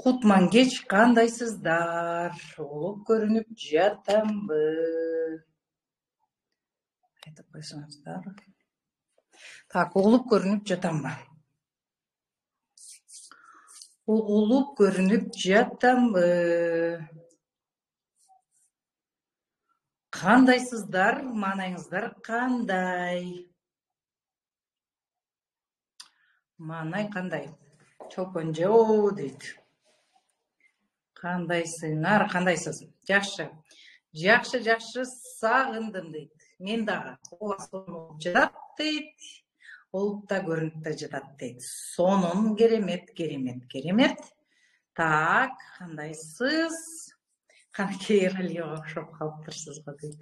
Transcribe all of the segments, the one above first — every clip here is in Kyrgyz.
Кутман кеч кандайсыздар? Улуп көрүнүп жатамбы? Айтып койсоңуздар. Так, угулуп көрүнүп жатамбы? Угулуп көрүнүп жатамбы? Кандайсыздар? Маанайыңыздар кандай? Маанай кандай? Чолпон жоо дейт. Кандайсыңар? Кандайсыз? Жакшы. Жакшы, сагындым дейт. Мен дагы. Ооба, сонун жатат дейт. Улуп да көрүнүп да жатат дейт. Сонун, керемет. Так, кандайсыз? Канакей Эралиева окшоп калыптырсыз го дейт.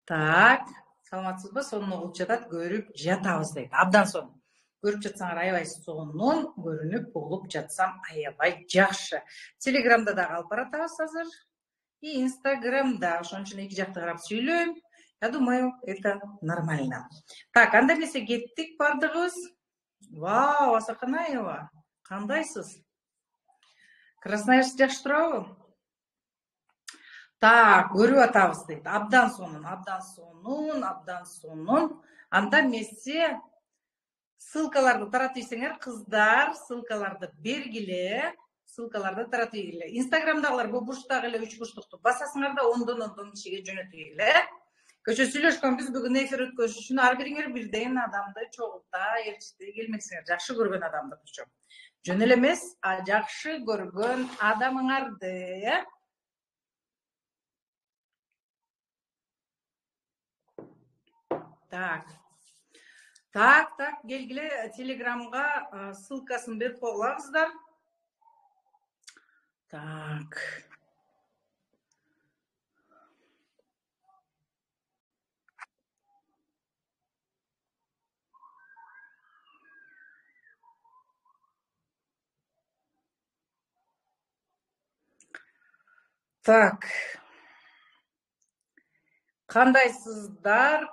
Так, саламатсызбы? Сонун угулуп жатат, көрүп жатабыз дейт. Абдан сонун. Көрүп жатсаңар аябай сонун, көрүнүп угулуп жатсам аябай жакшы. Телеграмда дагы алып баратабыз азыр. И Инстаграмда, ошон үчүн эки жакты карап сүйлөйм. Я думаю, это нормально. Так, анда эмесе кеттик бардыгыбыз. Вау, Асаканаева, кандайсыз? Красноярск жакшы турабы? Так, көрүп атабыз дейт. Абдан сонун. Анда эмесе ссылкаларды таратып ийсеңер, кыздар, ссылкаларды бергиле. Инстаграмдагылар бул бурчтагы эле 3 бурчтукту басасыңар да ондон кишиге жөнөтүгүле. Көчө сүйлөшкөнбүз, бүгүн эфир өткөзүш үчүн ар бириңер бирден адамды чогулта, элчити келмексиңер. Жакшы көргөн адамды кычо. Жөн эле эмес, жакшы көргөн адамыңарды, Так, келгиле, Телеграмга ссылкасын берип койгула кыздар. Так. Так. Кандайсыздар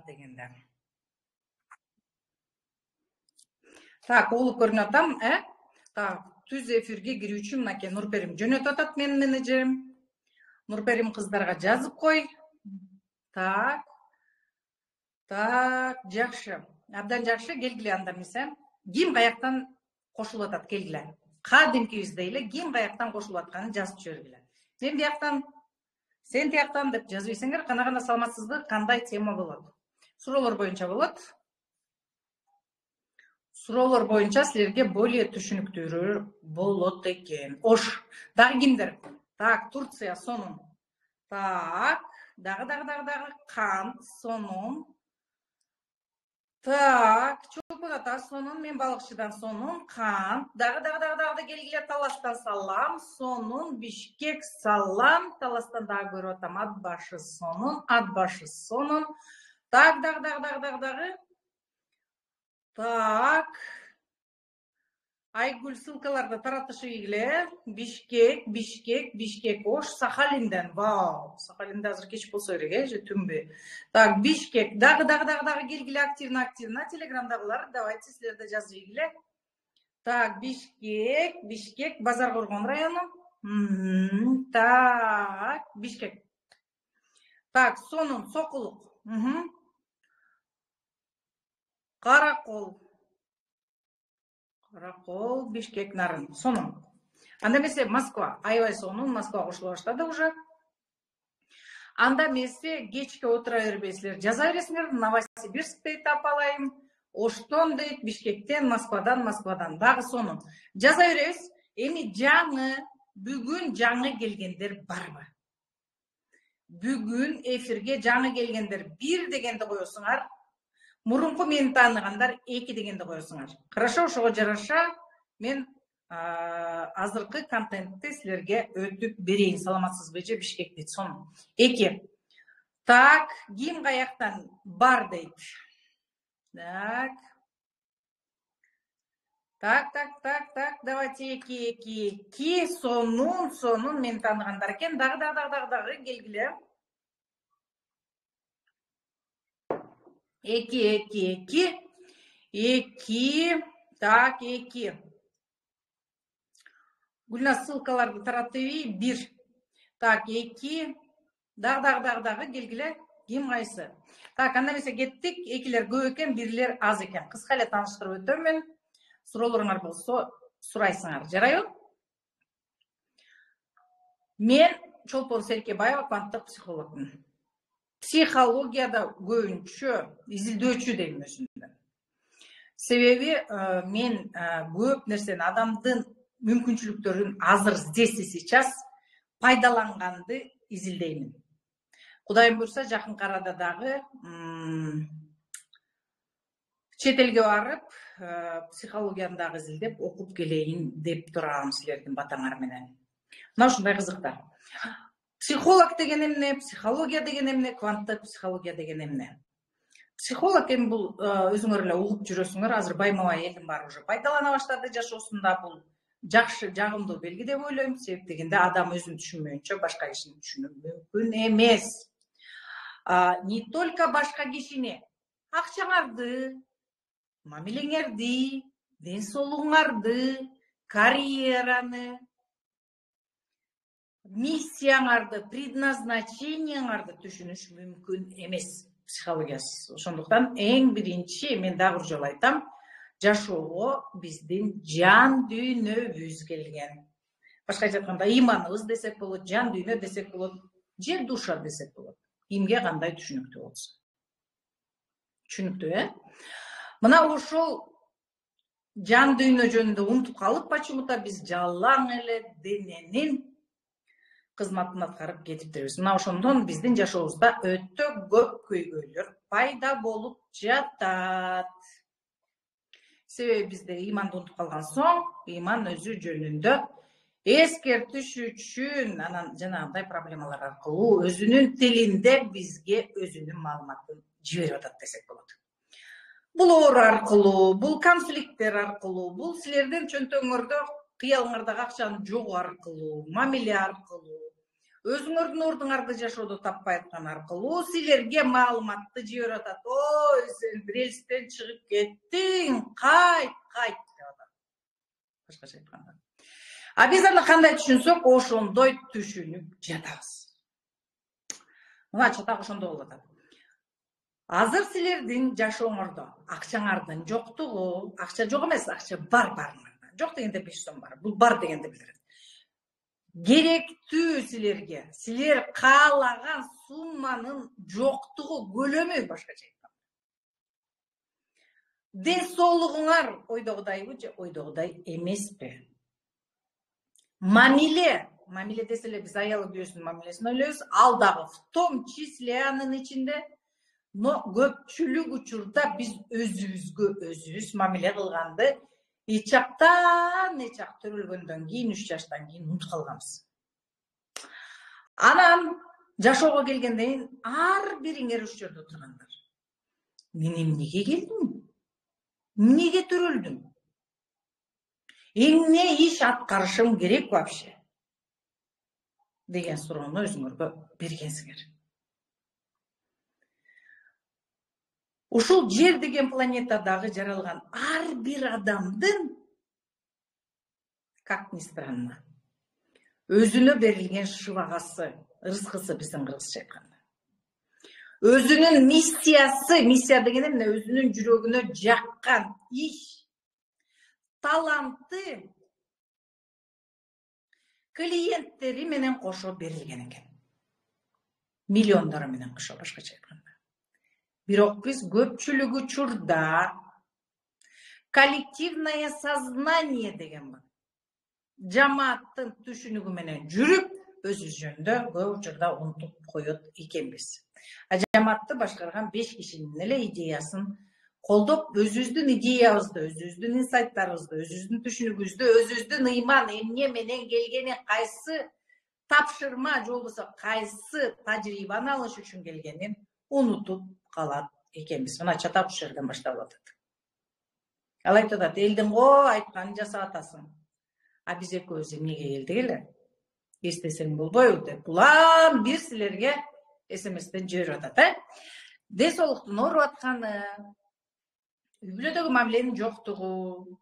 дегенде. Так, угулуп көрүнүп атам, Так, түз эфирге кирүү үчүн мынакей Нурперим жөнөтүп атат, менин менеджерим. Нурперим кыздарга жазып кой. Так, жакшы. Абдан жакшы, келгиле анда эмесе. Ким каяктан кошулуп атат, келгиле. Кадимкибиздей эле ким каяктан кошулуп атканын жазып жибергиле. Мен бияктан, сен тияктан деп жазып ийсеңер, кана саламатсызбы, кандай тема болот? Суроолор боюнча болот. Суроолор боюнча силерге более түшүнүктүүрүү болот экен. Ош. Дагы кимдер? Так, Турция сонун. Так, дагы Кант сонун. Так, Чолпон ата сонун, мен балыкчыдан сонун, Кант. Дагы келгиле, Таластан салам, сонун, Бишкек салам, Таластан дагы көрүп атам, Атбашы сонун. Так, дагы. Так. Айгүл ссылкаларды таратышы ийгиле. Бишкек, Ош, Сахалинден. Вау, Сахалинде азыр кеч болсо керек, же түнбү. Так, Бишкек. Дагы келгиле, активно. Телеграмдагылар, давайте силер да жазып ийгиле. Так, Бишкек, Базар Коргон району. Так, Бишкек. Так, сонун, Сокулук. Каракол, Бишкек, Нарын. Сонун. Анда эмесе Москва. Аябай сонун, Москва кошула баштады уже. Анда эмесе кечке отура бербейсиздер. Жаза бересиңер. Новосибирск дейт апалайым. Оштон дейт, Бишкектен, Москвадан. Дагы сонун. Жаза беребиз. Эми бүгүн жаңы келгендер барбы? Бүгүн эфирге жаңы келгендер 1 дегенди коесуңар. Мурунку мени тааныгандар 2 дегенди коесуңар. Хорошо, ошого жараша мен азыркы контентти силерге өтүп берейин. Саламатсызбы же, Бишкек дейт, сонун. 2. Так, ким каяктан бар дейт. Так, давайте 2. Сонун, мени тааныгандар экен. Дагы келгиле. 2. 2. Так, 2. Гүлназ ссылкаларды таратып 1. Так, 2. Дагы келгиле. Ким кайсы? Так, анда эмесе кеттик. Экилер көп экен, бирлер аз экен. Кыска эле тааныштырып өтөмүн. Суроолоруңар болсо сурайсыңар. Жарайбы? Мен Чолпон Серкебаева, кванттык психологмун. Психологияда көбүнчө изилдөөчү дейм өзүмдү. Себеби мен көп нерсени, адамдын мүмкүнчүлүктөрүн азыр здесь и сейчас пайдаланганды изилдеймин. Кудайым буйрса, жакынкы арада дагы чет элге барып, психологияны дагы изилдеп, окуп келейин деп турам силердин батаңар менен. Мына ушундай кызыктар. Психолог деген эмне, психология деген эмне, кванттык психология деген эмне? Психолог эми бул өзүңөр эле угуп жүрөсүңөр, азыр байма-бай элдин баары уже пайдалана баштады жашоосунда. Бул жакшы, жагымдуу белги деп ойлойм. Себеп дегенде адам өзүн түшүнмөйүнчө башка кишини түшүнүү мүмкүн эмес. Не только башка кишини, акчаңарды, мамилеңерди, ден соолугуңарды, карьераны, миссияңарды, предназначениеңарды түшүнүш мүмкүн эмес психологиясыз. Ошондуктан эң биринчи, мен дагы бир жолу айтам, жашоого биздин жан дүйнөбүз келген. Башкача айтканда, иманыбыз десек болот, жан дүйнө десек болот, же душа десек болот. Кимге кандай түшүнүктүү болсо. Түшүнүктүү, Мына ошол жан дүйнө жөнүндө унутуп калып, почему-то биз жалаң эле дененин кызматын аткарып кетиптирбиз. Мына ошондон биздин жашообузда өтө көп көйгөйлөр пайда болуп жатат. Себеби бизде иманды унутуп калган соң, иман өзү жөнүндө эскертиш үчүн анан жанагындай проблемалар аркылуу өзүнүн тилинде бизге өзүнүн маалыматын жиберип атат десек болот. Бул оор аркылуу, бул конфликттер аркылуу, бул силердин чөнтөгүңөрдө, кыялыңардагы акчанын жогу аркылуу, мамиле аркылуу, өзүңөрдүн ордуңарды жашоодо таппай аткан аркылуу силерге маалыматты жиберип атат. Ой, сен рельстен чыгып кеттиң, кайт деп атат. Башкача айтканда. А биз аны кандай түшүнсөк, ошондой түшүнүп жатабыз. Мына чатак ошондой болуп атат. Азыр силердин жашооңордо акчаңардын жоктугу, акча жок эмес, акча барыңарда. Жок дегенде 5 сом бар. Бул бар дегенди билдирет. Керектүү силерге, силер каалаган сумманын жоктугу, көлөмү башкача айтканда. Ден соолугуңар ойдогудайбы же ойдогудай эмеспи? Мамиле десе эле биз аялы күйөөсүнүн мамилесин ойлойбуз, ал дагы в том числе анын ичинде, но көпчүлүк учурда биз өзүбүзгө өзүбүз мамиле кылганды ичактан төрөлгөндөн кийин, 3 жаштан кийин унутуп калганбыз. Анан жашоого келгенден кийин ар бириңер ушул жерде отургандар. Мен эмнеге келдим? Эмнеге төрөлдүм? Эмне иш аткарышым керек вообще? Деген суроону өзүңөргө бергенсиңер. Ушул жер деген планетадагы жаралган ар бир адамдын, как ни странно, өзүнө берилген шыбагасы, рызкысы биздин кыргызча айтканда. Өзүнүн миссиясы, миссия деген эмне? Өзүнүн жүрөгүнө жаккан иш, таланты клиенттери менен кошо берилген экен. Миллиондору менен кошо, башкача айтканда. Бирок биз көпчүлүк учурда коллективное сознание деген бар. Жамааттын түшүнүгү менен жүрүп, өзүбүз жөнүндө көп учурда унутуп коет экенбиз. Жамаатты башкарган 5 кишинин эле идеясын колдоп, өзүбүздүн идеябызды, өзүбүздүн инсайттарыбызды, өзүбүздүн түшүнүгүбүздү, өзүбүздүн ыйман эмне менен келгени, кайсы тапшырма же болбосо кайсы тажрыйбаны алыш үчүн келгенин унутуп калат экенбиз. Мына чатак ушул жерден башталып атат. Ал айтып атат, элдин го айтканын жасап атасың. А биз экөөбүз эмнеге келдик эле? Эстесең болбойбу деп. Улам бир силерге СМСтен жиберип атат, Ден соолуктун ооруп атканы, үй-бүлөдөгү мамиленин жоктугу,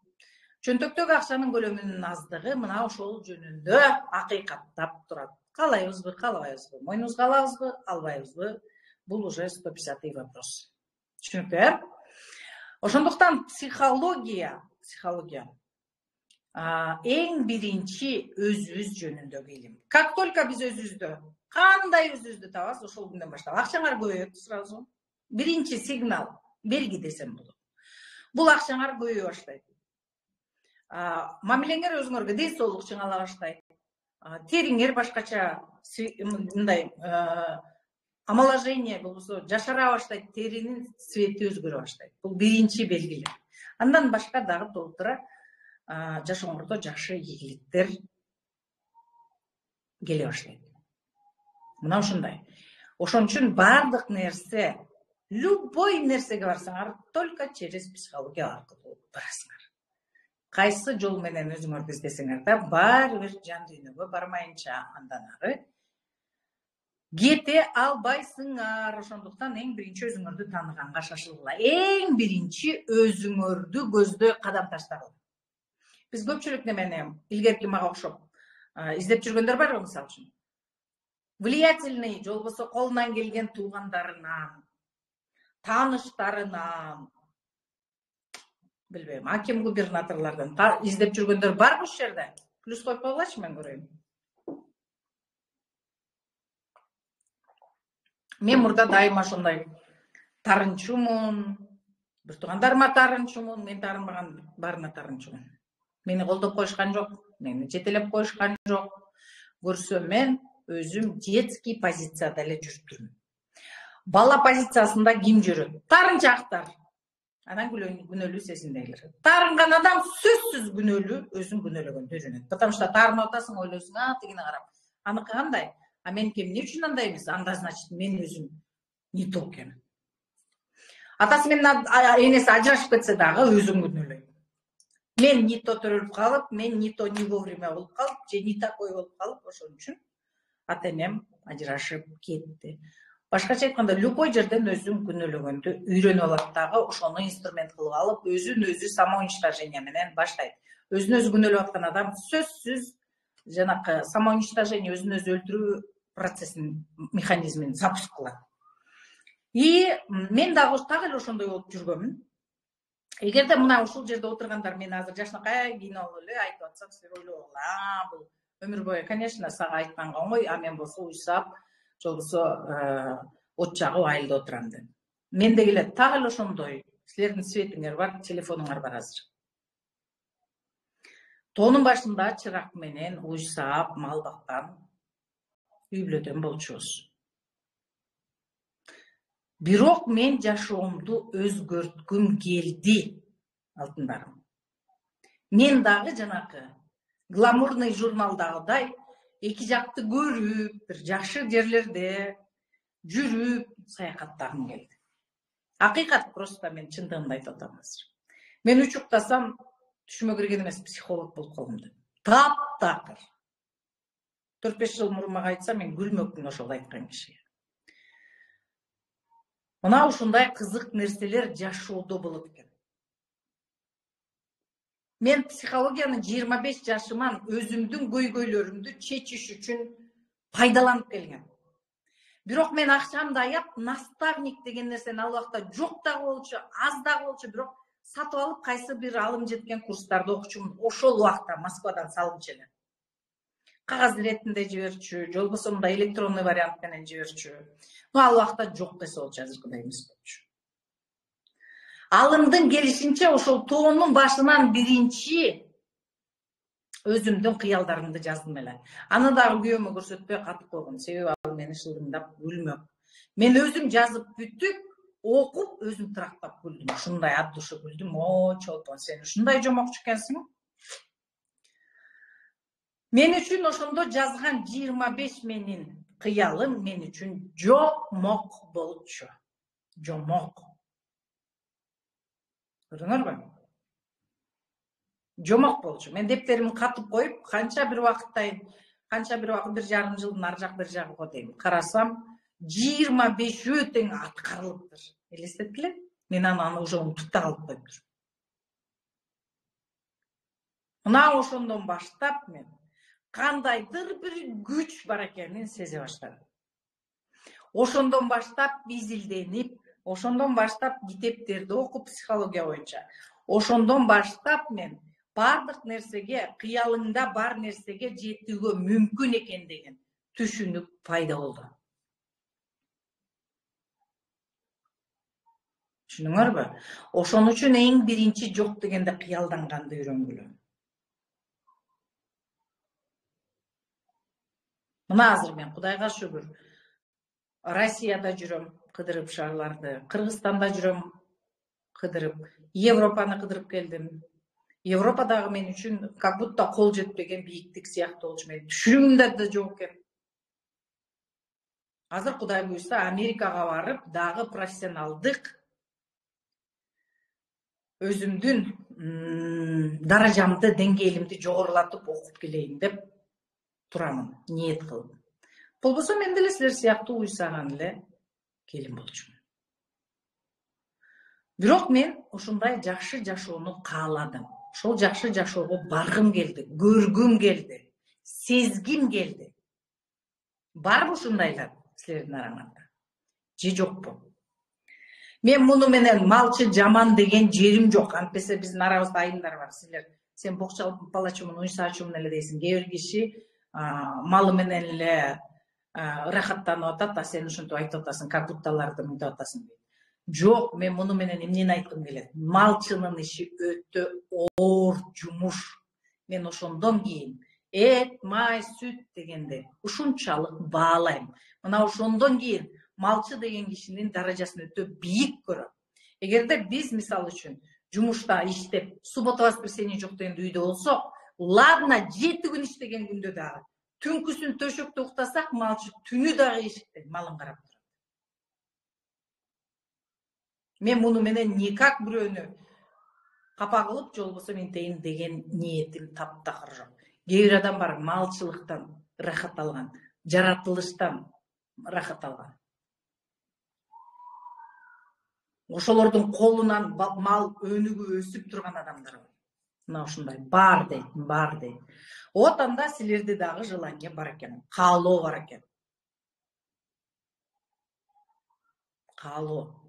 чөнтөктөгү акчанын көлөмүнүн аздыгы мына ошол жөнүндө акыйкаттап турат. Каалайбызбы, каалабайбызбы, мойнубузга алабызбы, албайбызбы? Бул уже 150-й вопрос. Түшүнүктүү? Ошондуктан психология эң биринчи өзүбүз жөнүндөгү илим. Как только биз өзүбүздө кандай өзүбүздү табасыз, ошол күндөн баштап акчаңар көбөйөт сразу. Биринчи сигнал, белги десем болот. Бул акчаңар көбөйө баштайт. Мамилеңер өзүңөргө ден соолук чыңала баштайт. Териңер башкача мындай омоложение болбосо жашара баштайт, теринин цвети өзгөрө баштайт. Бул биринчи белгилер. Андан башка дагы толтура жашооңордо жакшы ийгиликтер келе баштайт. Мына ушундай. Ошон үчүн бардык нерсе, любой нерсеге барсаңар, только через психология аркылуу барасыңар. Кайсы жол менен өзүңөрдү издесеңер да, баары бир жан дүйнөгө бармайынча андан ары кете албайсыңар. Ошондуктан эң биринчи өзүңөрдү тааныганга шашылгыла. Эң биринчи өзүңөрдү көздөй кадам таштагыла. Биз көпчүлүк немени илгерки мага окшоп издеп жүргөндөр барбы, мисалы үчүн? Влиятельный, же болбосо колунан келген туугандарынан, тааныштарынан, билбейм, аким губернаторлордон издеп жүргөндөр барбы ушул жерде? Плюс коюп койгулачы, мен көрөйүн. Мен мурда дайыма ошондой тарынчумун, бир туугандарыма тарынчумун, мен тарынбаган баарына тарынчумун. Мени колдоп коюшкан жок, мени жетелеп коюшкан жок. Көрсөм мен өзүм детский позицияда эле жүрүп турмун. Бала позициясында ким жүрөт? Тарынчактар. Анан күнөөлүү сезимдегилер. Тарынган адам сөзсүз күнөөлүү, өзүн күнөөлөгөндө жүрөт. Потому что тарынып атасың, ойлойсуң, тигине карап. Аныкы кандай? Меники эмне үчүн андай эмес? Анда значит мен өзүм не то экенмин. Атасы менен энеси ажырашып кетсе дагы өзүн күнөөлөйт. Мен не то төрөлүп калып, мен не то не вовремя болуп калып, же не такой болуп калып, ошон үчүн ата энем ажырашып кетти. Башкача айтканда, любой жерден өзүн күнөөлөгөндү үйрөнүп алат дагы, ошону инструмент кылып алып, өзүн өзү самоуничтожение менен баштайт. Өзүн өзү күнөөлөп аткан адам сөзсүз жанакы самоуничтожение, өзүн өзү өлтүрүү процессин, механизмин запуск кылат. И мен дагы так эле ошондой болуп жүргөмүн. Эгерде мына ушул жерде отургандар мени азыр жашынакай кино эле айтып атса, силер ойлогула, бул өмүр бою, конечно, сага айтканга оңой, мен болсо уйсап, же болбосо от жагып айылда отурам деп. Мен дегиле так эле ошондой. Силердин светиңер бар, телефонуңар бар азыр. Тоонун башында чырак менен уйсап, мал баккан үй-бүлөдөн болчубуз. Бирок мен жашоомду өзгөрткүм келди, алтындарым. Мен дагы жанакы гламурный журналдагыдай эки жакты көрүп, бир жакшы жерлерде жүрүп, саякаттагым келди. Акыйкат, просто мен чындыгымды айтып атам азыр. Мен учуктасам, түшүмө кирген эмес, психолог болуп калгам деп. Таптакыр. 4-5 жыл мурун мага айтса, мен күлмөкмүн ошол айткан кишиге. Мына ушундай кызык нерселер жашоодо болот экен. Мен психологиянын 25 жашыман өзүмдүн көйгөйлөрүмдү чечиш үчүн пайдаланып келгем. Бирок мен акчамды аяп, наставник деген нерсени ал убакта жок дагы болчу, аз дагы болчу, бирок сатып алып кайсы бир алым жеткен курстарды окучумун. Ошол убакта Москвадан салымчы эле. Кагаз иретинде жиберчү, же болбосо мындай электронный вариант менен жиберчү. Ал убакта жок десе болчу, азыркыдай эмес болчу. Алымдын келишинче ошол тоонун башынан биринчи өзүмдүн кыялдарымды жаздым эле. Аны дагы күйөөмө көрсөтпөй катып койгом, себеби ал мени шылдыңдап күлмөк. Мен өзүм жазып бүтүп, окуп, өзүм трактап күлдүм. Ушундай ат душу күлдүм. О, чолпон, сен ушундай жомокчу экенсиң. Мен үчүн ошондо жазган 25 менин кыялым мен үчүн жомок болчу. Жомок. Көрдүңөрбү? Жомок болчу. Мен дептеримди катып коюп, канча бир убакыт, 1,5 жылдын ар жак бир жагыга дейм. Карасам, 25 тең аткарылыптыр. Элестеткиле? Мен аны уже унутуп да калып коюптур. Мына ошондон баштап мен кандайдыр бир күч бар экенин сезе баштадым. Ошондон баштап изилденип, ошондон баштап китептерди окуп психология боюнча, ошондон баштап мен бардык нерсеге, кыялыңда бар нерсеге жетүүгө мүмкүн экен деген түшүнүк пайда болду. Түшүнүңөрбү? Ошон үчүн эң биринчи жок дегенде кыялданганды үйрөнгүлө. Мына азыр мен Кудайга шүгүр Россияда жүрөм, кыдырып шаарларды, Кыргызстанда жүрөм, кыдырып, Европаны кыдырып келдим. Европадагы мен үчүн как будто кол жетпеген бийиктик сыяктуу болчу, менин түшүнүгүмдө да жок экен. Азыр Кудай буйрса Америкага барып, дагы профессионалдык өзүмдүн даражамды, деңгээлимди жогорулатып окуп келейин деп турамын, ниет кылып. Болбосо мен деле силер сыяктуу уйсаган эле келин болчумун. Бирок мен ушундай жакшы жашоону кааладым. Ошол жакшы жашоого баргым келди, көргүм келди, сезгим келди. Барбы ушундайлар силердин араңарда? Же жокпу? Мен муну менен малчы жаман деген жерим жок. Антпесе биздин арабызда айымдар бар. Сен бокчалачумун, уйсаачумун эле дейсиң. Кээ бир киши малы менен эле ырахаттанып атат, а сен ушинтип айтып атасың, как будто аларды мынтип атасың дейт. Жок, мен муну менен эмнени айткым келет? Малчынын иши өтө оор жумуш. Мен ошондон кийин эт, май, сүт дегенде ушунчалык баалайм. Мына ошондон кийин малчы деген кишинин даражасын өтө бийик көрөм. Эгерде биз мисалы үчүн жумушта иштеп, суббота воскресенье жок дегенде үйдө болсок, ладно 7 күн иштеген күндө дагы түнкүсүн төшөктө уктасак, малчы түнү дагы эшикте малын карап турат. Мен муну менен никак бирөөнү капа кылып, же болбосо ментейин деген ниетим таптакыр жок. Кээ бир адам бар, малчылыктан рахат алган, жаратылыштан рахат алган. Ошолордун колунан мал өнүгүп өсүп турган адамдар бар. Мына ушундай бар дейт. Вот анда силерде дагы желание бар экен, каалоо бар экен. Каалоо.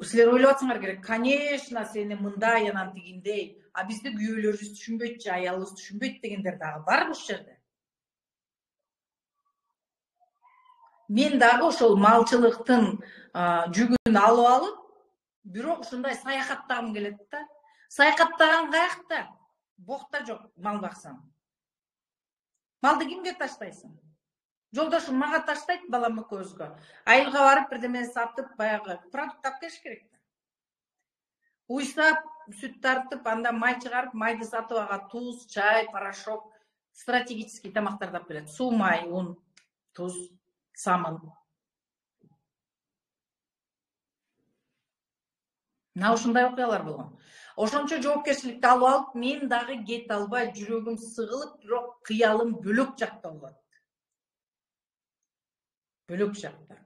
Силер ойлоп атсаңар керек, конечно, сени мындай анан тигиндей, а бизди күйөөлөрүбүз түшүнбөйт же аялыбыз түшүнбөйт дегендер дагы бар ушул жерде. Мен дагы ошол малчылыктын жүгүн алып алып, бирок ушундай саякаттагым келет да. Саякаттаган каякта? Бокта жок, мал баксам. Малды кимге таштайсың? Жолдошум мага таштайт, балам экөөбүзгө. Айылга барып бирдеме сатып, баягы продукт алып келиш керек да. Уйсап, сүт тартып, анда май чыгарып, майды сатып ага туз, чай, порошок, стратегический тамактарды алып келет. Суу, май, ун, туз, самын. Мына ушундай окуялар болгон. Ошончо жоопкерчиликти алып алып, мен дагы кете албай, жүрөгүм сыгылып, бирок кыялым бөлөк жакта болот. Бөлөк жакта.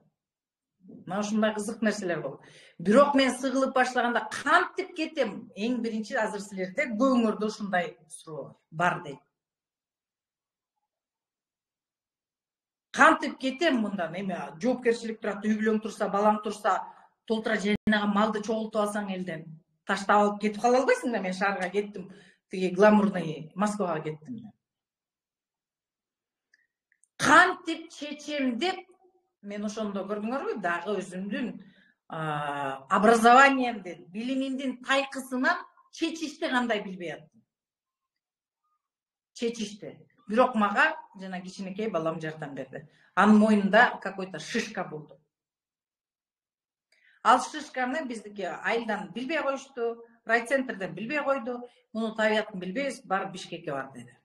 Мына ушундай кызык нерселер болот. Бирок мен сыгылып башлаганда кантип кетем? Эң биринчи азыр силерде көңүрдө ушундай суроо бар дейт. Кантип кетем мындан? Эми жоопкерчилик турат, үй бүлөң турса, балаң турса, толтура жайнаган малды чогултуп алсаң элден, таштап алып кетип кала албайсың да. Мен шаарга кеттим, тиги гламурный Москвага кеттим. Кантип чечем деп мен ошондо көрдүңөрбү, дагы өзүмдүн образованиемди, билимимдин тайкысынан чечишти кандай билбей аттым. Чечишти. Бирок мага жана кичинекей балам жардам берди. Анын мойнунда какой-то шишка болду. Ал шишканы биздики айылдан билбей коюшту, райцентрден билбей койду. Муну табиятын билбейбиз, барып Бишкекке бар деди.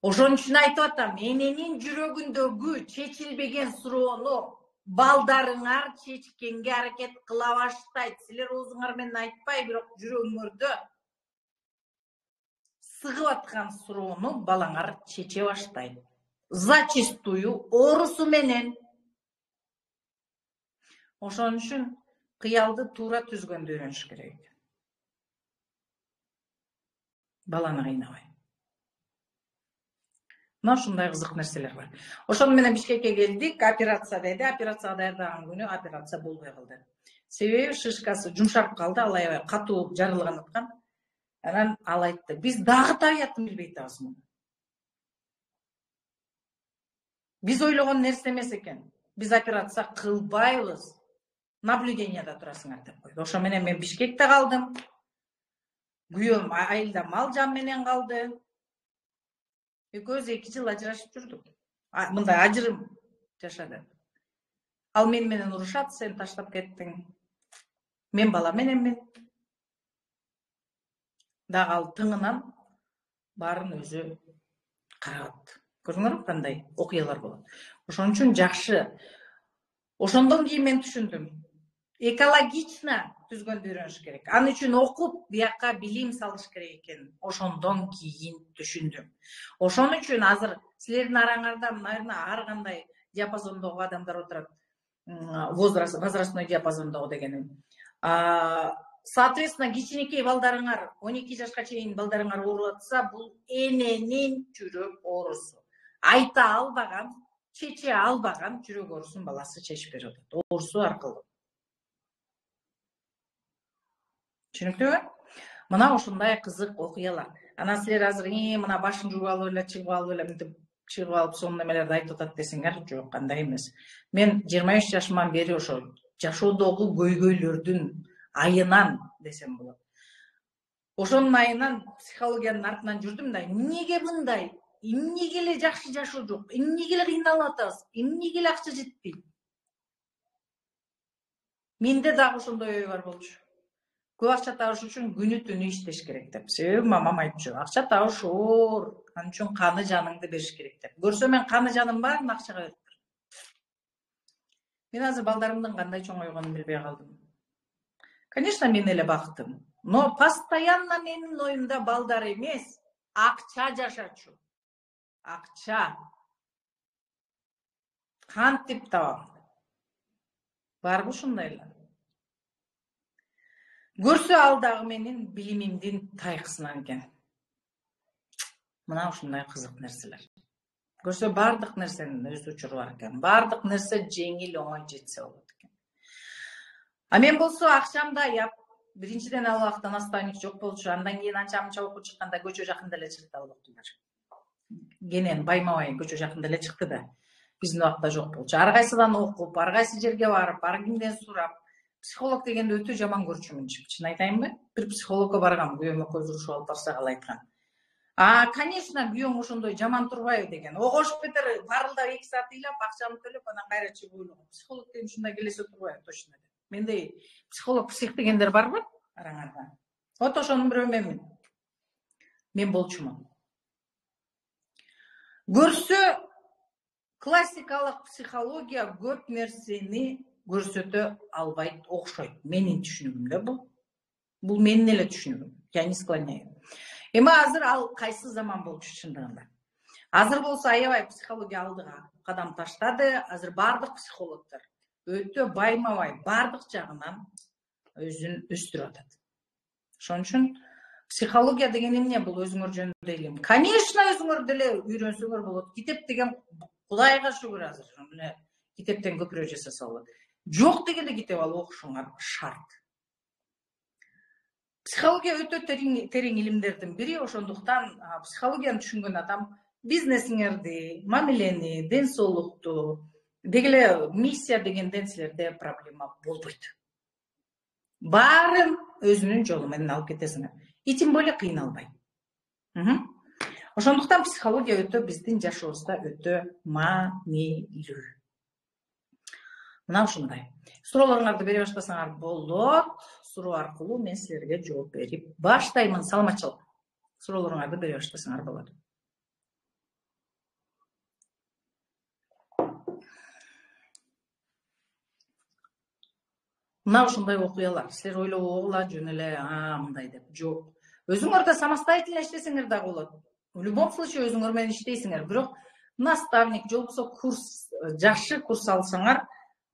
Ошон үчүн айтып атам, эненин жүрөгүндөгү чечилбеген суроону балдарыңар чечкенге аракет кыла баштайт. Силер оозуңар менен айтпай, бирок жүрөгүңөрдө сыгып аткан суроону балаңар чече баштайт. Зачастую оорусу менен. Ошон үчүн кыялды туура түзгөндү үйрөнүш керек. Баланы кыйнабай. Мына ушундай кызык нерселер бар. Ошону менен Бишкекке келдик, операция деди. Операцияга даярдаган күнү операция болбой калды. Себеби шишкасы жумшарып калды, ал аябай катуу жарылган аткан. Анан ал айтты, биз дагы табиятын билбей атабыз муну. Биз ойлогон нерсе эмес экен. Биз операция кылбайбыз. Наблюденияда турасыңар деп койду. Ошо менен мен Бишкекте калдым. Күйөөм айылда мал жан менен калды. Экөөбүз 2 жыл ажырашып жүрдүк. Мындай ажырым жашады. Ал менен урушат, сен таштап кеттиң. Мен бала мененмин. Дагы ал тыңынан баарын өзү карап. Көрдүңөрбү кандай окуялар болот. Ошон үчүн жакшы. Ошондон кийин мен түшүндүм. Экологично түзгөндү үйрөнүш керек. Аны үчүн окуп, бияка билим салыш керек экен. Ошондон кийин түшүндүм. Ошон үчүн азыр силердин араңарда, наверное, ар кандай диапазондогу адамдар отурат. Возрастной диапазондогу дегеним. Соответственно, кичинекей балдарыңар, 12 жашка чейин балдарыңар ооруп атса, бул эненин жүрөк оорусу. Айта албаган, чече албаган жүрөк оорусун баласы чечип берип атат. Оорусу аркылуу. Түшүнүктүүбү? Мына ушундай кызык окуялар. Анан силер азыр мына башын жууп алып эле, чыгып алып эле, мынтип чыгып алып сонун немелерди айтып атат десеңер, жок, андай эмес. Мен 23 жашыман бери ошо жашоодогу көйгөйлөрдүн айынан десем болот. Ошонун айынан психологиянын артынан жүрдүм да, эмнеге мындай? Эмнеге эле жакшы жашоо жок? Эмнеге эле кыйналып атабыз? Эмнеге эле акча жетпейт? Менде дагы ошондой ой бар болчу. Көп акча табыш үчүн күнү түнү иштеш керек деп. Себеби мамам айтчу, акча табыш оор, ал үчүн каны жаныңды бериш керек деп. Көрсө мен каны жаным баарын акчага берип турам. Мен азыр балдарымдын кандай чоңойгонун билбей калдым. Конечно, мен эле бактым. Но постоянно менин оюмда балдар эмес, акча жашачу. Акча. Кантип табам? Барбы ушундай эле? Көрсө ал дагы менин билимимдин тайкысынан экен. Мына ушундай кызык нерселер. Көрсө бардык нерсенин өз учуру бар экен. Бардык нерсе жеңил оңой жетсе болот экен. А мен болсо акчамды аяп, биринчиден ал убакта наставник жок болчу. Андан кийин анча мынча окуп чыкканда көчө жакында эле чыкты ал убактылар. Кенен Баймабай көчө жакында эле чыкты да. Биздин убакта жок болчу. Ар кайсыдан окуп, ар кайсы жерге барып, ар кимден сурап, психолог дегенди өтө жаман көрчүмүн. Чын айтайынбы? Бир психологко баргам, күйөөм экөөбүз урушуп алып барсак ал айткан. Конечно, күйөөң ошондой жаман турбайбы деген. Огошуп кетер, барылдап 2 саат ыйлап, акчамды төлөп, анан кайра чыгып ойлогом. Психолог деген ушундай келесе турбайбы, точно деп. Мендей психолог, псих дегендер барбы араңарда? Вот ошонун бирөө менмин. Мен болчумун. Көрсө, классикалык психология көп нерсени көрсөтө албайт, окшойт. Менин түшүнүгүмдө бул менин эле түшүнүгүм. Я не склоняю. Эми азыр ал кайсы заман болчу чындыгында? Азыр болсо аябай психология алдыга кадам таштады. Азыр бардык психологдор өтө Баймабай бардык жагынан өзүн өстүрүп атат. Ошон үчүн психология деген эмне? Бул өзүңөр жөнүндө илим. Конечно, өзүңөр деле үйрөнсөңөр болот. Китеп деген Кудайга шүгүр азыр. Мына китептен көпүрө жасаса болот. Жок дегенде китеп алып окушуңар шарт. Психология өтө терең илимдердин бири, ошондуктан психологияны түшүнгөн адам бизнесиңерди, мамилени, ден соолукту, дегеле миссия дегенден силерде проблема болбойт. Баарын өзүнүн жолу менен алып кетесиңер. И тем более кыйналбай. Ошондуктан психология өтө биздин жашообузда өтө маанилүү. Мына ушундай. Суроолоруңарды бере баштасаңар болот. Суроо аркылуу мен силерге жооп берип баштаймын. Саламатчылык. Суроолоруңарды бере баштасаңар болот. Мына ушундай окуялар. Силер ойлогула жөн эле мындай деп. Жок. Өзүңөр да самостоятельно иштесеңер да болот. В любом случае өзүңөр менен иштейсиңер. Бирок наставник же болбосо курс, жакшы курс алсаңар,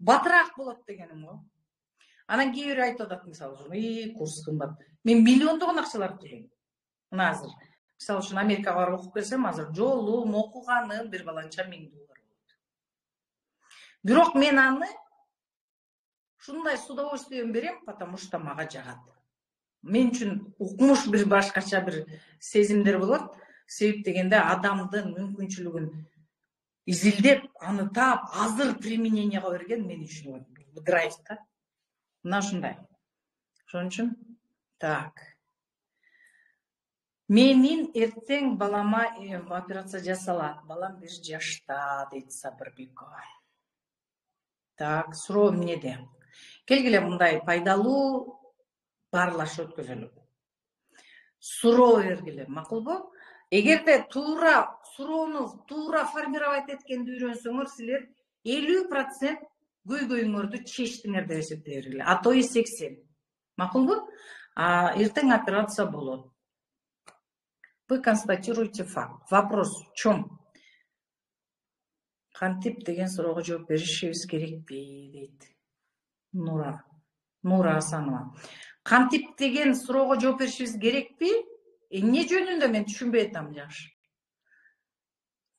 батыраак болот дегеним го. Анан кээ бири айтып атат, мисалы үчүн, курс кымбат. Мен миллиондогон акчаларды төлөйм. Мына азыр мисалы үчүн Америкага барып окуп келсем, азыр жолум, окуганым бир баланча $1000 болот. Бирок мен аны ушундай с удовольствием берем, потому что мага жагат. Мен үчүн укмуш бир башкача бир сезимдер болот. Себеп дегенде адамдын мүмкүнчүлүгүн изилдеп, аны таап, азыр примененияга берген мен үчүн драйв да. Мына ушундай. Ошон үчүн так. Менин эртең балама операция жасалат. Балам 1 жашта, дейт Сабырбекова. Так, суроо эмнеде? Келгиле мындай пайдалуу баарлаш өткөзөлү. Суроо бергиле, макулбу? Эгерде туура суроону туура формировать эткенди үйрөнсөңөр, силер 50% көйгөйүңөрдү чечтиңер деп эсептей бергиле. А то и 80. Макулбу? Эртең операция болот. Вы констатируете факт. Вопрос в чем? Кантип деген суроого жооп беришибиз керекпи, дейт Нура Асанова. Кантип деген суроого жооп беришибиз керекпи? Эмне жөнүндө мен түшүнбөй атам жакшы.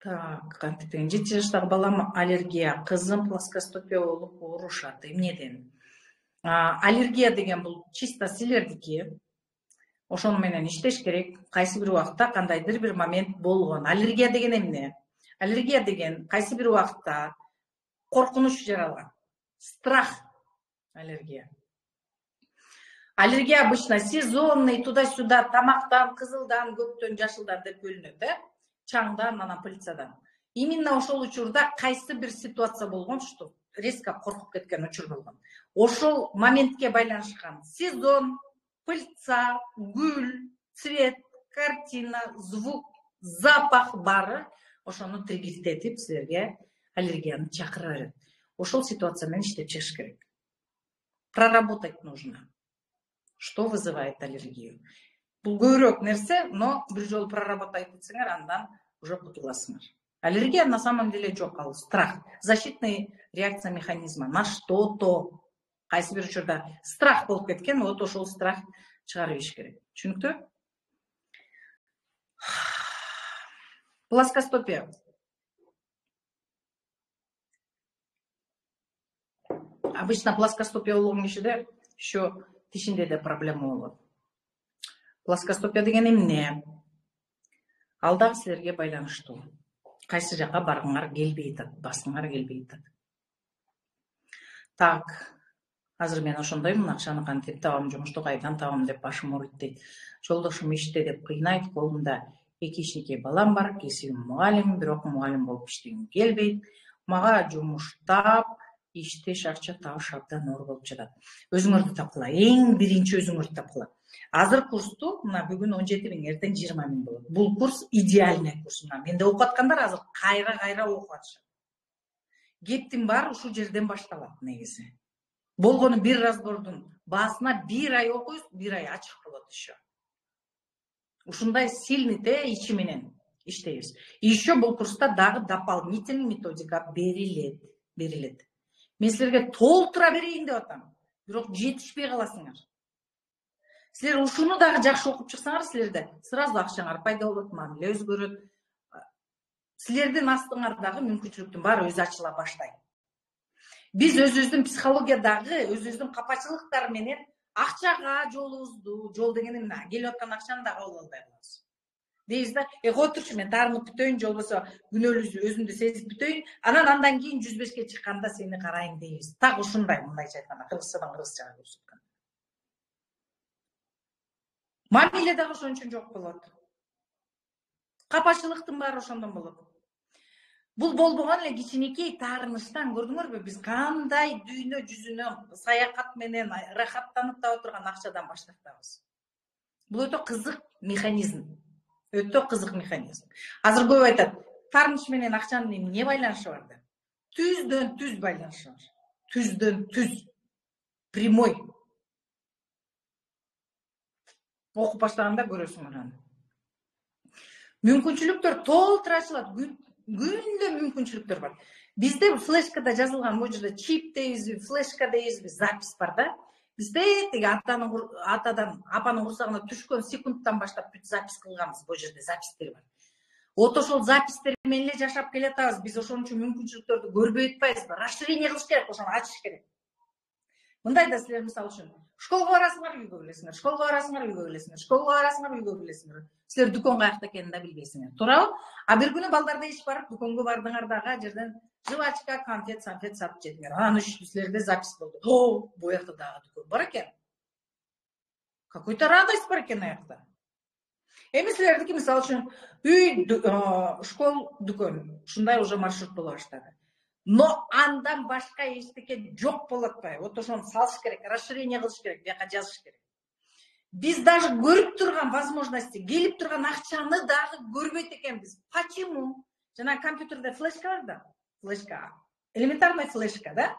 Так, кантип деген 7 жаштагы балам аллергия, кызым плоскостопия болуп оорушат. Эмнеден? Аллергия деген бул чисто силердики. Ошону менен иштеш керек. Кайсы бир убакта кандайдыр бир момент болгон. Аллергия деген эмне? Аллергия деген кайсы бир убакта коркунуч жаралган. Страх аллергия. Аллергия обычно сезонный, туда-сюда, тамактан, кызылдан, көктөн, жашылдан деп бөлүнөт, чаңдан, анан пыльцадан. Именно ошол учурда кайсы бир ситуация болгон, что резко коркуп кеткен учур болгон. Ошол моментке байланышкан сезон, пыльца, гүл, цвет, картина, звук, запах бары ошону триггердетип силерге аллергияны чакыра берет. Ошол ситуация менен иштеп чыгыш керек. Проработать нужно. Что вызывает аллергию? Бул көбүрөөк нерсе, но бир жолу проработать этсеңер, андан уже кутуласыңар. Аллергия на самом деле жок, ал страх. Защитная реакция механизма на что-то. Кайсы бир учурда страх болуп кеткен, вот ошол страх чыгарып ийиш керек. Түшүнүктүү? Плоскостопия. Обычно плоскостопия болгон кишиде еще тишинде де проблема болот. Плоскостопия деген эмне? Ал дагы силерге байланыштуу. Кайсы жака баргыңар келбей атат, баскыңар келбей атат. Так, азыр мен ошондоймун, акчаны кантип табам, жумушту кайдан табам деп башым ооруйт дейт. Жолдошум иште деп кыйнайт, колумда 2 кичинекей балам бар, кесибим мугалим, бирок мугалим болуп иштегим келбейт. Мага жумуш таап, иштеш, акча табыш абдан оор болуп жатат. Өзүңөрдү тапкыла, эң биринчи өзүңөрдү тапкыла. Азыр курсту мына бүгүн 17.000, эртең 20.000 болот. Бул курс идеальный курс. Менде окуп аткандар азыр кайра окуп атышат. Кептин баары ушул жерден башталат негизи. Болгону бир разбордун баасына 1 ай окуйбуз, 1 ай ачык болот еще. Ушундай сильный ичи менен иштейбиз. И еще бул курста дагы дополнительный методика берилет. Мен силерге толтура берейин деп атам, бирок жетишпей каласыңар. Силер ушуну дагы жакшы окуп чыксаңар, силерде сразу акчаңар пайда болот, мамиле өзгөрөт. Силердин астыңардагы мүмкүнчүлүктүн баары өзү ачыла баштайт. Биз өзүбүздүн психологиядагы өзүбүздүн капачылыктар менен акчага жол деген эмне? Келип аткан акчаны дагы кабыл албай калабыз. Дейбиз да, кой турчу, мен таарынып бүтөйүн, же болбосо күнөөлүү өзүмдү сезип бүтөйүн, андан кийин 105ке чыкканда сени карайын дейбиз. Так ушундай, мындайча айтканда, кыргызчадан кыргызчага көрсөткөн. Мамиле дагы ошон үчүн жок болот. Капачылыктын баары ошондон болот. Бул болбогон эле кичинекей таарыныштан, көрдүңөрбү, биз кандай дүйнө жүзүнө саякат менен рахаттанып таба турган акчадан баштартабыз. Бул өтө кызык механизм. Азыр көп айтат, таарыныш менен акчанын эмне байланышы бар деп. Түздөн түз байланышы бар. Түздөн түз. Прямой. Окуп баштаганда көрөсүңөр аны. Мүмкүнчүлүктөр толтура ачылат. күндө мүмкүнчүлүктөр бар. Бизде флешкада жазылган, могу жерде чип дейбизби, флешка дейбизби, запись бар да. Бизде тиги атадан апанын курсагына түшкөн секундтан баштап бүт запись кылганбыз, бул жерде запистер бар. Вот ошол запистер менен эле жашап келатабыз. Биз ошон үчүн мүмкүнчүлүктөрдү көрбөй атпайбызбы? Расширение кылыш керек, ошону ачыш керек. Мындай да силер мисалы үчүн школго барасыңар, үйгө келесиңер, школго барасыңар, үйгө келесиңер, школго барасыңар, үйгө келесиңер. Силер дүкөн каякта экенин да билбейсиңер, туурабы? А бир күнү балдарда иш барып, дүкөнгө бардыңар дагы, ал жерден жвачка, конфет, санфет сатып жедиңер. Анан силерде запись болду. О, бул жакта дагы дүкөн бар экен. Какой-то радость бар экен аякта. Эми силердики мисалы үчүн үй, школ, дүкөн, ушундай уже маршрут боло баштады. Но андан башка эчтеке жок болуп атпайбы? Вот ошону салыш керек, расширение кылыш керек, бияка жазыш керек. Биз даже көрүп турган возможности, келип турган акчаны дагы көрбөйт экенбиз. Почему? Жана компьютерде флешка бар да, флешка, элементарная флешка, да?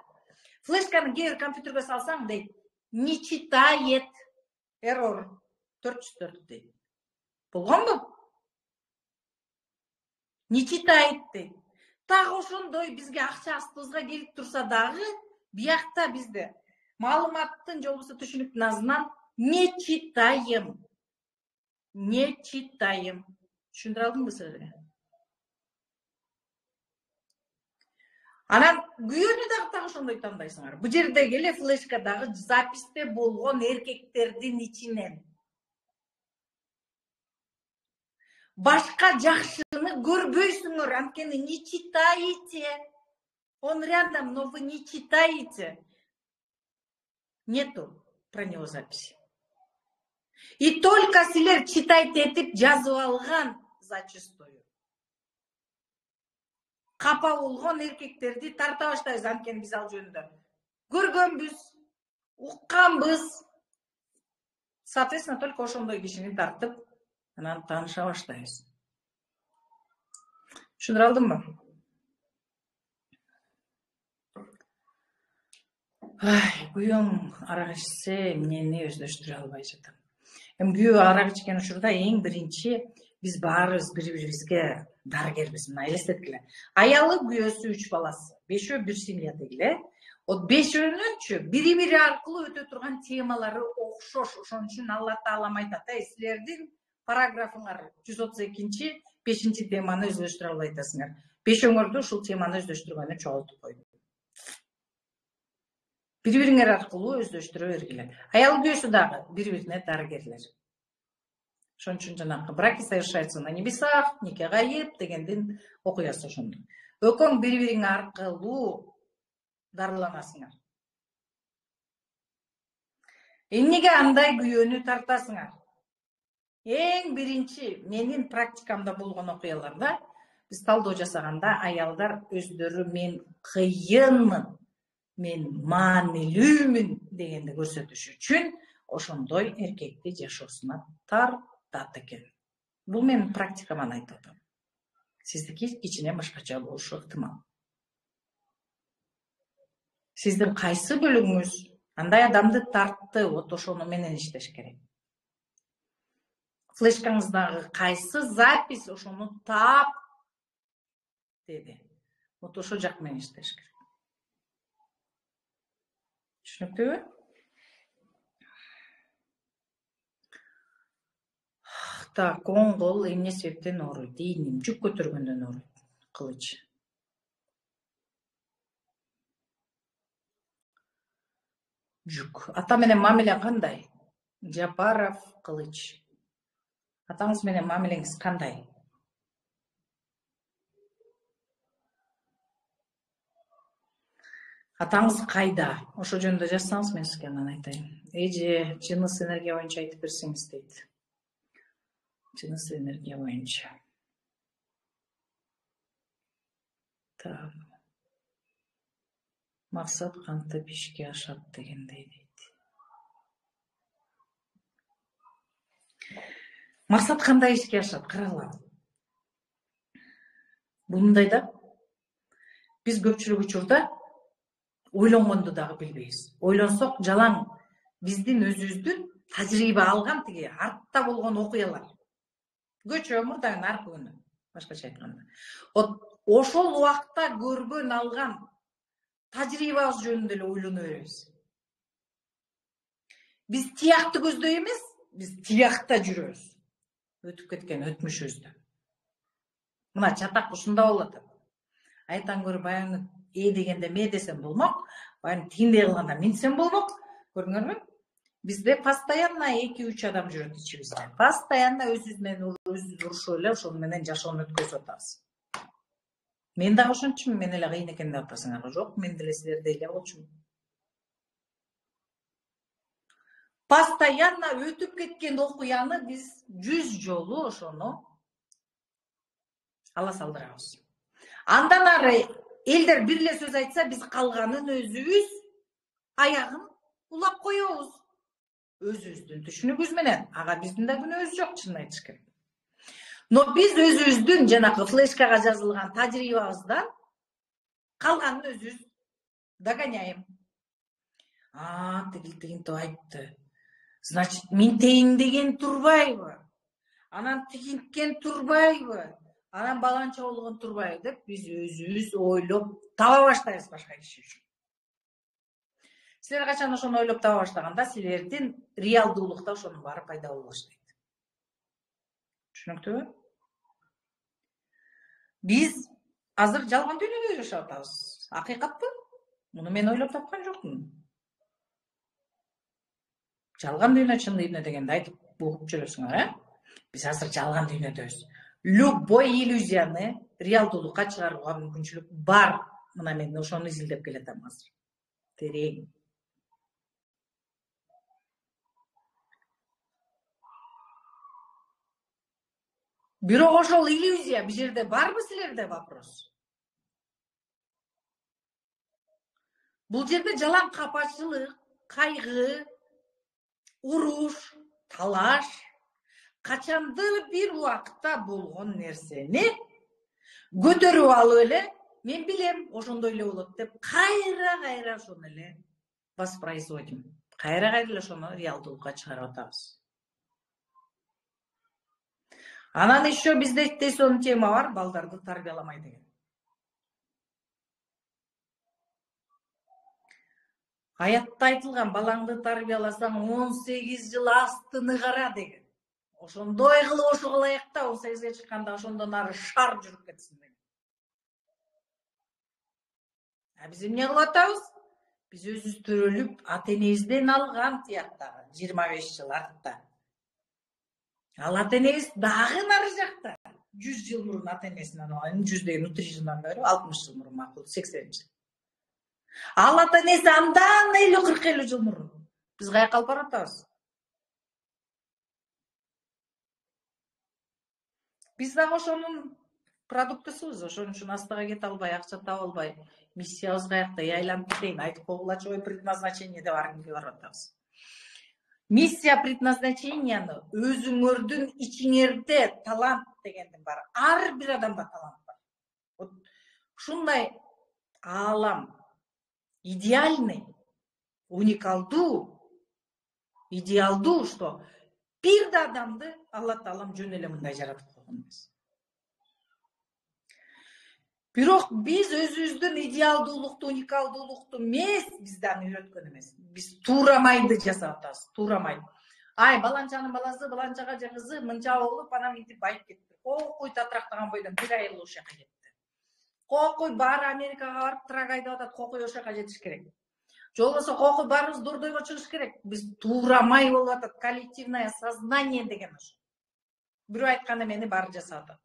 Флешканы кээ бир компьютерге салсаң дейт, не читает, error 404 дейт. Болгонбу? Не читает дейт. Так ошондой бизге акча астыбызга келип турса дагы, биякта бизде маалыматтын же болбосо түшүнүктүн азынан не читаем. Не читаем. Түшүндүрө алдымбы силерге? Анан күйөөнү дагы так ошондой тандайсыңар. Бул жердеги эле флешкадагы записте болгон эркектердин ичинен башка жакшыны көрбөйсүңөр, анткени не читаете. Он рядом, но вы не читаете. Нету про него записи. И только силер читайте этип жазып алган зачастую. Капа болгон эркектерди тарта баштайбыз, анткени биз ал жөнүндө көргөнбүз, укканбыз. Соответственно, только ошондой кишини тартып, анан тааныша баштайбыз. Түшүндүрө алдымбы? Күйөөм арак ичсе, мени өздөштүрө албай жатам. Эми күйөө арак ичкен учурда эң биринчи биз баарыбыз бири-бирибизге дарыгербиз. Мына элестеткиле. Аялы, күйөөсү, 3 баласы. 5өө бир семья дегиле. Вот 5өөнүнчү бири-бири аркылуу өтө турган темалары окшош. Ошон үчүн Алла Таалам айтат: силердин параграфыңар 132-5 теманы өздөштүрө албай атасыңар. 5өңөрдү ушул теманы өздөштүргөнү чогултуп койду. Бири-бириңер аркылуу өздөштүрө бергиле. Аял күйөөсү дагы бири-бирине дарыгерлер. Ошон үчүн жанагы браки совершаются на небесах, нике гайып дегендин окуясы ошондой. Экөөң бири-бириң аркылуу дарыланасыңар. Эмнеге андай күйөөнү тартасыңар? Эң биринчи менин практикамда болгон окуяларда биз талдоо жасаганда аялдар өздөрү мен кыйынмын, мен маанилүүмүн дегенди көрсөтүш үчүн ошондой эркекти жашоосуна тартат экен. Бул менин практикаман айтып атам. Сиздики кичине башкача болушу ыктымал. Сиздин кайсы бөлүгүңүз андай адамды тартты, вот ошону менен иштеш керек. Флешкаңыздагы кайсы запись ошону таап деди. Вот ошол жак менен иштеш керек. Түшүнүктүүбү? Так, оң кол эмне себептен ооруйт? Ийним жүк көтөргөндөн ооруйт. Кылыч. Жүк. Ата менен мамиле кандай? Жапаров Кылыч. Атаңыз менен мамилеңиз кандай? Атаңыз кайда? Ошо жөнүндө жазсаңыз мен сизге анан айтайын. Эже жыныс энергия боюнча айтып берсеңиз дейт. Жыныс энергия боюнча. Так. Максат кантип ишке ашат дегендей дейт. Максат кандай ишке ашат? Карагыла. Бул мындай да. Биз көпчүлүк учурда ойлонгонду дагы билбейбиз. Ойлонсок жалаң биздин өзүбүздүн тажрыйба алган тиги артта болгон окуялар. Көчө мурдагы аркы күнү, башкача айтканда. Вот ошол убакта көргөн алган тажрыйбабыз жөнүндө эле ойлоно беребиз. Биз тиякты көздөй эмес, биз тиякта жүрөбүз. Өтүп кеткен өтмүшүбүздө. Мына чатак ушунда болот. Айтан көрүп баягы дегенде ме десем болмок, баягы тигиндей кылганда минсем болмок. Көрдүңөрбү? Бизде постоянно 2-3 адам жүрөт ичибизде. Постоянно өзүбүз менен өзүбүз урушуп эле ошол менен жашоону өткөзүп атабыз. Мен дагы ошончумун, мен эле кыйын экен деп атасыңарбы? Жок, мен деле силердей эле болчумун. Постоянно өтүп кеткен окуяны биз 100 жолу ошону ала салдырабыз. Андан ары элдер бир эле сөз айтса, биз калганын өзүбүз аягын улап коебуз. Өзүбүздүн түшүнүгүбүз менен. Ага биздин да күнөөбүз жок, чынын айтыш керек. Но биз өзүбүздүн жанакы флешкага жазылган тажрыйбабыздан калганын өзүбүз догоняем. Тигинтип айтты. Значит, минтейин деген турбайбы? Анан тигинткен турбайбы? Анан баланча болгон турбайбы деп биз өзүбүз ойлоп таба баштайбыз башка киши үчүн. Силер качан ошону ойлоп таба баштаганда, силердин реалдуулукта ошонун баары пайда боло баштайт. Түшүнүктүүбү? Биз азыр жалган дүйнөдө жашап атабыз. Акыйкатпы? Муну мен ойлоп тапкан жокмун. Жалган дүйнө, чын дүйнө дегенди айтып угуп жүрөсүңөр, Биз азыр жалган дүйнөдөбүз. Любой иллюзияны реалдуулукка чыгарууга мүмкүнчүлүк бар. Мына мен ошону изилдеп келатам азыр. Терең. Бирок ошол иллюзия бул жерде барбы силерде вопрос? Бул жерде жалаң капачылык, кайгы, уруш, талаш, качандыр бир убакта болгон нерсени көтөрүп алып эле, мен билем, ошондой эле болот деп, кайра ошону эле воспроизводим. Кайра эле ошону реалдуулукка чыгарып атабыз. Анан еще бизде тесоон тема бар, балдарды тарбияламай деген. Аятта айтылган, балаңды тарбияласаң 18 жыл астыны кара деген. Ошондой кылып ошо кылайык да 18-ге чыкканда ошондон ары шар жүрүп кетсин деген. Биз эмне кылып атабыз? Биз өзүбүз төрөлүп, ата-энебизден алган тияктагы 25 жыл артта. Ал ата-энебиз дагы нары жакта. 100 жыл мурун ата-энесинен алган, 100 деген 30 жылдан бери 60 жыл мурун макул, 80 жыл. Ал ата-энеси андан 50-40 жыл мурун. Биз каяка алып баратабыз? Биз дагы ошонун продуктысыбыз, ошон үчүн астыга кете албай, акча таба албай, миссиябыз каякта, айланып кетейин, айтып койгулачы, ой, предназначение деп ар кимге барып атабыз. Миссия, предназначенияны өзүңөрдүн ичиңерде талант дегендин бар. Ар бир адамда талант бар. Вот ушундай аалам идеальный, уникалдуу, идеалдуу, что бир да адамды Алла Таалам жөн эле мындай жаратып койгон эмес. Бирок биз өзүбүздүн идеалдуулукту, уникалдуулукту эмес, бизден үйрөткөн эмес. Биз туурамайды жасап атабыз, туурамайды. Ай, баланчанын баласы, баланчага же кызы мынча болуп, анан мынтип байып кетти. Кокуй татрактаган бойдон бир айыл ошол жака кетти. Кокуй баары Америкага барып трак айдап атат, кокуй ошол жака жетиш керек. Же болбосо кокуй баарыбыз дордойго чыгыш керек. Биз туурамай болуп атат, коллективное сознание деген ошо. Бирөө айткан эмени баары жасап атат.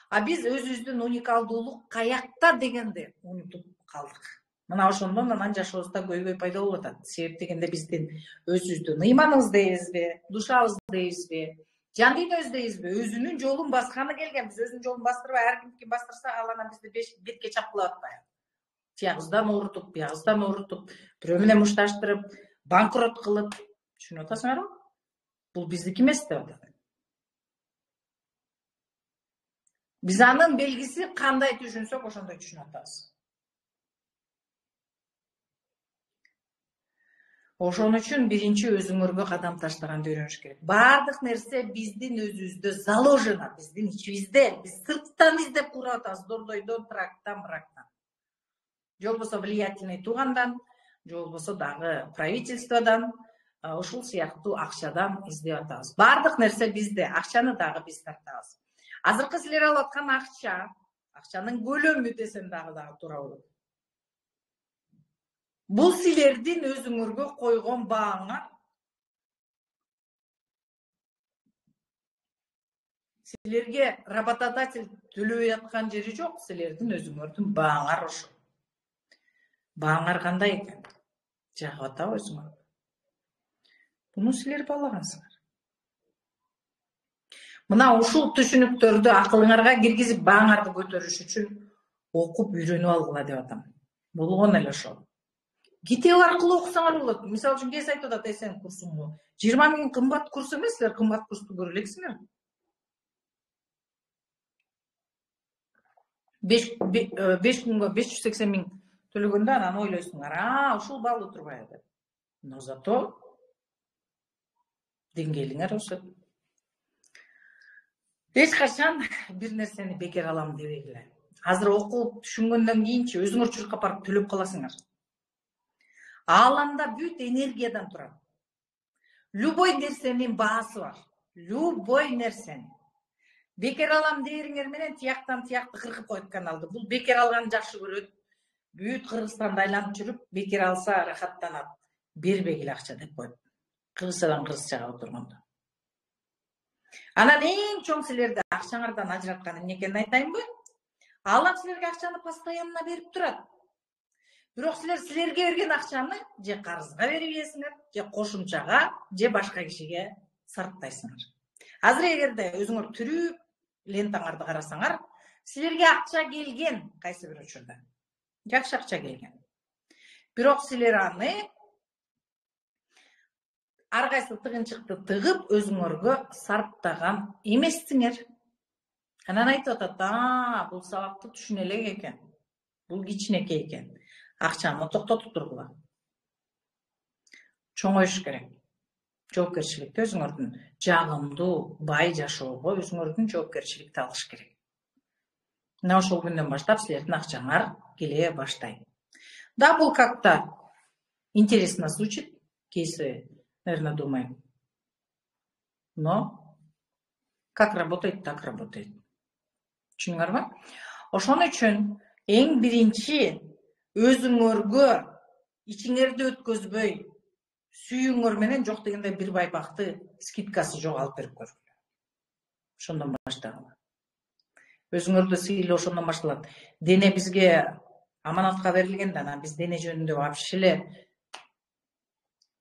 А биз өзүбүздүн уникалдуулук каякта дегенди унутуп калдык. Мына ошондон анан жашообузда көйгөй пайда болуп атат. Себеп дегенде биздин өзүбүздүн ыйманыбыз дейбизби, душабыз дейбизби, жан дүйнөбүз дейбизби, өзүнүн жолун басканы келген. Биз өзүнүн жолун бастырбай, ар кимдики бастырса, ал анан бизди бетке чапкылап атпайбы? Тиягыбыздан урутуп, биягыбыздан урутуп, бирөө менен мушташтырып, банкрот кылып, түшүнүп атасыңарбы? Бул биздики эмес деп атат. Биз анын белгиси кандай түшүнсөк, ошондой түшүнүп атабыз. Ошон үчүн биринчи өзүңөргө кадам таштаганды үйрөнүш керек. Баардык нерсе биздин өзүбүздө заложено, биздин ичибизде. Биз сырттан издеп куруп атабыз, дордойдон, трактан, брактан. Же болбосо влиятельный туугандан, же болбосо дагы правительстводон, ушул сыяктуу акчадан издеп атабыз. Баардык нерсе бизде, акчаны дагы биз тартабыз. Азыркы силер алып аткан акчанын көлөмү десем дагы туура болот. Бул силердин өзүңөргө койгон бааңар. Силерге работодатель төлөбөй аткан жери жок, силердин өзүңөрдүн бааңар ошо. Бааңар кандай экен? Жагып атабы өзүңөр? Буну силер баалагансыңар. Мына ушул түшүнүктөрдү акылыңарга киргизип, бааңарды көтөрүш үчүн окуп үйрөнүп алгыла деп атам. Болгон эле ошол. Китеп аркылуу окусаңар болот. Мисалы үчүн кез айтып атат, сен курсуңду 20 миң кымбат курс эмес, силер кымбат курсту көрө элексиңер. 5 күнгө 580 миң төлөгөндө анан ойлойсуңар, ушул баалуу турбайбы деп. Но зато деңгээлиңер өсөт. Эч качан бир нерсени бекер алам дебегиле. Азыр окуп түшүнгөндөн кийинчи өзүңөр чуркап барып төлөп каласыңар. Ааламда бүт энергиядан турат. Любой нерсенин баасы бар. Любой нерсени. Бекер алам дээриңер менен тияктан тиякты кыркып коет каналды. Бул бекер алганды жакшы көрөт. Бүт Кыргызстанды айланып жүрүп, бекер алса рахаттанат. Бербегиле акча деп коет. Кыргызчадан кыргызчага отургондо. Анан эң чоң силерди акчаңардан ажыраткан эмне экенин айтайынбы? Алам силерге акчаны постоянно берип турат. Бирок силерге берген акчаны же карызга берип ийесиңер, же кошумчага, же башка кишиге сарптайсыңар. Азыр эгерде өзүңөр түрүп лентаңарды карасаңар, силерге акча келген кайсы бир учурда. Жакшы акча келген. Бирок силер аны ар кайсы тыгынчыкты тыгып өзүңөргө сарптаган эмессиңер. Анан айтып атат, бул сабакты түшүнө элек экен. Бул кичинекей экен. Акчаны токтотуп тургула. Чоңоюш керек. Жоопкерчиликти өзүңөрдүн жагымдуу, бай жашоого өзүңөрдүн жоопкерчиликти алыш керек. Мына ошол күндөн баштап силердин акчаңар келе баштайт. Да, бул как-то интересно звучит, кейси, наверное, думаем. Но как работает, так работает. Түшүнүңөрбү? Ошон үчүн эң биринчи өзүңөргө ичиңерди өткөзбөй, сүйүүңөр менен жок дегенде бир байпакты скидкасы жок алып берип көргүлө. Ошондон баштагыла. Өзүңөрдү сыйлоо ошондон башталат. Дене бизге аманатка берилгенде, анан биз дене жөнүндө вообще эле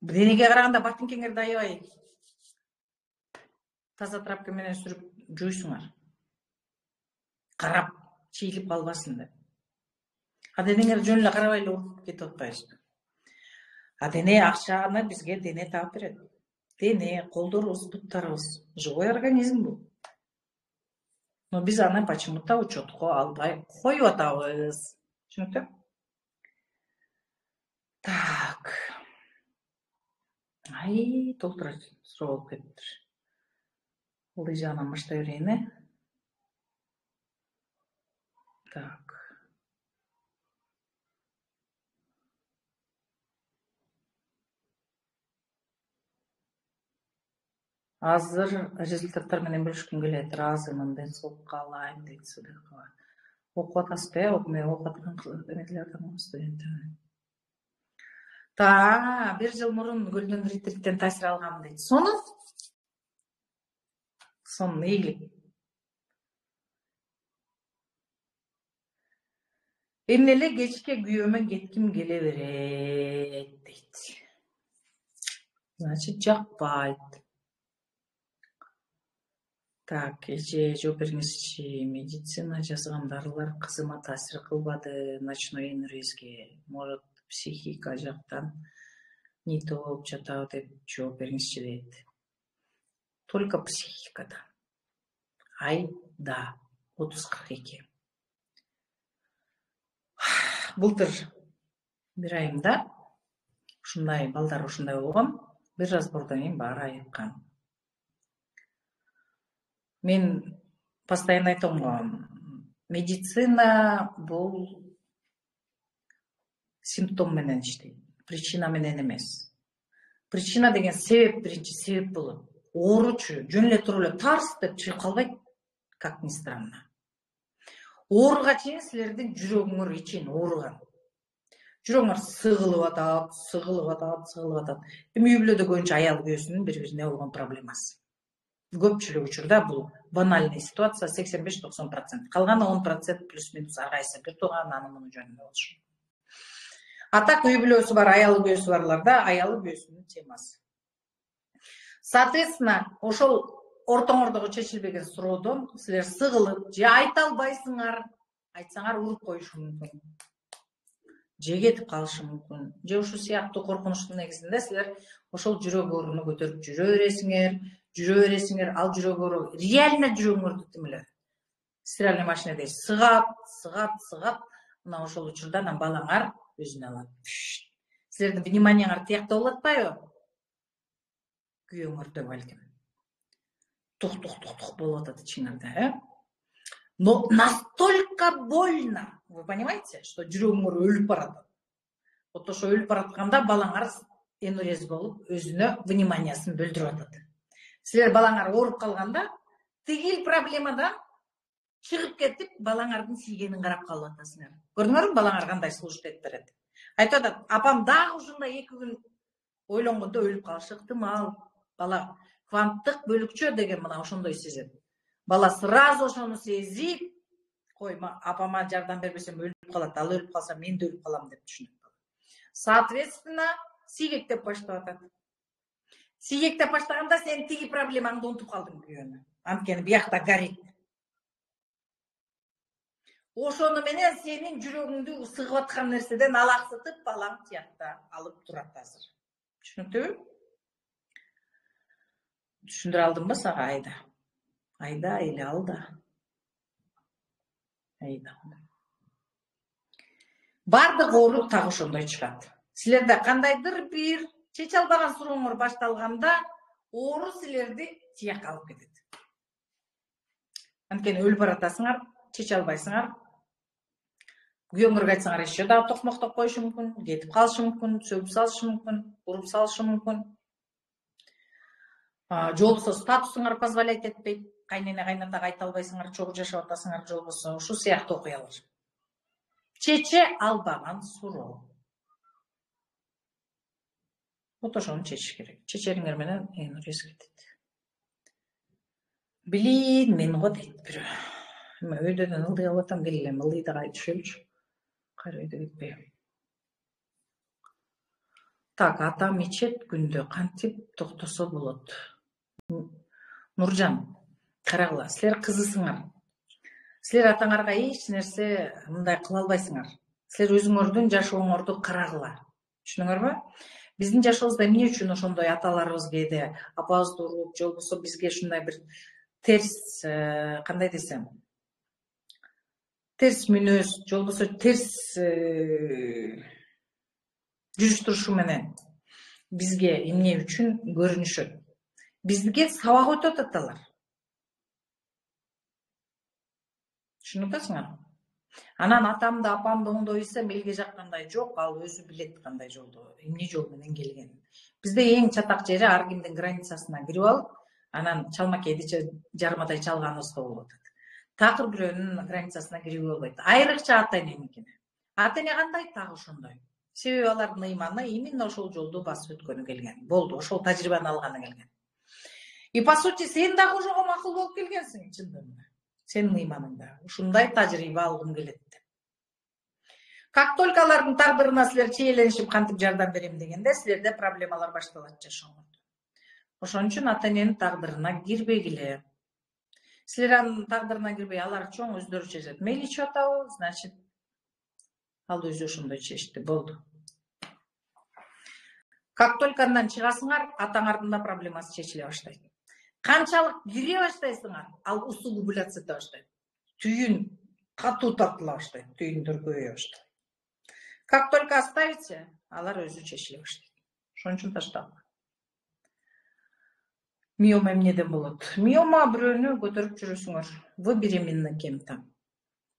денеге караганда ботинкеңерди аябай таза трапка менен сүрүп жуйсуңар. Карап, чийилип калбасын деп. Денеңер жөн эле карабай эле уруп кетип атпайбызбы? Дене акчаны бизге дене таап берет. Дене, колдорубуз, буттарыбыз живой организм бул. Но биз аны почему-то учетко албай коюп атабыз. Түшүнүктүү? Так. Толтура суроо болуп кетиптир. Ылдый жагынан баштай берейин, Так. Азыр результаттар менен бөлүшкүм келет. Ыраазымын, ден соолукка каалайм дейт Сыдыкова. Окуп атасызбы, окуп аткан эмелердин студенти. Бир жыл мурун Golden Retreat'тен таасир алгам дейт. Сонун ийгилик. Эмне эле кечке күйөөмө кетким келе берет дейт. Значит, жакпайт. Так, эже жооп бериңизчи. Медицина жазган дарылар кызыма таасир кылбады. Ночной энергияске, может, психика жактан не то болуп жатабы деп жооп бериңизчи дейт. Только психикада. Да, 30-42. Былтыр бир айымда ушундай балдар ушундай болгон. Бир разбордон кийин баары айыккан. Мен постоянно айтам го, медицина бул симптом менен иштейт, причина менен эмес. Причина деген себеп, биринчи себеп болот. Ооручу жөн эле туруп эле тарс деп чыгып калбайт, как ни странно. Ооруга чейин силердин жүрөгүңөр ичин ооруган. Жүрөгүңөр сыгылып атат. Эми үй бүлөдө көбүнчө аял күйөөсүнүн бири-бирине болгон проблемасы. Көпчүлүк учурда бул банальный ситуация 85-90%. Калган 10% плюс-минус ар кайсы бир тууган анын муну жөнүндө болушу. А так үй бүлөсү бар, аялы күйөөсү барларда аялы күйөөсүнүн темасы. Соответственно, ошол ортоңордогу чечилбеген суроодон силер сыгылып, же айта албайсыңар, айтсаңар уруп коюшу мүмкүн. Же кетип калышы мүмкүн. Же ушул сыяктуу коркунучтун негизинде силер ошол жүрөк ооруну көтөрүп жүрө бересиңер, ал жүрөк оору реально жүрөгүңөрдү тим эле стиральный машинеде сыгат, мына ошол учурда анан балаңар өзүнө алат. Силердин вниманияңар тиякта болуп атпайбы? Күйөөңөрдө балким. Тух болуп атат ичиңерде, Но настолько больно, вы понимаете, что жүрөгүңөр өлүп баратат. Вот ошо өлүп баратканда балаңар энурез болуп, өзүнө вниманиясын бөлдүрүп атат. Силер балаңар ооруп калганда, тигил проблемадан чыгып кетип, балаңардын тийгенин карап калып атасыңар. Көрдүңөрбү, балаңар кандай слушать берет. Айтып атат, апам дагы ушундай 2 күн ойлонгондо өлүп калышы ыктымал. Бала кванттык бөлүкчө деген мына ошондой сезет. Бала сразу ошону сезип, кой, апама жардам бербесем өлүп калат, ал өлүп калса мен да өлүп калам деп түшүнөт. Соответственно, сийгектеп баштап атат. Сийгектеп баштаганда сен тиги проблемаңды унутуп калдың күйөөнү. Анткени биякта горит. Ошону менен сенин жүрөгүңдү сыгып аткан нерседен алаксытып, балаң тиякта алып турат азыр. Түшүнүктүүбү? Түшүндүрө алдымбы сага? Айда или алда. Бардык оору так ошондой чыгат. Силерде кандайдыр бир чече албаган сурооңор башталганда, оору силерди тияка алып кетет. Анткени өлүп баратасыңар, чече албайсыңар. Күйөөңөргө айтсаңар еще да токмоктоп коюшу мүмкүн, кетип калышы мүмкүн, сөгүп салышы мүмкүн, уруп салышы мүмкүн. Жолбосо статусуңар позволять этпейт. Кайнене кайнатага айта албайсыңар, чогуу жашап атасыңар жолбосо. Ушул сыяктуу окуялар. Чече албаган суроо. Вот ошону чечиш керек. Чечериңер менен энурез кетет. Билин, мен го дейт бирөө. Эми өйдөдөн ылдый алып атам, келе элем ылдый да кайтышыбычы. Кайра өйдө кетпей. Так, атам ичет күндө кантип токтосо болот? Нуржан, карагыла, силер кызысыңар. Силер атаңарга эч нерсе мындай кыла албайсыңар. Силер өзүңөрдүн жашооңорду карагыла. Түшүнүңөрбү? Биздин жашообузда эмне үчүн ошондой аталарыбыз кээде апабызды уруп, жолбосо бизге ушундай бир терс, кандай десем, терс мүнөз, жолбосо терс жүрүш-турушу менен бизге эмне үчүн көрүнүшөт? Бизге сабак өтөт аталар. Түшүнүп атасыңар? Анан атамды, апамды оңдой билсем, элге жаккандай жок, ал өзү билет кандай жолдо, эмне жол менен келгенин. Бизде эң чатак жери ар кимдин границасына кирип алып, анан чалмакейди жармадай чалганыбызга болуп атат. Такыр бирөөнүн границасына кирип болбойт. Айрыкча ата эненикине. Ата эне кандай так ошондой. Себеби алардын ыйманы именно ошол жолду басып өткөнү келген. Болду, ошол тажрыйбаны алганы келген. И по сути сен дагы ошого макул болуп келгенсиң, чындыгында. Сенин ыйманыңда ушундай тажрыйба алгым келет деп. Как только алардын тагдырына силер чейленишип кантип жардам берем дегенде, силерде проблемалар башталат жашооңордо. Ошон үчүн ата эненин тагдырына кирбегиле. Силер анын тагдырына кирбей, алар чоң өздөрү чечет. Мейли ичип атабы, значит, ал өзү ошондой чечти, болду. Как только андан чыгасыңар, атаңардын да проблемасы чечиле баштайт. Канчалык кире баштайсыңар, ал усугубляться эте баштайт. Түйүн катуу тартыла баштайт, түйүндөр көбөйө баштайт. Как только оставите, алар өзү чечиле баштайт. Ошон үчүн таштап. Миома эмнеден болот? Миома бирөөнү көтөрүп жүрөсүңөр. Вы беременны кем-то.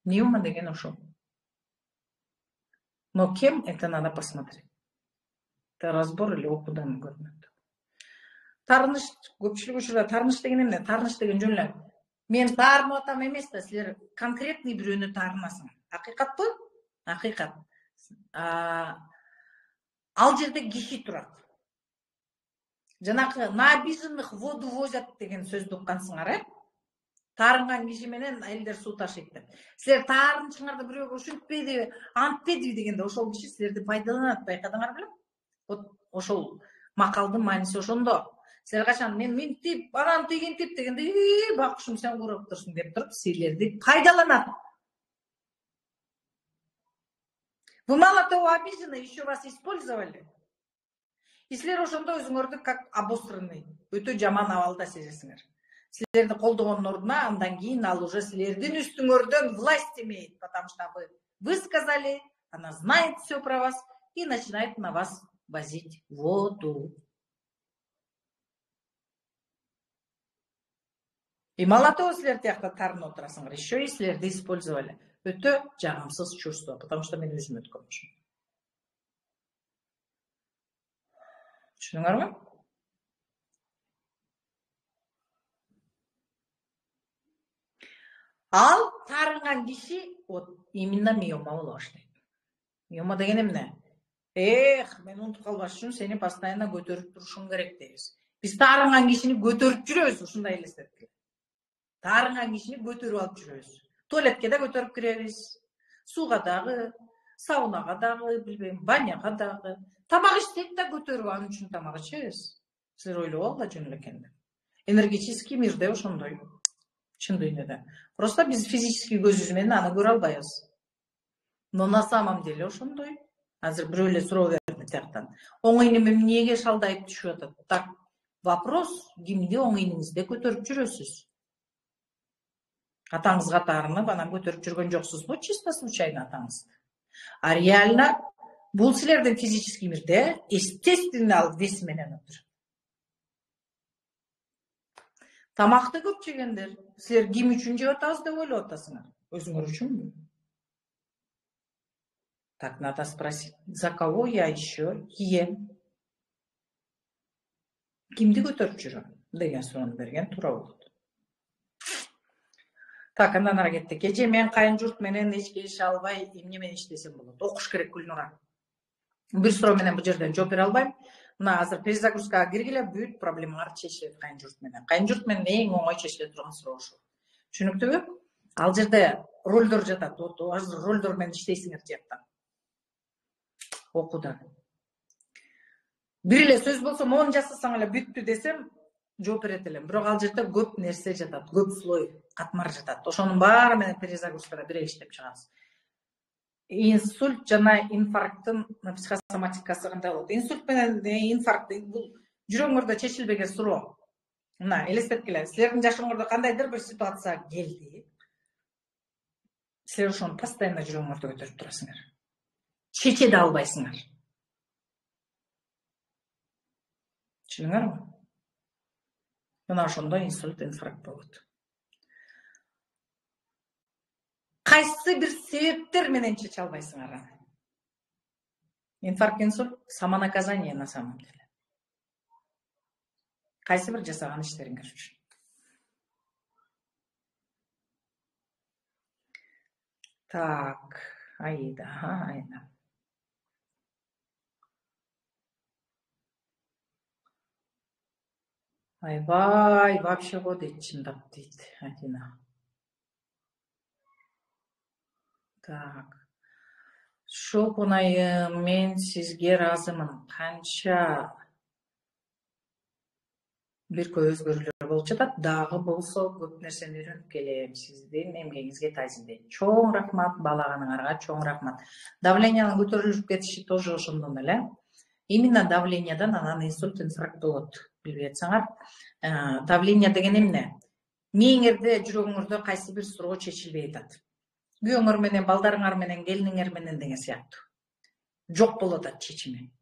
Миома деген ошол. Но кем, это надо посмотреть. Это разбор или окуудан көрүнөт. Таарыныш, көпчүлүк учурда таарыныш деген эмне? Таарыныш деген жөн эле. Мен таарынып атам эмес да, силер конкретный бирөөнү таарынасың. Акыйкатпы? Акыйкат. Ал жерде киши турат. Жанакы на обиженных воду возят деген сөздү уккансыңар, Таарынган киши менен элдер суу ташыйт деп. Силер таарынышыңарды бирөөгө ушинтпеди, антпеди дегенде ошол киши силерди пайдаланат, байкадыңар белем? Вот ошол макалдын мааниси ошондо. Силер качан мен минтип, анан тигинтип дегенде, бакушум сен курап турсуң деп туруп силерди пайдаланат. Вы мало того обижены, еще вас использовали. И силер ошондо өзүңөрдү как обосранный, өтө жаман абалда сезесиңер. Силерди колдогондун ордуна андан кийин ал уже силердин үстүңөрдөн власть имеет, потому что вы высказали, она знает все про вас и начинает на вас возить воду. И мало того, силер тиякта таарынып отурасыңар, еще и силерди использовали. Өтө жагымсыз чувство, потому что мен өзүм өткөн ушун. Түшүнүңөрбү? Ал таарынган киши вот именно миома боло баштайт. Миома деген эмне? Мен унутуп калбаш үчүн сени постоянно көтөрүп турушуң керек дейбиз. Биз таарынган кишини көтөрүп жүрөбүз, ушундай элестеткиле. Таарынган кишини көтөрүп алып жүрөбүз. Туалетке да көтөрүп киребиз. Сууга дагы, саунага дагы, билбейм, баняга дагы. Тамак ичсек да көтөрүп анын үчүн тамак ичебиз. Силер ойлогол да жөн эле экен деп. Энергетический мирде ошондой. Чын дүйнөдө. Просто биз физический көзүбүз менен аны көрө албайбыз. Но на самом деле ошондой. Азыр бирөө эле суроо берди тияктан. Оң ийнем эмнеге шалдайып түшүп атат? Так, вопрос, кимди оң ийниңизде көтөрүп жүрөсүз? Атаңызга таарынып, анан көтөрүп жүргөн жоксузбу? Чисто случайно атаңызды. А реально бул силердин физический мирде естественно ал вес менен отурат. Тамакты көп жегендер, силер ким үчүн жеп атабыз деп ойлоп атасыңар? Өзүңөр үчүнбү? Так, надо спросить, за кого я еще ем? Кимди көтөрүп жүрөм деген суроону берген туура болот. Так, андан ары кеттик. Эже мен кайын журт менен эчке ише албай, эмне менен иштесем болот? Окуш керек Гүлнура. Бир суроо менен бул жерден жооп бере албайм. Мына азыр перезагрузкага киргиле, бүт проблемалар чечилет кайын журт менен. Кайын журт менен эң оңой чечиле турган суроо ушул. Түшүнүктүүбү? Ал жерде ролдор жатат. Азыр ролдор менен иштейсиңер тияктан. Окуудан. Бир эле сөз болсо, моуну жасасаң эле бүттү десем, жооп берет элем. Бирок ал жерде көп нерсе жатат, көп слой, катмар жатат. Ошонун баары менен перезагрузкада бир эле иштеп чыгабыз. Инсульт жана инфаркттын психосоматикасы кандай болот? Инсульт менен инфаркт бул жүрөгүңөрдө чечилбеген суроо. Мына, элестеткиле, силердин жашооңордо кандайдыр бир ситуация келди. Силер ошону постоянно жүрөгүңөрдө көтөрүп турасыңар. Чече да албайсыңар. Түшүнүңөрбү? Мына ошондо инсульт, инфаркт болот. Кайсы бир себептер менен чече албайсыңар аны? Инфаркт, инсульт самонаказание на самом деле. Кайсы бир жасаган иштериңер үчүн. Так, Аида. Айбай, вообще го дейт, чындап дейт Адина. Так. Шопун айым, мен сизге ыраазымын. Канча бир өзгөрүүлөр болуп жатат, дагы болсо көп нерсени үйрөнүп келем. Сиздин эмгегиңизге таазимдейт. Чоң рахмат, баалаганыңарга чоң рахмат. Давлениянын көтөрүлүп кетиши тоже ошондон эле. Именно давлениядан анан инсульт, инфаркт болот. Билбей жатсаңар, давление деген эмне? Мээңерде, жүрөгүңөрдө кайсы бир суроо чечилбей атат. Күйөөңөр менен, балдарыңар менен, келиниңер менен деген сыяктуу. Жок болуп атат чечими.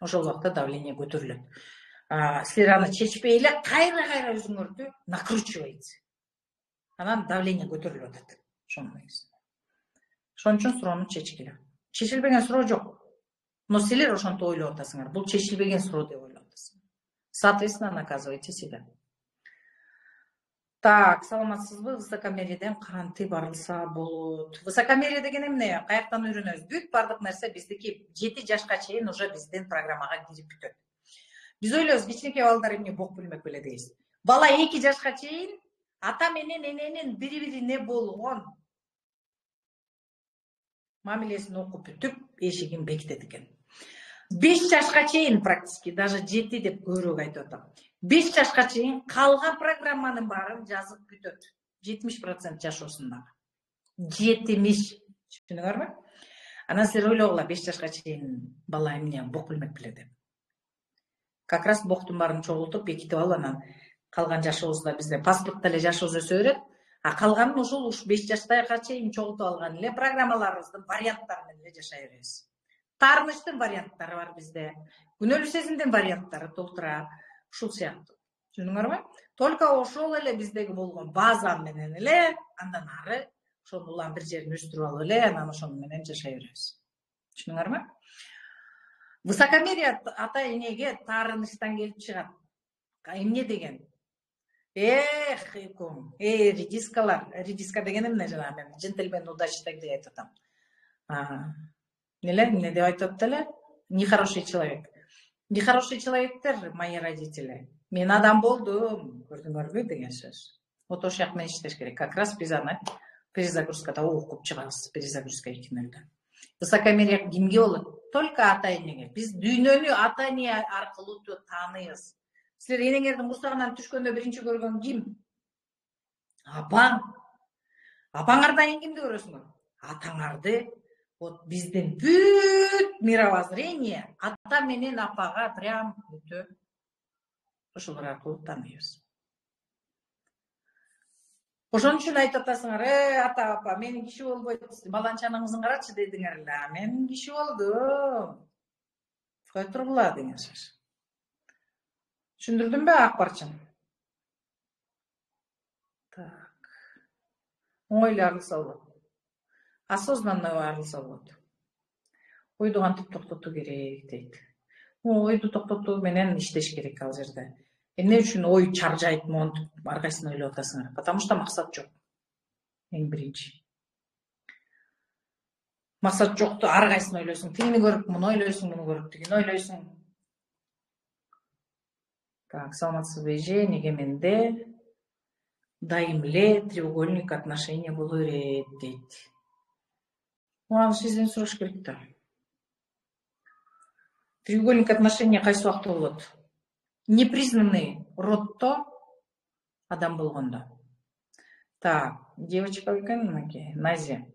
ошол убакта давление көтөрүлөт. Силер аны чечпей эле кайра өзүңөрдү накручиваете. Анан давление көтөрүлүп атат. Ошон үчүн суроону чечкиле. Чечилбеген суроо жок. Но силер ошентип ойлоп атасыңар. Бул чечилбеген суроо деп ойлоп атасыңар. Соответственно, наказывайте себя. Так, саламатсызбы? Высокомериеден кантип арылса болот? Высокомерие деген эмне? Каяктан үйрөнөбүз? Бүт бардык нерсе биздики 7 жашка чейин уже биздин программага кирип бүтөт. Биз ойлойбуз, кичинекей балдар эмне бок билмек беле дейбиз. Бала 2 жашка чейин ата менен эненин бири-бирине болгон мамилесин окуп бүтүп, эшигин бекитет экен. 5 жашка чейин практически, даже 7 деп көбүрөөк айтып атам. 5 жашка чейин калган программанын баарын жазып бүтөт. 70% жашоосунда. 70. Түшүнүңөрбү? Анан силер ойлогула, 5 жашка чейин бала эмне бок билмек беле деп. Как раз боктун баарын чогултуп, бекитип алып, анан калган жашообузда бизде паспортто эле жашообуз өсө берет. Калганын ушул 5 жаштайга чейин чогултуп алган эле программаларыбыздын варианттары менен эле жашай беребиз. Таарынычтын варианттары бар бизде. Күнөөлүү сезимдин варианттары толтура. Ушул сыяктуу. Түшүндүңөрбү? Только ошол эле биздеги болгон база менен эле андан ары ошол улам бир жерин өстүрүп алып эле анан ошол менен жашай беребиз. Түшүндүңөрбү? Высокомерие ата энеге таарынычтан келип чыгат. Эмне деген? Редискалар. Редиска деген эмне жана мен джентльмен удачник деп айтып атам. Эмне деп айтып атты эле? Нехороший человек. Нехороший человектер, мои родители. Мен адам болдум, көрдүңөрбү деген сөз. Вот ошол жак менен иштеш керек. Как раз биз аны перезагрузкада окуп чыгабыз. Перезагрузка 2.0. Высокомерие кимге болот? Только ата энеге. Биз дүйнөнү ата эне аркылуу тааныйбыз. Силер энеңердин курсагынан түшкөндө биринчи көргөн ким? Апаң. Апаңардан кимди көрөсүңөр? Атаңарды. Вот биздин бүт мировоззрение ата менен апага прям өтө ошолор аркылуу тааныйбыз. Ошон үчүн айтып атасыңар, ата апа, менин киши болбойт, баланчаныңыздын карачы дедиңер эле. Мен киши болдум. Кой тургула деген сөз. Түшүндүрдүмбү Акбарчын? Так. Оңой эле арылса болот. Осознанно арылса болот. Ойду кантип токтотуу керек дейт. Ойду токтотуу менен иштеш керек ал жерде. Эмне үчүн ой чаржайт монтип ар кайсысын ойлоп атасыңар? Потому что максат жок. Эң биринчи. Максат жокту ар кайсысын ойлойсуң. Тигини көрүп, муну ойлойсуң, муну көрүп, тигини ойлойсуң. Так, саламатсызбы эже, неге менде дайым эле треугольник отношения боло берет дейт. Аны сизден сураш керек да. Треугольник отношения кайсы убакта болот? Непризнанный родто адам болгондо. Так, девочка экен мынакей, Назия.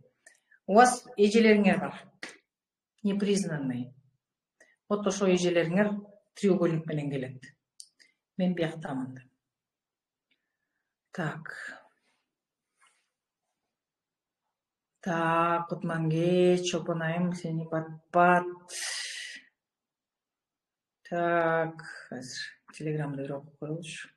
У вас эжелериңер бар. Непризнанный. Вот ошо эжелериңер треугольник менен келет. Мен бияктамын. Так. Так, Кутманге, Чопонайым, сени пат-пат. Так, телеграмда бир окуп коелучу.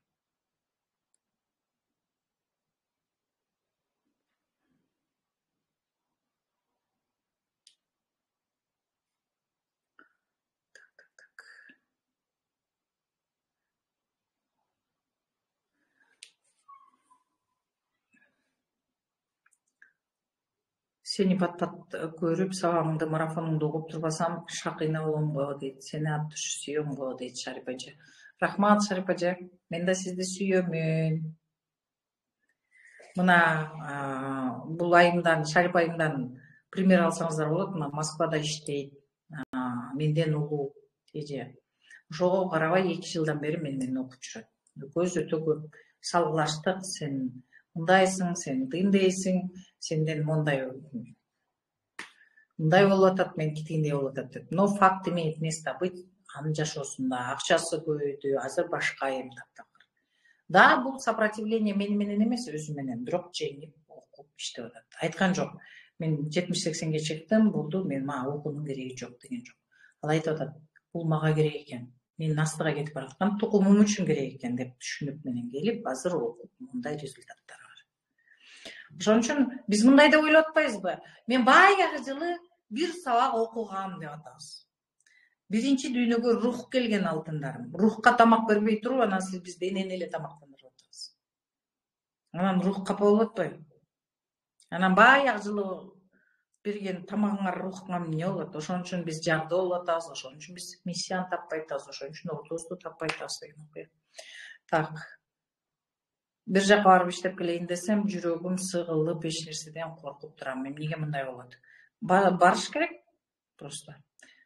Сени пат-пат көрүп, сабагыңды, марафонуңду окуп турбасам, шакыйна болом го дейт. Сени аты сүйөм го дейт Шарипа эже. Рахмат, Шарипа эже. Мен да сизди сүйөмүн. Мына бул айымдан, Шарипа айымдан пример алсаңыздар болот. Мына Москвада иштейт. Менден улуу эже. Ошого карабай 2 жылдан бери менен окуп жүрөт. Көз өтө көп салгылаштык, сен мындайсың, сен тындайсың, сенден мындай болуп атат, мен тигиндей болуп атат деп. Но факт имеет место быть. Анын жашоосунда акчасы көбөйдү, азыр башка эм таптакыр. Да, бул сопротивление менен эмес, өзү менен, бирок жеңип окуп иштеп атат. Айткан жок. Мен 70-80ге чыктым, болду, мен мага окуунун кереги жок деген жок. Ал айтып атат, бул мага керек экен, мен настыга кетип бараткан тукумум үчүн керек экен деп түшүнүк менен келип азыр окуп мындай результаттар бар. Ошон үчүн биз мындай деп ойлоп атпайбызбы? Мен баягы жылы бир сабак окугам деп атабыз. Биринчи дүйнөгө рух келген алтындарым. Рухка тамак бербей туруп, анан сиз биз денени эле тамактандырып атабыз. Анан рух капа болуп атпайбы? Анан баягы жылы берген тамагыңар рухуңа эмне болот? Ошон үчүн биз жардоо болуп атабыз, ошон үчүн биз миссияны таппай атабыз, ошон үчүн ордубузду таппай атабыз деген окуя. Так. Бир жака барып иштеп келейин десем, жүрөгүм сыгылып, эч нерседен коркуп турам. Эмнеге мындай болот? Барыш керек просто.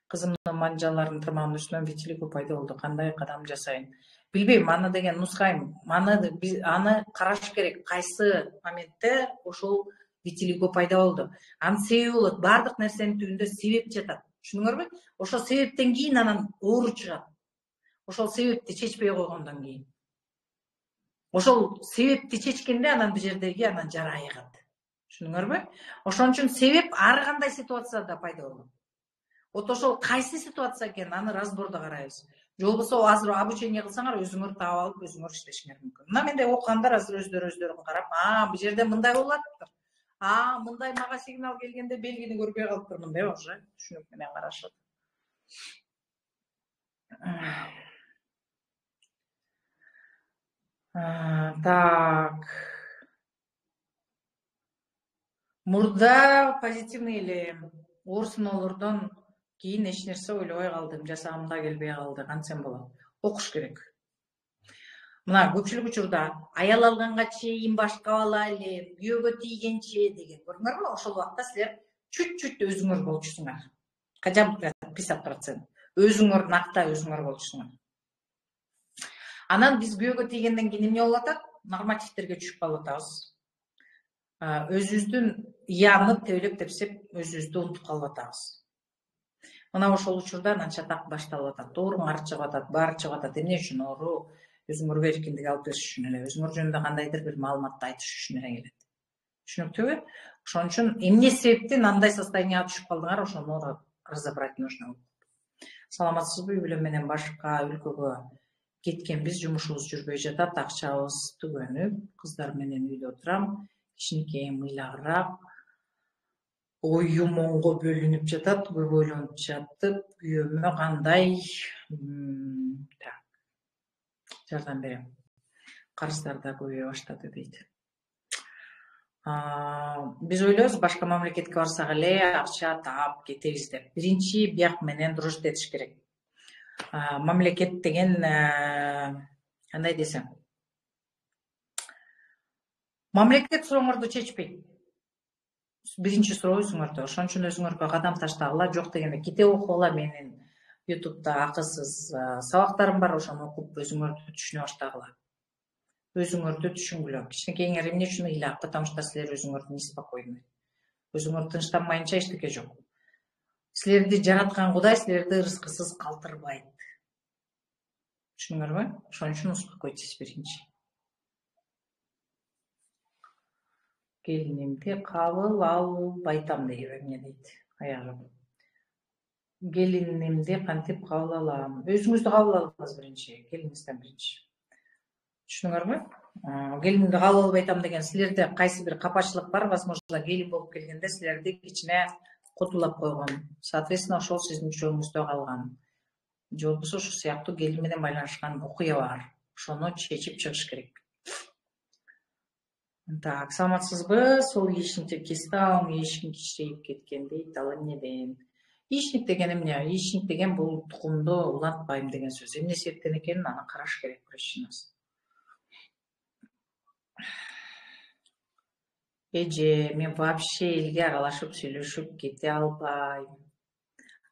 Кызымдын манжаларын тырмаган үстүнөн витилиго пайда болду. Кандай кадам жасайын? Билбейм, аны деген нускайм. Аны караш керек. Кайсы моментте ошол витилиго пайда болду. Анын себеби болот. Бардык нерсенин түбүндө себеп жатат. Түшүндүңөрбү? Ошол себептен кийин анан оору чыгат. Ошол себепти чечпей койгондон кийин. Ошол себепти чечкенде анан бул жердеги анан жара айыгат. Түшүндүңөрбү? Ошон үчүн себеп ар кандай ситуацияда пайда болот. Вот ошол кайсы ситуация экенин аны разбордо карайбыз. Же болбосо азыр обучение кылсаңар өзүңөр таап алып өзүңөр иштешиңер мүмкүн. Мына менде окугандар азыр өздөрүн карап, бул жерде мындай болуп атыптыр. Мындай мага сигнал келгенде белгини көрбөй калыптырмын деп уже түшүнүк менен карашат. Так. Мурда позитивный эле оорсуноолордон кийин эч нерсе ойлобой калдым, жасагым да келбей калды. Кантсем болот? Окуш керек. Мына көпчүлүк учурда аял алганга чейин башка бала эле, күйөөгө тийгенче деген. Көрдүңөрбү? Ошол убакта силер чуть-чуть өзүңөр болчусуңар. Хотя бы 50%. Өзүңөр накта өзүңөр болчусуңар. Анан биз күйөөгө тийгенден кийин эмне болуп атат? Нормативтерге түшүп калып атабыз. Өзүбүздүн яны тебелеп тепсеп, өзүбүздү унутуп калып атабыз. Мына ошол учурда анан чатак башталып атат. Ооруңар чыгып атат, баары чыгып атат. Эмне үчүн оору? Өзүңөргө эркиндик алып бериш үчүн эле, өзүңөр жөнүндө кандайдыр бир маалыматты айтыш үчүн эле келет. Түшүнүктүүбү? Ошон үчүн эмне себептен андай состоянияга түшүп калдыңар, ошону разобрать нужно. Саламатсызбы? Үй бүлө менен башка өлкөгө кеткенбиз, жумушубуз жүрбөй жатат, акчабыз түгөнүп, кыздар менен үйдө отурам. Кичинекей мыйлагыраак оюмонго бөлүнүп жатат, көп ойлонуп жатып, күйөөмө кандай жардам берем. Карыздар да көбөйө баштады дейт. Биз ойлойбуз башка мамлекетке барсак эле акча таап кетебиз деп. Биринчи бияк менен дружить этиш керек. Мамлекет деген кандай десем, мамлекет сурооңорду чечпейт. Биринчи суроо өзүңөрдө. Ошон үчүн өзүңөргө кадам таштагыла, жок дегенде китеп окугула. Менин YouTube'да акысыз сабактарым бар, ошону окуп өзүңөрдү түшүнө баштагыла. Өзүңөрдү түшүнгүлө. Кичинекейиңер эмне үчүн ыйлак? Потому что силер өзүңөрдү неспокойный. Өзүңөр тынчтанмайынча эчтеке жок. Силерди жараткан Кудай силерди ырыскысыз калтырбайт. Түшүндүңөрбү? Ошон үчүн успокойтесь биринчи. Келинимди кабыл албайтам дейби, эмне дейт? Аягы. Келинимди кантип кабыл алам? Өзүңүздү кабыл алыңыз биринчи, келиңизден биринчи. Түшүндүңөрбү? Келинимди кабыл албайтам деген силерде кайсы бир капачылык бар, возможно, келин болуп келгенде силерди кичине котулап койгон. Соответственно, ошол сиздин жолуңузда калган. Же болбосо ошол сыяктуу келин менен байланышкан окуя бар. Ошону чечип чыгыш керек. Так, саламатсызбы? Сол яичникти кестам, яичник кичирейип кеткен дейт. Ал эмнеден? Яичник деген эмне? Яичник деген бул тукумду улантпайм деген сөз. Эмне себептен экенин аны караш керек причинасы. Эже, мен вообще элге аралашып сүйлөшүп кете албайм.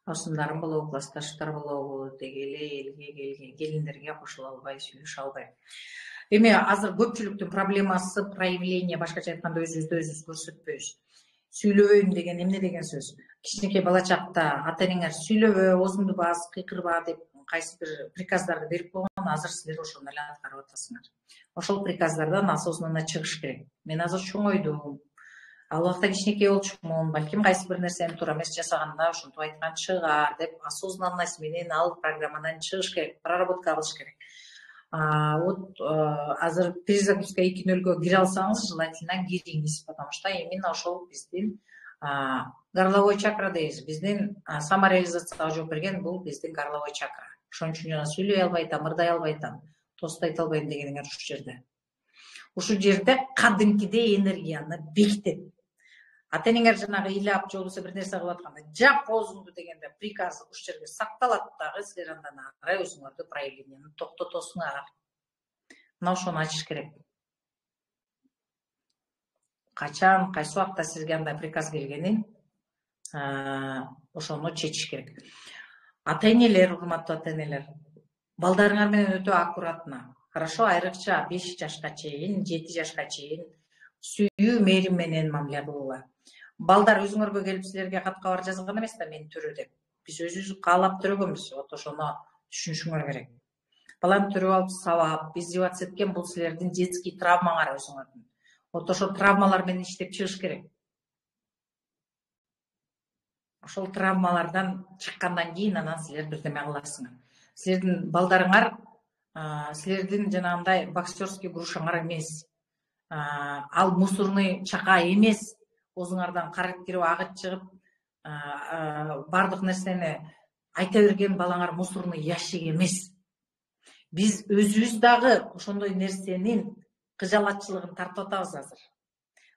Осундарым болобу, классташтар болобу, деги эле элге келген келиндерге кошула албай, сүйлөшө албайм. Эми азыр көпчүлүктүн проблемасы проявление, башкача айтканда өзүбүздү өзүбүз көрсөтпөйбүз. Сүйлөбөйм деген эмне деген сөз? Кичинекей бала чакта ата энеңер сүйлөбө, оозуңду бас, кыйкырба деп кайсы бир приказдарды берип койгон, азыр силер ошону эле аткарып атасыңар. Ошол приказдардан осознанно чыгыш керек. Мен азыр чоңойдум. Ал убакта кичинекей болчумун, балким кайсы бир нерсени туура эмес жасаганда ошентип айткан чыгар деп осознанность менен ал программадан чыгыш керек, проработка кылыш керек. Вот азыр перезагрузка 2.0 кире алсаңыз, желательно кириңиз, потому что именно ошол биздин горловой чакра дейбиз. Биздин самореализацияга жооп берген бул биздин горловой чакра. Ошон үчүн жана сүйлөй албай атам, ырдай албай атам, тост айта албайм дегениңер ушул жерде. Ушул жерде кадимкидей энергияны бекитет. Ата-энеңер жанагы ыйлап же болбосо бир нерсе кылып атканда жап оозуңду дегенде приказ ушул жерге сакталат дагы, силер андан ары өзүңөрдү проявленияны токтотосуңар. Мына ошону ачыш керек. Качан, кайсы убакта сизге андай приказ келгенин ошону чечиш керек. Ата-энелер, урматтуу ата-энелер, балдарыңар менен өтө аккуратно, хорошо, айрыкча 5 жашка чейин, 7 жашка чейин сүйүү, мээрим менен мамиле кылгыла. Балдар өзүңөргө келип силерге кат кабар жазган эмес да, мен төрө деп. Биз өзүбүз каалап төрөгөнбүз. Вот ошону түшүнүшүңөр керек. Баланы төрөп алып сабап, издеваться эткен бул силердин детский травмаңар өзүңөрдүн. Вот ошол травмалар менен иштеп чыгыш керек. Ошол травмалардан чыккандан кийин анан силер бирдеме кыласыңар. Силердин балдарыңар силердин жанагындай боксерский грушаңар эмес. Ал мусорный чака эмес. Өзүңөрдөн карып кирип, агыт чыгып, бардык нерсени айта берген балаңар мусорный ящик эмес. Биз өзүбүз дагы ошондой нерсенин кыжалатчылыгын тартып атабыз азыр.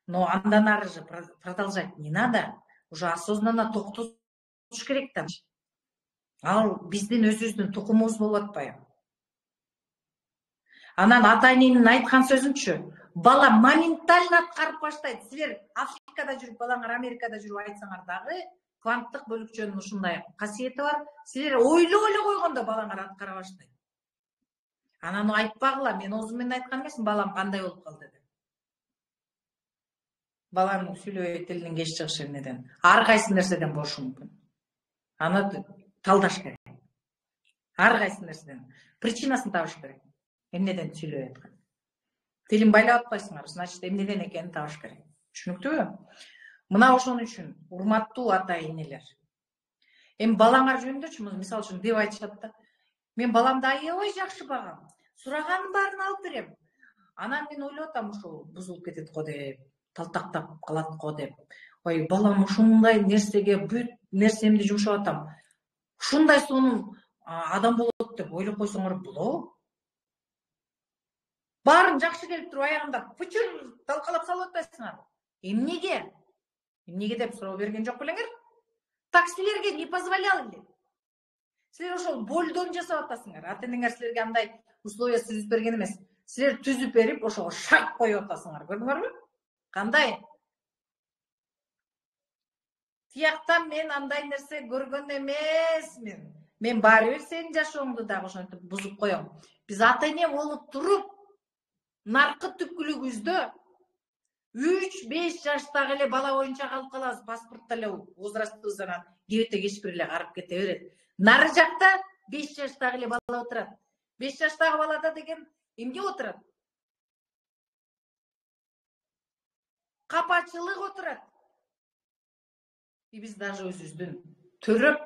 Но андан ары же продолжать не надо. Уже осознанно токтотуш керек да. Ал биздин өзүбүздүн тукумубуз болуп атпайбы? Анан ата-эненин айткан сөзүнчү, бала моментально аткарып баштайт. Силер Африкада жүрүп, балаңар Америкада жүрүп айтсаңар дагы, кванттык бөлүкчөнүн ушундай касиети бар. Силер ойлоп эле койгондо балаңар аткара баштайт. Анан айтпагыла, мен оозум менен айткан эмесмин, балам кандай болуп калды деп. Баланын сүйлөбөй тилинин кеч чыгышы эмнеден? Ар кайсы нерседен болушу мүмкүн. Аны талдаш керек. Ар кайсы нерседен. Причинасын табыш керек. Эмнеден сүйлөп аткан? Тилин байлап атпайсыңар, значит, эмнеден экенин табыш керек. Түшүнүктүүбү? Мына ошон үчүн, урматтуу ата-энелер, эми балаңар жөнүндөчү мисалы үчүн деп айтышат да. Мен баламды аябай жакшы багам. Сураганын баарын алып берем. Анан мен ойлоп атам, ушул бузулуп кетет го деп, талтактап калат го деп. Ой, балам ушундай нерсеге бүт нерсемди жумшап атам. Ушундай сонун адам болот деп ойлоп койсоңор болобу? Баарын жакшы келип туруп аягында пычыр талкалап салып атпайсыңарбы? Эмнеге? Эмнеге деп суроо берген жок белеңер? Так силерге не позволял эле. Силер ошол болдон жасап атасыңар. Ата-энеңер силерге андай условия түзүп берген эмес. Силер түзүп берип, ошого шайт коюп атасыңар. Көрдүңөрбү? Кандай? Тияктан мен андай нерсе көргөн эмесмин. Мен баары бир сенин жашооңду дагы ошентип бузуп коем. Биз ата-эне болуп туруп, наркы түпкүлүгүбүздө 3-5 жаштагы эле бала боюнча калып калабыз. Паспортто эле возрастыбыз анан кебете кеч бир эле карып кете берет. Нары жакта 5 жаштагы эле бала отурат. 5 жаштагы балада деген эмне отурат? Капачылык отурат. Биз даже өзүбүздүн төрөп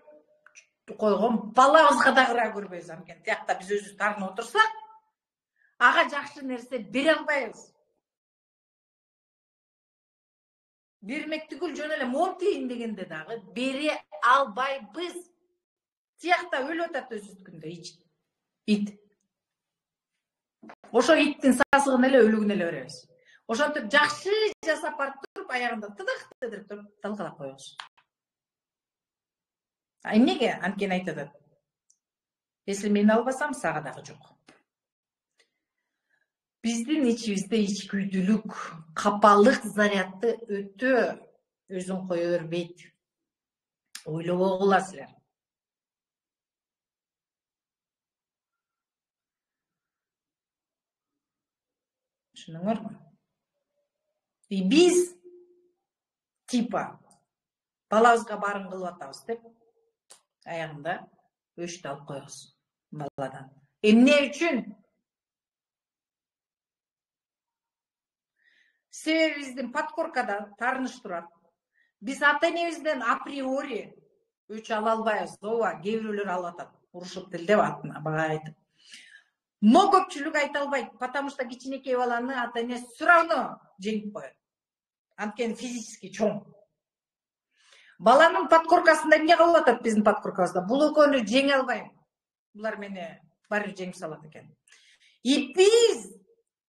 койгон балабызга да кыра көрбөйбүз. Анткени тиякта биз өзүбүз тартынып отурсак, ага жакшы нерсе бере албайбыз. Бермек түгүл жөн эле монтейин дегенде дагы бере албайбыз. Тиякта өлүп атат өзүбүздүкүндө ит. Ошо иттин сасыгын эле өлүгүн эле беребиз. Ошентип жакшы жасап барып туруп, аягында тыдык тедирип туруп талкалап коебуз. Эмнеге? Анткени айтып атат. Если мен албасам, сага дагы жок. Биздин ичибизде ичкүйдүүлүк, капалык зарядты өтө өзүн кое бербейт. Ойлобогула силер. Түшүнүңөрбү? Биз типа балабызга баарын кылып атабыз деп аягында өчтү алып коебуз баладан. Эмне үчүн? Себеби биздин подкоркада таарыныш турат. Биз ата энебизден априори өч ала албайбыз. Ооба, кээ бирөөлөр алып атат. Урушуп тилдеп атын бага айтып. Но көпчүлүк айта албайт, потому что кичинекей баланы ата эне все равно жеңип коет. Анткени физически чоң. Баланын подкоркасында эмне кылып атат биздин подкоркабызда? Бул экөөнү жеңе албайм. Булар мени баары бир жеңип салат экен. И биз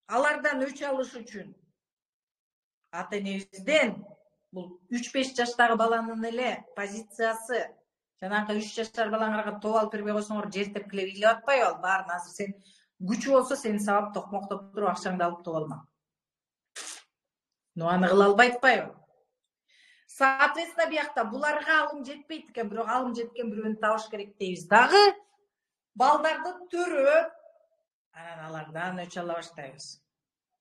алардан өч алыш үчүн ата энебизден бул 3-5 жаштагы баланын эле позициясы, жанагы 3 жаштар балаңарга топ алып бербей койсоңор жер тепкилеп ыйлап атпайбы? Ал баарын азыр сен күчү болсо сени сабап токмоктоп туруп акчаңды алып топ алма. Но аны кыла албай атпайбы? Соответственно, биякта буларга алым жетпейт экен, бирок алым жеткен бирөөнү табыш керек дейбиз дагы. Балдарды төрөп, анан алардан өч ала баштайбыз.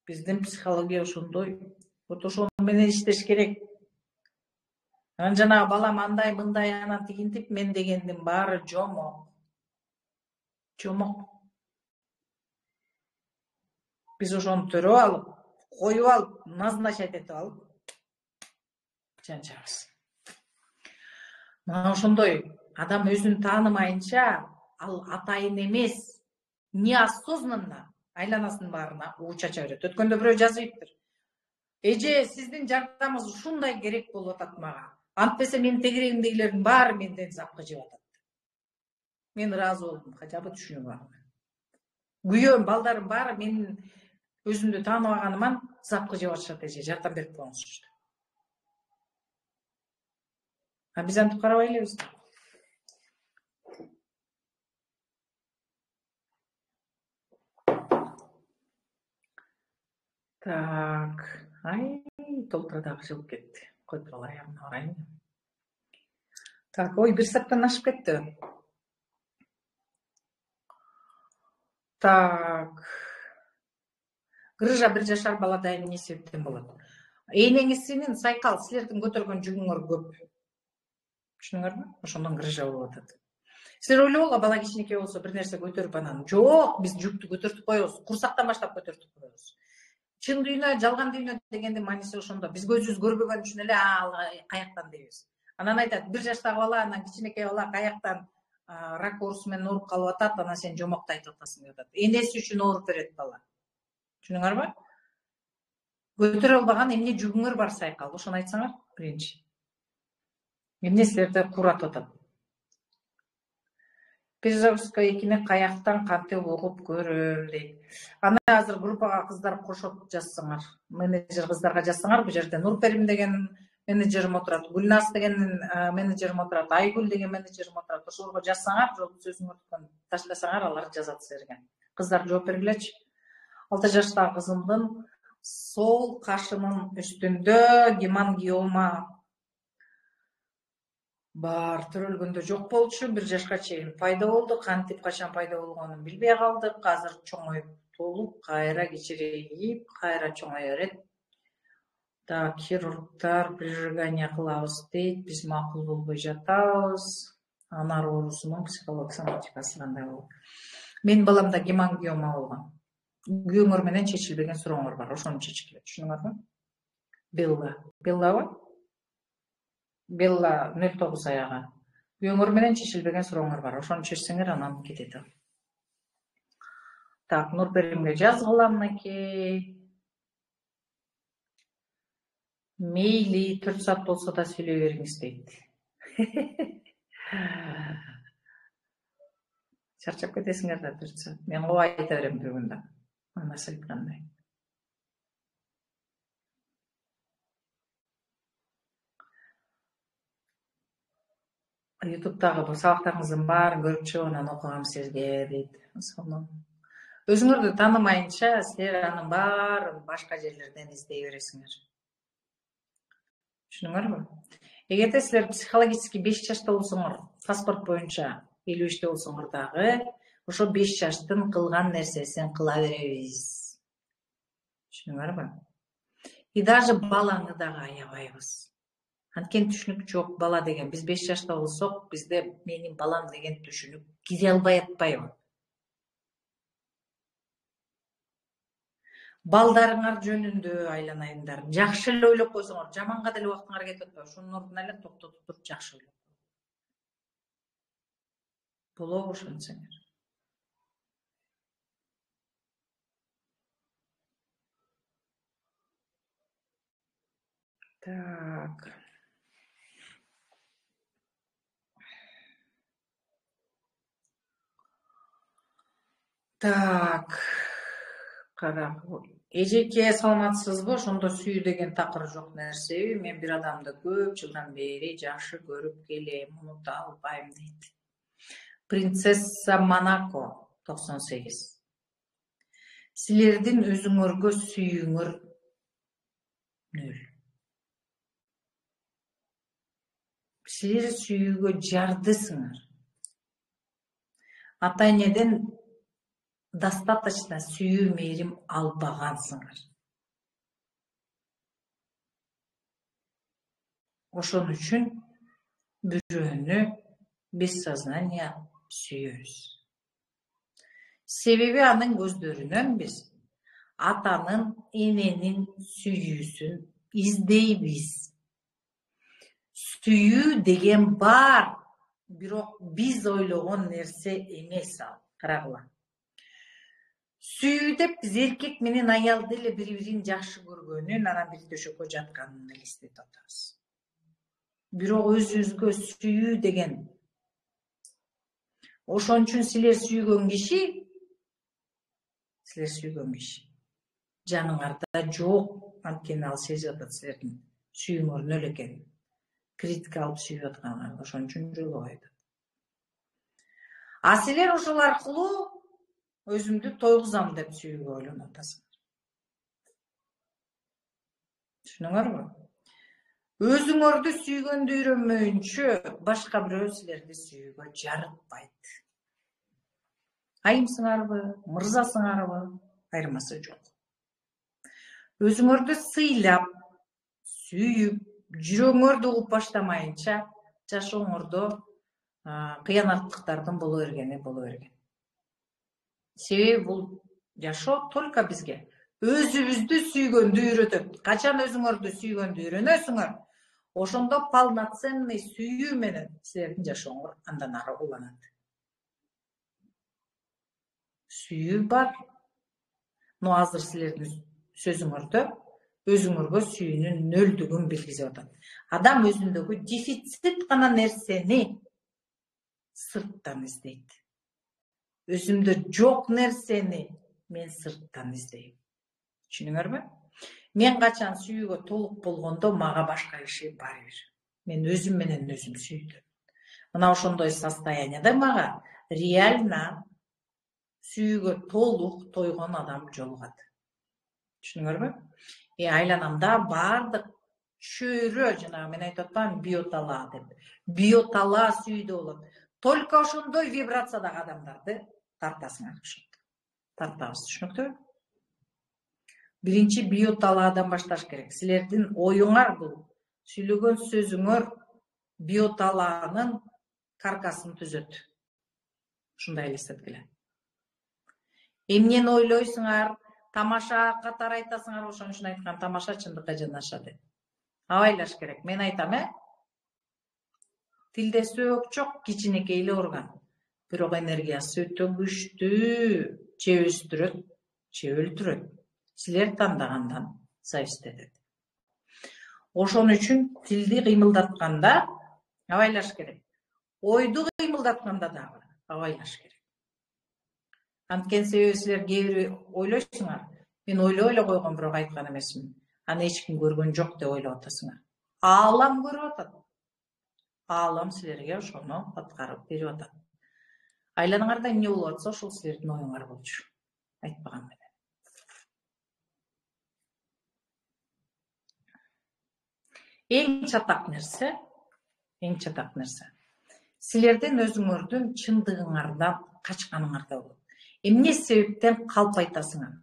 Биздин психология ошондой. Вот ошону менен иштеш керек. Анан жанагы балам андай мындай анан тигинтип мен дегендин баары жомок. Жомок. Биз ошону төрөп алып, коюп алып, назначать этип алып жанчабыз. Мына ошондой адам өзүн таанымайынча ал атайын эмес, неосознанно айланасынын баарына уу чача берет. Өткөндө бирөө жазыптыр. Эже, сиздин жардамыңыз ушундай керек болуп атат мага. Антпесе менин тегерегимдегилердин баары менден запкы жеп атат. Мен ыраазы болдум, хотя бы түшүнүп алам. Күйөөм, балдарым баары менин өзүмдү тааныбаганыман запкы жеп атышат, эже, жардам берип коюңузчу. А биз антип карабай элебиз. Так, толтура дагы жылып кетти. Койуп туруп аягына барайын. Так, ой, 1 сааттан ашып кетти. Так. Грыжа 1 жашар балада эмне себептен болот? Энеңиз сенин сайкал, силердин көтөргөн жүгүңөр көп. Түшүнүңөрбү? Ошондон грыжа болуп атат. Силер ойлогула, бала кичинекей болсо бир нерсе көтөрүп анан, жок, биз жүктү көтөртүп коебуз, курсактан баштап көтөртүп коебуз. Чын дүйнө, жалган дүйнө дегендин мааниси ошондо. Биз көзүбүз көрбөгөн үчүн эле ал каяктан дейбиз. Анан айтат, 1 жаштагы бала, анан кичинекей бала каяктан рак оорусу менен ооруп калып атат, анан сен жомокто айтып атасың деп атат. Энеси үчүн ооруп берет бала. Түшүнүңөрбү? Көтөрө албаган эмне жүгүңөр бар сайкал, ошону айтсаңар биринчи. Эмне силерди кууратып атат? Перезагрузка 2-ни каяктан кантип угуп көрөм дейт. Аны азыр группага кыздар кошоп жазсаңар, менеджер кыздарга жазсаңар, бу жерде Нурперим деген менеджерим отурат, Гүлназ деген менеджерим отурат, Айгүл деген менеджерим отурат. Ошолорго жазсаңар, жолку сөзүңөрдү таштасаңар, алар жазат силерге. Кыздар жооп бергилечи. 6 жаштагы кызымдын сол кашынын үстүндө гемангиома бар, төрөлгөндө жок болчу, 1 жашка чейин пайда болду. Кантип качан пайда болгонун билбей калдык. Азыр чоңоюп толуп, кайра кичирейип, кайра чоңое берет. Так, хирургтар прижигание кылабыз дейт, биз макул болбой жатабыз. Анар оорусунун психологик соматикасы кандай болот? Менин баламда гемангиома болгон. Күйөөңөр менен чечилбеген сурооңор бар, ошону чечкиле, түшүнүңөрбү? Беллабы? Белла 09 аягы. Күйөөңөр менен чечилбеген сурооңор бар, ошону чечсеңер анан кетет. Так, Нурперимге жазгыла мынакей. Мейли 4 саат болсо да сүйлөй бериңиз дейт. Чарчап кетесиңер да 4 саат. Мен коо айта берем бир күндө. Анасы айткандай. Ютубтагы сабактарыңыздын баарын көрүп чыгып анан окугам силерге дейт. Өзүңөрдү таанымайынча силер анын баарын башка жерлерден издей бересиңер. Түшүнүңөрбү? Эгерде силер психологически 5 жашта болсоңор, паспорт боюнча 53-те болсоңор дагы, ошо 5 жаштын кылган нерсесин кыла беребиз. Түшүнүңөрбү? И даже баланы дагы аябайбыз. Анткени түшүнүк жок бала деген. Биз 5 жашта болсок, бизде менин балам деген түшүнүк кире албай атпайбы? балдарыңар жөнүндө айланайымдар жакшы эле ойлоп койсоңор, жаманга деле убактыңар кетип атпайбы? Ошонун ордуна эле токтотуп туруп жакшы ойлоп болобу ошентсеңер. Так. Кара. Эжеке, саламатсызбы? Ошондо сүйүү деген такыр жок нерсеби? Мен бир адамды көп жылдан бери жакшы көрүп келем, унута албайм дейт. Принцесса Монако 98. Силердин өзүңөргө сүйүүңөр 0. Силер сүйүүгө жардысыңар. Ата энеден достаточно сүйүү мээрим албагансыңар. Ошон үчүн бирөөнү бессознание сүйөбүз. Себеби анын көздөрүнөн биз атанын, эненин сүйүүсүн издейбиз. Сүйүү деген бар, бирок биз ойлогон нерсе эмес ал. Карагыла. Сүйүү деп биз эркек менен аялды эле бири-бирин жакшы көргөнүн, анан бир төшөккө жатканын элестетип атабыз. Бирок өзүбүзгө сүйүү деген ошон үчүн силер сүйгөн киши жаныңарда жок, анткени ал сезип атат силердин сүйүүңөр нөл экенин. Критика алып сүйүп атканыңарды, ошон үчүн жолбойт. А силер ошол аркылуу өзүмдү тойгузам деп сүйүүгө ойлонуп атасыңар. Түшүнүңөрбү? Өзүңөрдү сүйгөндү үйрөнмөйүнчө башка бирөө силерди сүйүүгө жарытпайт. Айымсыңарбы, мырзасыңарбы, айырмасы жок. Өзүңөрдү сыйлап, сүйүп, жүрөгүңөрдү угуп баштамайынча жашооңордо кыянаттыктардын боло берген. Себеби бул жашоо только бизге өзүбүздү сүйгөндү үйрөтөт. Качан өзүңөрдү сүйгөндү үйрөнөсүңөр, ошондо полноценный сүйүү менен силердин жашооңор андан ары уланат. Сүйүү бар, но азыр силердин сөзүңөрдө өзүңөргө сүйүүнүн нөлдүгүн билгизип атат. Адам өзүндөгү дефицит гана нерсени сырттан издейт. Өзүмдө жок нерсени мен сырттан издейм. Түшүнүңөрбү? Мен качан сүйүүгө толук болгондо мага башка киши барбир. Мен өзүм менен өзүм сүйдүм. Мына ошондой состоянияда мага реально сүйүүгө толук тойгон адам жолугат. Түшүнүңөрбү? Айланамда бардык чөйрө, жана мен айтып атпаймынбы, биотала деп. Биотала сүйүүдө болот. Только ошондой вибрациядагы адамдарды тартасыңар. Тартабыз, түшүнүктүүбү? Биринчи биоталаадан башташ керек. Силердин оюңар бул, сүйлөгөн сөзүңөр биоталаанын каркасын түзөт. Ушундай элестеткиле. Эмнени ойлойсуңар, тамаша катары айтасыңар, ошон үчүн айткан, тамаша чындыкка жанаша деп. Абайлаш керек. Мен айтам, тилде сөк жок, кичинекей эле орган. Бирок энергиясы өтө күчтүү, же өстүрөт, же өлтүрөт. Силер тандагандан зависит этет. Ошон үчүн тилди кыймылдатканда абайлаш керек. Ойду кыймылдатканда дагы абайлаш керек. Анткени себеби силер кээ бир ойлойсуңар, мен ойлой эле койгом, бирок айткан эмесмин. Аны эч ким көргөн жок деп ойлоп атасыңар. Аалам көрүп атат. Аалам силерге ошону аткарып берип атат. Айланаңарда эмне болуп атса, ошол силердин оюңар болчу. Айтпаган менен. Эң чатак нерсе. Силердин өзүңөрдүн чындыгыңардан качканыңарда болот. Эмне себептен калп айтасыңар?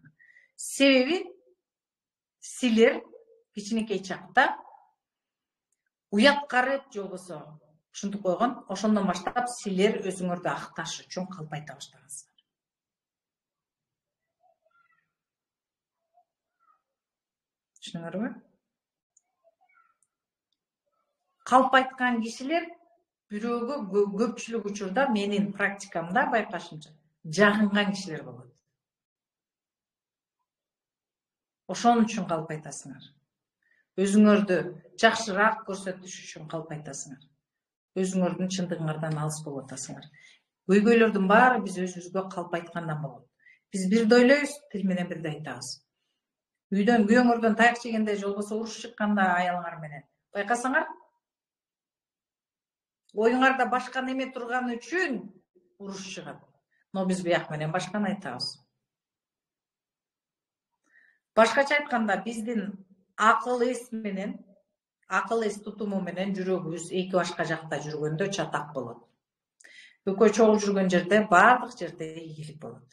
Себеби силер кичинекей чакта уяткарып же болбосо ушинтип койгон, ошондон баштап силер өзүңөрдү акташ үчүн калп айта баштагансыңар. Түшүнүңөрбү? Калп айткан кишилер бирөөгө көпчүлүк учурда менин практикамда байкашымча жагынган кишилер болот. Ошон үчүн калп айтасыңар. Өзүңөрдү жакшыраак көрсөтүш үчүн калп айтасыңар. Өзүңөрдүн чындыгыңардан алыс болуп атасыңар. Көйгөйлөрдүн баары биз өзүбүзгө калп айткандан болот. Биз бирди ойлойбуз, тил менен бирди айтабыз. Үйдөн күйөөңөрдөн таяк жегенде, же болбосо уруш чыкканда аялыңар менен байкасаңар, оюңарда башка неме турган үчүн уруш чыгат. Но биз бияк менен башканы айтабыз. Башкача айтканда, биздин акыл эс тутуму менен жүрөгүбүз эки башка жакта жүргөндө чатак болот. Экөө чогуу жүргөн жерде баардык жерде ийгилик болот.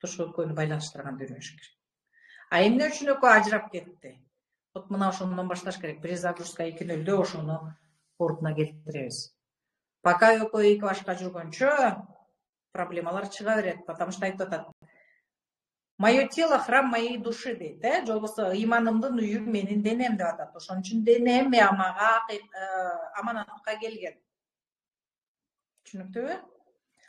Ошо экөөнү байланыштырган үйрөнүш керек. А эмне үчүн экөө ажырап кетти? Вот мына ошондон башташ керек. Перезагрузка 2.0 ошону ордуна келтиребиз. Пока экөө эки башка жүргөнчө проблемалар чыга берет, потому что айтып атат. Мое тело храм моей души дейт, же болбосо ыйманымдын үйү менин денем деп атат. Ошон үчүн денем мага аманатка келген. Түшүнүктүүбү?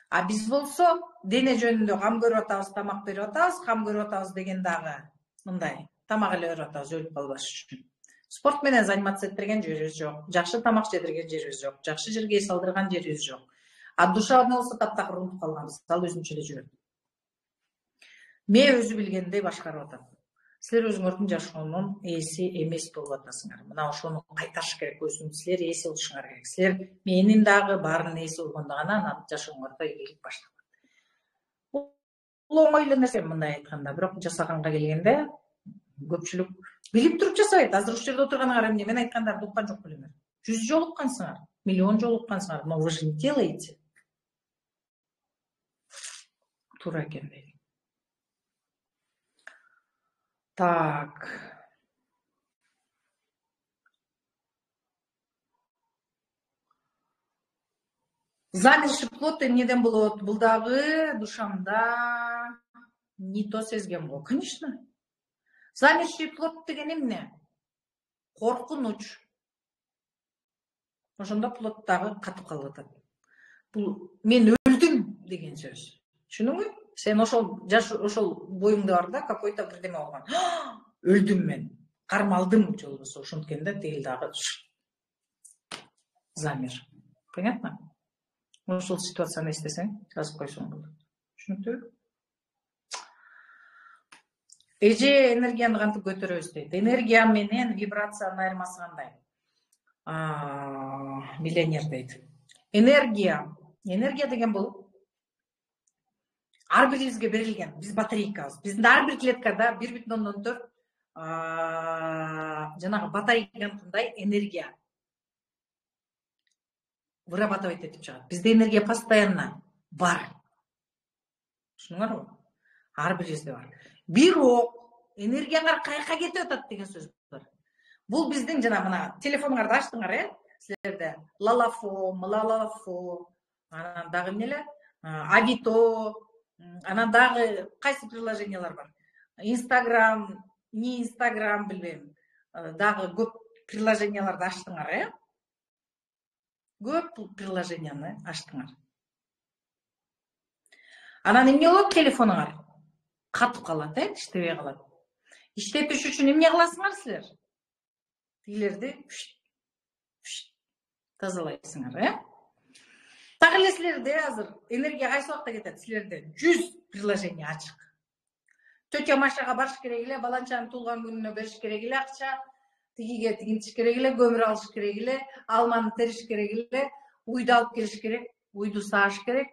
А биз болсо дене жөнүндө кам көрүп атабыз, тамак берип атабыз, кам көрүп атабыз деген дагы мындай. Тамак эле берип атабыз өлүп калбаш үчүн. Спорт менен заниматься этирген жерибиз жок, жакшы тамак жедирген жерибиз жок, жакшы жерге эс алдырган жерибиз жок. А душевный болсо таптакыр унутуп калганбыз, ал өзүнчө эле жүрөт. Мен өзү билгендей башкарып атам. Силер өзүңөрдүн жашоонун ээси эмес болуп атасыңар. Мына ошону кайтарыш керек, өзүң силер ээси болушуңар керек. Силер менин дагы баарынын ээси болгондо гана анан жашооңордо ийгилик башталат. Бул оңой эле нерсе мындай айтканда, бирок жасаганга келгенде көпчүлүк билип туруп жасабайт. Азыр ушул жерде отурганыңар эмне мен айткандарды уккан жок белеңер. 100 жолу уккансыңар, миллион жолу уккансыңар, но вы же не делаете. Туура экен дейт. Так. Замерший плод эмнеден болот? Бул дагы душамда не то сезген го. Конечно. Замерший плод деген эмне? Коркунуч. Ошондо плод дагы катып калып атат. Бул мен өлдүм деген сөз. Түшүнүңбү? Сен ошол боюңда бар да, какой-то бирдеме болгон. Өлдүм мен, кармалдым же болбосо ошонткенде тиги дагы замер. Понятно? Ошол ситуацияны эстесең, жазып койсоң болот. Түшүнүктүүбү? Эже энергияны кантип көтөрөбүз дейт. Энергия менен вибрациянын айырмасы кандай? Миллионер дейт. Энергия деген бул ар бирибизге берилген, биз батарейкабыз. Биздин ар бир клеткада 1,4 жанагы батарейкандай энергия вырабатывать этип чыгат. Бизде энергия постоянно бар. Түшүнүңөрбү? Ар бирибизде бар. Бирок энергияңар каяка кетип атат деген сөз бар. Бул биздин жана мына телефонуңарды ачтыңар, силерде лалафо, анан дагы эмнелер? Авито, анан дагы кайсы приложениялар бар? Инстаграм, не Инстаграм билбейм. Дагы көп приложенияларды ачтыңар, Көп приложенияны ачтыңар. Анан эмне болот? Телефонуңар катып калат, иштебей калат. Иштетиш үчүн эмне кыласыңар силер? Тигилерди тазалайсыңар, Так эле силерде азыр энергия кайсы убакта кетет? Силерде 100 приложение ачык. Тетя Машага барыш керек эле, баланчанын туулган күнүнө бериш керек эле акча, тигиге тигинтиш керек эле, көмүр алыш керек эле, алманы териш керек эле, уйду алып келиш керек, уйду сааш керек,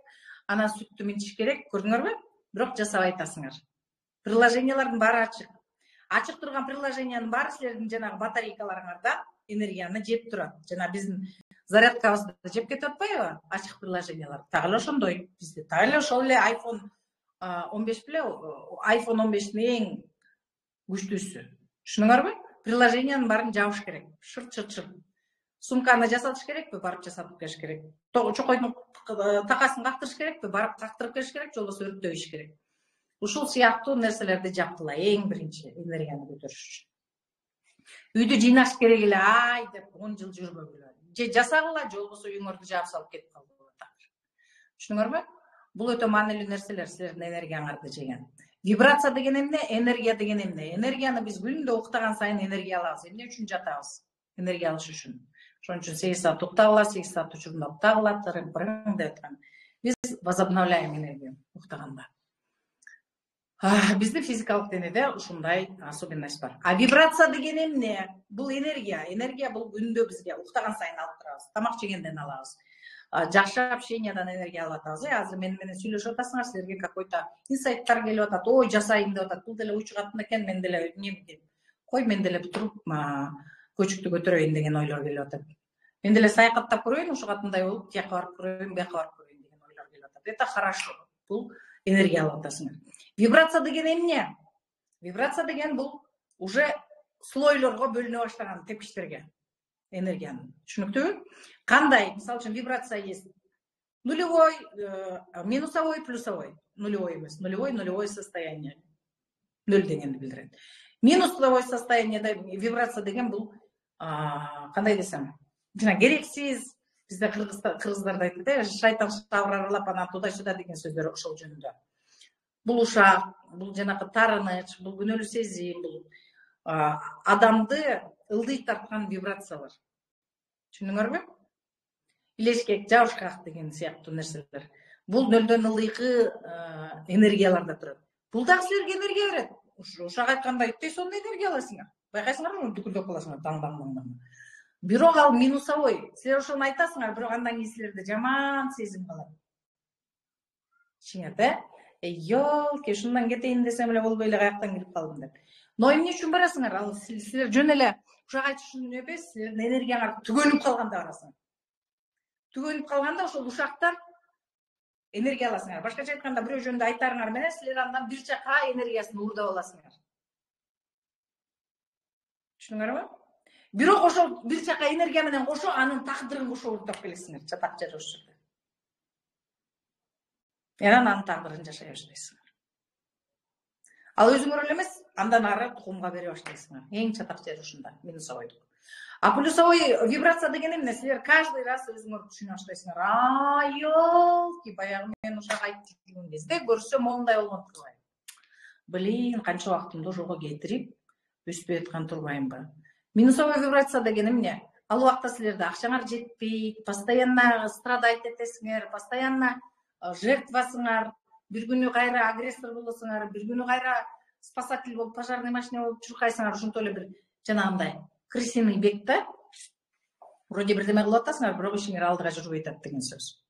анан сүттү минтиш керек. Көрдүңөрбү? Бирок жасабай атасыңар. Приложениялардын баары ачык. Ачык турган приложениянын баары силердин жанагы батарейкаларыңардан энергияны жеп турат. Жана биздин зарядкабызды жеп кетип атпайбы? Ачык приложениялар. Так эле ошондой. Бизде так эле ошол эле iPhone 15 беле, iPhone 15 эң күчтүүсү. Түшүнүңөрбү? Приложениянын баарын жабыш керек. Шырт. Сумканы жасатыш керекпи? Барып жасатып келиш керек. Чокойдун такасын кактырыш керекпи? Барып кактырып келиш керек, же болбосо өрттөбүш керек. Ушул сыяктуу нерселерди жапкыла, эң биринчи энергияны көтөрүш үчүн. Үйдү жыйнаш керек эле, ай деп 10 жыл жүрбөгүлө. Же жасагыла, же болбосо үйүңөрдү жаап салып кетип калгыла. Түшүнүңөрбү? Бул өтө маанилүү нерселер, силердин энергияңарды жеген. Вибрация деген эмне? Энергия деген эмне? Энергияны биз күндө уктаган сайын энергия алабыз. Эмне үчүн жатабыз? Энергия алыш үчүн. Ошон үчүн 8 саат уктагыла, 8 саат учурунда уктагыла, тырың деп аткан. Биз возобновляем энергию уктаганда. Биздин физикалык денеде ушундай особенность бар. А вибрация деген эмне? Бул энергия. Энергия бул күндө бизге уктаган сайын алып турабыз. Тамак жегенден алабыз. Жакшы общениядан энергия алып атабыз. Азыр мен менен сүйлөшүп атасыңар, силерге какой-то инсайттар келип атат. Ой, жасайын деп атат. Бул деле ой чыгат экен, мен деле кой мен деле туруп көчүктү көтөрөйүн деген ойлор келип атат. Мен деле саякаттап көрөйүн, ушугатындай болуп, тияка барып көрөйүн, бияка барып көрөйүн деген ойлор келип атат. Это хорошо. Бул энергия алып атасыңар. Вибрация деген эмне? Вибрация деген бул уже слойлорго бөлүнө баштаган тепкичтерге энергияны. Түшүнүктүүбү? Кандай? Мисалы үчүн вибрация есть нулевой, минусовой, плюсовой. Нулевой эмес, нулевой состояние. Нөл дегенди билдирет. Минусовой состояниеде вибрация деген бул кандай десем, жана керексиз, бизде кыргыздарда айтат, шайтан шабыр аралап анан туда-сюда деген сөздөр ошол жөнүндө. Бул ушак, бул жанакы таарыныч, бул күнөөлүү сезим, бул адамды ылдый тарткан вибрациялар. Түшүндүңөрбү? Илешкек, жабышкак деген сыяктуу нерселер. Бул нөлдөн ылдыйкы энергияларда турат. Бул дагы силерге энергия берет. Ушак айткандай, сонун энергия аласыңар. Байкайсыңарбы, дүкүлдөп каласыңар, таң. Бирок ал минусовой. Силер ошону айтасыңар, бирок андан кийин силерде жаман сезим калат. Ичиңерде, ёлки, ушундан кетейин десем эле болбой эле каяктан кирип калдым деп. Но эмне үчүн барасыңар? Ал силер жөн эле ушак айтыш үчүн эмес, силердин энергияңар түгөнүп калганда барасыңар. Түгөнүп калганда ошол ушактан энергия аласыңар. Башкача айтканда, бирөө жөнүндө айтарыңар менен силер андан бир жака энергиясын уурдап аласыңар. Түшүнүңөрбү? Бирок ошол бир жака энергия менен кошо анын тагдырын кошо уурдап келесиңер, чатак жер ошол жерде. Анын тагдырын жашай баштайсыңар. Ал өзүңөр эле эмес, андан ары тукумга бере баштайсыңар. Эң чатак жер ушунда, минусовойдук. А плюсовой вибрация деген эмне? Силер каждый раз өзүңөр түшүнө баштайсыңар. Ёлки, баягы мен ушак айтып жүргөн кезде көрсөм мондай болгон турбайм. Блин, канча убактымды ошого кетирип, өспөй аткан турбаймбы? Минусовой вибрация деген эмне? Ал убакта силерде акчаңар жетпейт, постоянно страдать этесиңер, постоянно жертвасыңар, бир күнү кайра агрессор болосуңар, бир күнү кайра спасатель болуп, пожарный машина болуп чуркайсыңар, ошентип эле бир жанагындай крысиный бег да. Вроде бирдеме кылып атасыңар, бирок ишиңер алдыга жүрбөй атат деген сөз.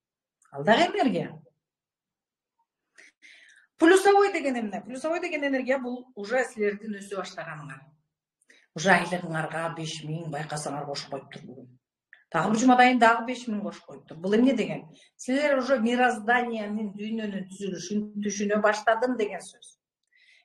Ал дагы энергия. Плюсовой деген эмне? Плюсовой деген энергия бул уже силердин өсө баштаганыңар. Уже айлыгыңарга 5000 байкасаңар кошуп коюптур бүгүн. Дагы бир жумадайын дагы 5000 кошуп коюптур. Бул эмне деген? Силер уже мирозданиянын, дүйнөнүн түзүлүшүн түшүнө баштадым деген сөз.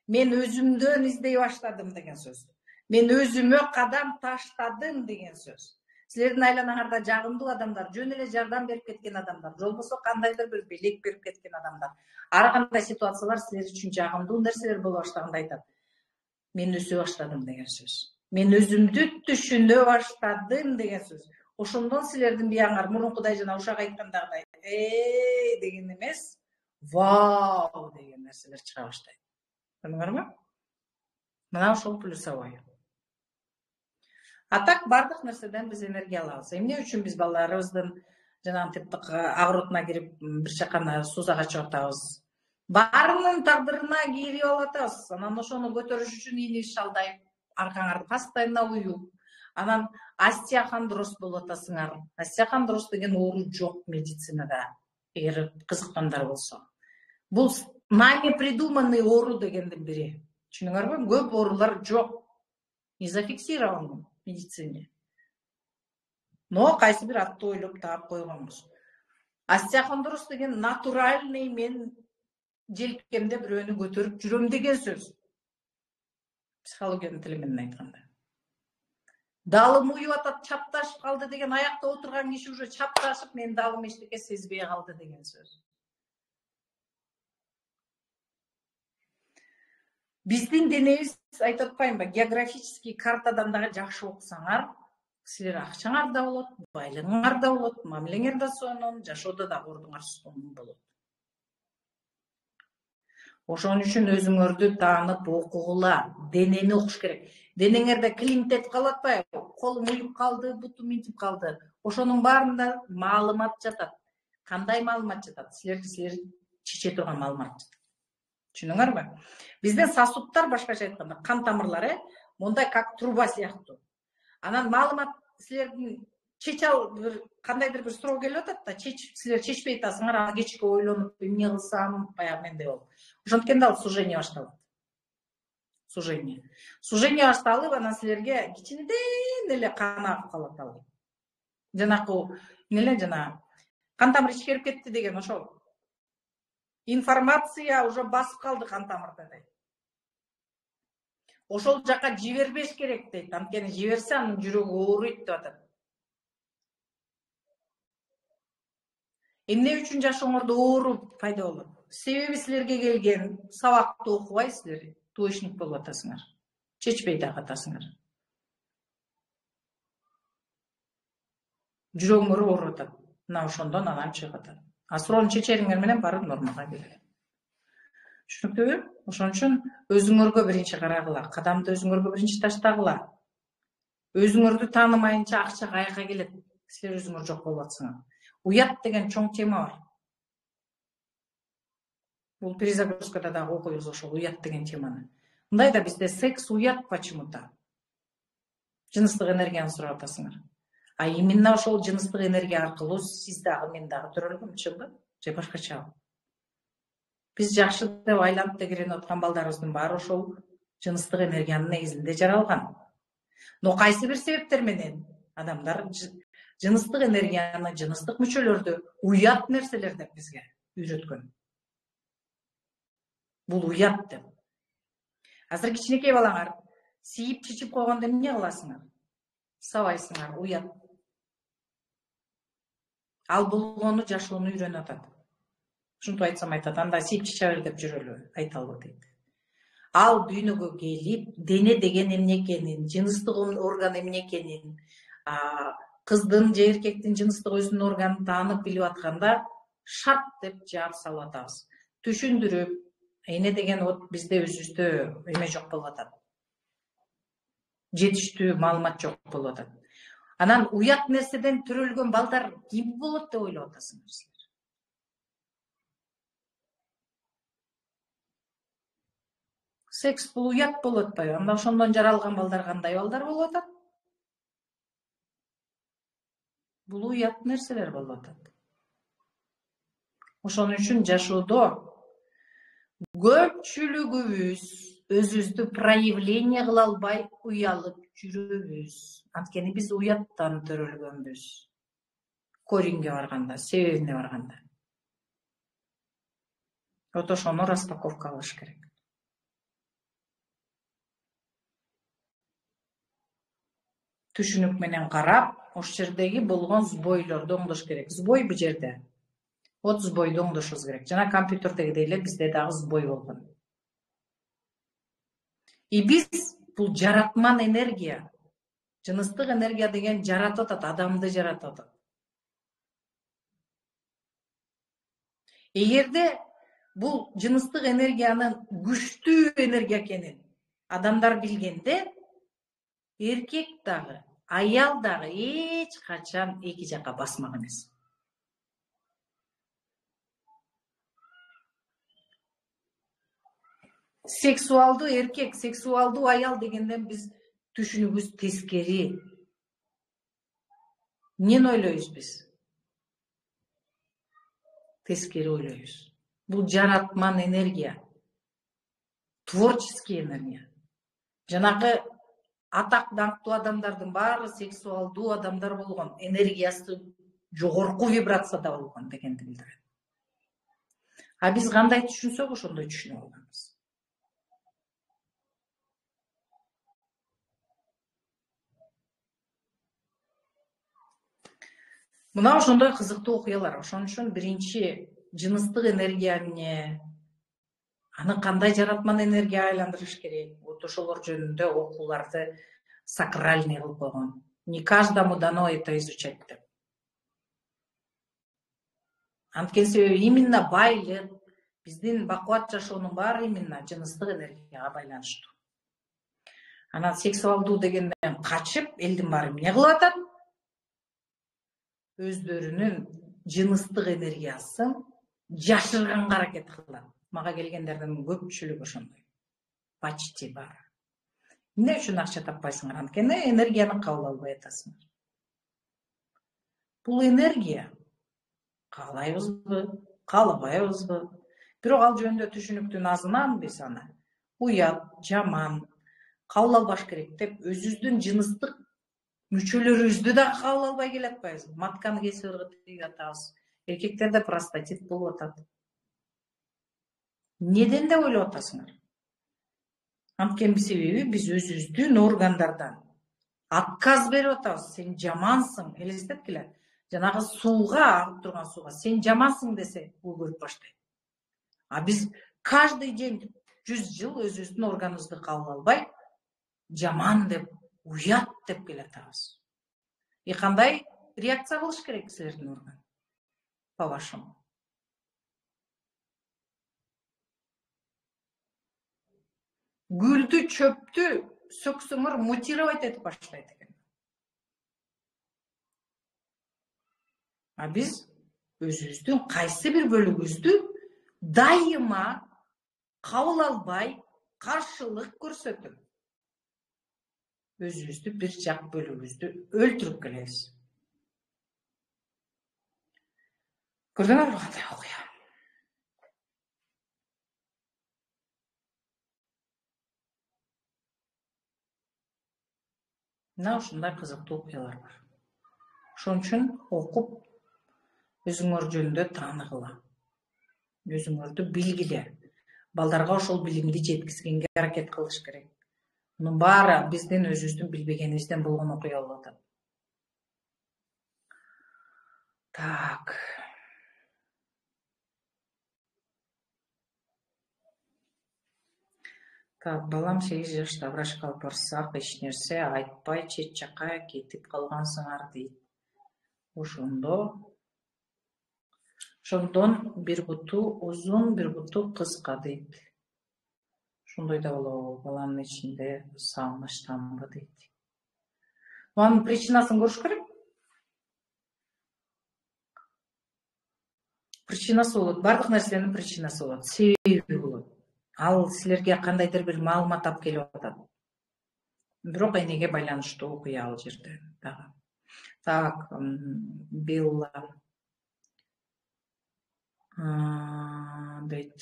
Мен өзүмдөн издей баштадым деген сөз. Мен өзүмө кадам таштадым деген сөз. Силердин айланаңарда жагымдуу адамдар, жөн эле жардам берип кеткен адамдар, же болбосо кандайдыр бир белек берип кеткен адамдар. Ар кандай ситуациялар силер үчүн жагымдуу нерселер боло баштаганда айтат. Мен өсө баштадым деген сөз. Мен өзүмдү түшүнө баштадым деген сөз. Ошондон силердин бияңар мурункудай жана ушак айткандагыдай деген эмес, вау деген нерселер чыга баштайт. Көрдүңөрбү? Мына ошол плюсовой. А так бардык нерседен биз энергия алабыз. Эмне үчүн биз балдарыбыздын жанагы агыротуна кирип бир чакана суузага чыгып атабыз? Баарынын тагдырына кирип алып атабыз. Анан ошону көтөрүш үчүн ини шалдайып, аркаңарды постоянно уюп, анан остеохондроз болуп атасыңар. Остеохондроз деген оору жок медицинада, эгер кызыккандар болсо. Бул нами придуманный оору дегендин бири. Түшүнүңөрбү? Көп оорулар жок. Не зафиксирован в медицине. Но кайсы бир атты ойлоп таап койгонбуз. Остеохондроз деген натуральный мен желкемде бирөөнү көтөрүп жүрөм деген сөз. Психологиянын тили менен айтканда. Далым уюп атат, чапташып калды деген, аякта отурган киши уже чапташып, мен далым эчтеке сезбей калды деген сөз. Биздин денебиз айтып атпайынбы, географический картадан дагы жакшы окусаңар, силер акчаңар да болот, байлыгыңар да болот, мамилеңер да сонун, жашоодо да ордуңар сонун болот. Ошон үчүн өзүңөрдү таанып окугула, денени окуш керек. Денеңерде климтет калып атпайбы? Колум уюп калды, бутум мынтип калды. Ошонун баарында маалымат жатат. Кандай маалымат жатат? Силер чече турган маалымат жатат. Түшүнүңөрбү? Биздин сосудтар, башкача айтканда, кан тамырлары мондай как труба сыяктуу. Анан маалымат силердин бир кандайдыр бир суроо келип атат да, силер чечпей атасыңар, аны кечке ойлонуп, эмне кылсам, баягы менде болуп. Ошонткенде ал сужение башталат. Сужение башталып, анан силерге кичинеден эле кан агып калат ал. Жанакы жана кан тамыр ичкерип кетти деген ошол. Информация уже басып калды кан тамырда дейт. Ошол жака жибербеш керек дейт. Анткени жиберсе анын жүрөгү ооруйт деп атат. Эмне үчүн жашооңордо оору пайда болот? Себеби силерге келген сабакты окубайсыздар, двоечник болуп атасыңар. Чечпей дагы атасыңар. Жүрөгүңөр ооруп атат. Мына ошондон анан чыгып атат. А суроону чечериңер менен барып нормага келет. Түшүнүктүүбү? Ошон үчүн өзүңөргө биринчи карагыла, кадамды өзүңөргө биринчи таштагыла. Өзүңөрдү таанымайынча акча каяка келет? Силер өзүңөр жок болуп атсаңар. Уят деген чоң тема бар. Бул перезагрузкада дагы окуйбуз ошол уят деген теманы. Мындай да бизде секс уят почему-то. Жыныстык энергияны сурап атасыңар. А именно ошол жыныстык энергия аркылуу сиз дагы мен дагы төрөлгөнбү, же башкача? Биз жакшы деп айланып тегеренип аткан балдарыбыздын баары ошол жыныстык энергиянын негизинде жаралган. Но кайсы бир себептер менен адамдар жыныстык энергияны, жыныстык мүчөлөрдү уят нерселер деп бизге үйрөткөн. Бул уят деп. Азыр кичинекей балаңар сийип чечип койгондо эмне кыласыңар? Сабайсыңар, уят. Ал болгону жашоону үйрөнүп атат. Ушинтип айтсам айтат, анда сийип чече бер деп жүрөлү, айталбы дейт. Ал дүйнөгө келип, дене деген эмне экенин, жыныстык орган эмне экенин, кыздын же эркектин жыныстык өзүнүн органын таанып билип атканда, шарт деп жаап салып атабыз. Түшүндүрүп, эмне деген вот бизде өзүбүздө эме жок болуп атат. Жетиштүү маалымат жок болуп атат. Анан уят нерседен төрөлгөн балдар ким болот деп ойлоп атасыңар силер? Секс бул уят болуп атпайбы? Анда ошондон жаралган балдар кандай балдар болуп атат? Бул уят нерселер болуп атат. Ошон үчүн жашоодо көпчүлүгүбүз өзүбүздү проявление кыла албай уялып жүрөбүз. Анткени биз уяттан төрөлгөнбүз. Коринге барганда, себебине барганда. Вот ошону распаковка кылыш керек. Түшүнүк менен карап, ошол жердеги болгон сбойлорду оңдош керек. Сбой бул жерде. Вот сбойду оңдошубуз керек. Жана компьютердеги эле бизде дагы сбой болгон. И биз бул жаратман энергия, жыныстык энергия деген жаратып атат, адамды жаратып атат. Эгерде бул жыныстык энергиянын күчтүү энергия экенин адамдар билгенде, эркек дагы, аял дагы эч качан эки жакка басмак эмес. Сексуалдуу эркек, сексуалдуу аял дегенден биз түшүнүгүбүз тескери. Эмнени ойлойбуз биз? Тескери ойлойбуз. Бул жаратман энергия, творческий энергия. Жанагы атак даңктуу адамдардын баары сексуалдуу адамдар болгон, энергиясы жогорку вибрацияда болгон дегенди билдирет. А биз кандай түшүнсөк, ошондой түшүнүп алганбыз. Мына ошондой кызыктуу окуялар. Ошон үчүн биринчи жыныстык энергияны аны кандай жаратман энергияга айландырыш керек, вот ошолор жөнүндө окууларды сакральный кылып койгон. Не каждому дано это изучать деп. Анткени себеби именно байлык, биздин бакубат жашоонун баары именно жыныстык энергияга байланыштуу. Анан сексуалдуу дегенден качып, элдин баары эмне кылып атат? Өздөрүнүн жыныстык энергиясын жашырганга аракет кылат. Мага келгендердин көпчүлүгү ошондой. Почти баары. Эмне үчүн акча таппайсыңар? Анткени энергияны кабыл албай атасыңар. Бул энергия каалайбызбы, каалабайбызбы? Бирок ал жөнүндө түшүнүктүн азынан биз аны уят, жаман, кабыл албаш керек деп өзүбүздүн жыныстык мүчөлөрүбүздү да кабыл албай келатпайбызбы? Матканы кесип ыргытып атабыз. Эркектерде простатит болуп атат. Неден деп ойлоп атасыңар? Анткени себеби биз өзүбүздүн органдардан отказ берип атабыз. Сен жамансың, элестеткиле. Жанагы сууга, агып турган сууга сен жамансың десе, бул көрүп баштайт. А биз каждый день 100 жыл өзүбүздүн органыбызды кабыл албай, жаман деп, уят деп келатабыз. И кандай реакция кылыш керек силердин орган? По-вашему. Гүлдү, чөптү сөксөңөр мутировать этип баштайт экен. А биз өзүбүздүн кайсы бир бөлүгүбүздү дайыма кабыл албай, каршылык көрсөтүп, өзүбүздү бир жак бөлүгүбүздү өлтүрүп келебиз. Көрдүңөрбү кандай окуя? Мына ушундай кызыктуу окуялар бар. Ошон үчүн окуп, өзүңөр жөнүндө тааныгыла. Өзүңөрдү билгиле. Балдарга ошол билимди жеткизгенге аракет кылыш керек. Мунун баары биздин өзүбүздүн билбегенибизден болгон окуя болуп атат. Так. Так, балам 8 жашта, врачка алып барсак, эч нерсе айтпай чет жакка кетип калгансыңар дейт. Ошондон бир буту узун, бир буту кыска дейт. Ошондой да болобу, баланын ичинде сагынычтанбы дейт. Анын причинасын көрүш керек. Причинасы болот, бардык нерсенин причинасы болот, себеби болот. Ал силерге кандайдыр бир маалымат алып келип атат. Бирок энеге байланыштуу окуя ал жерде дагы. Так, Белла дейт,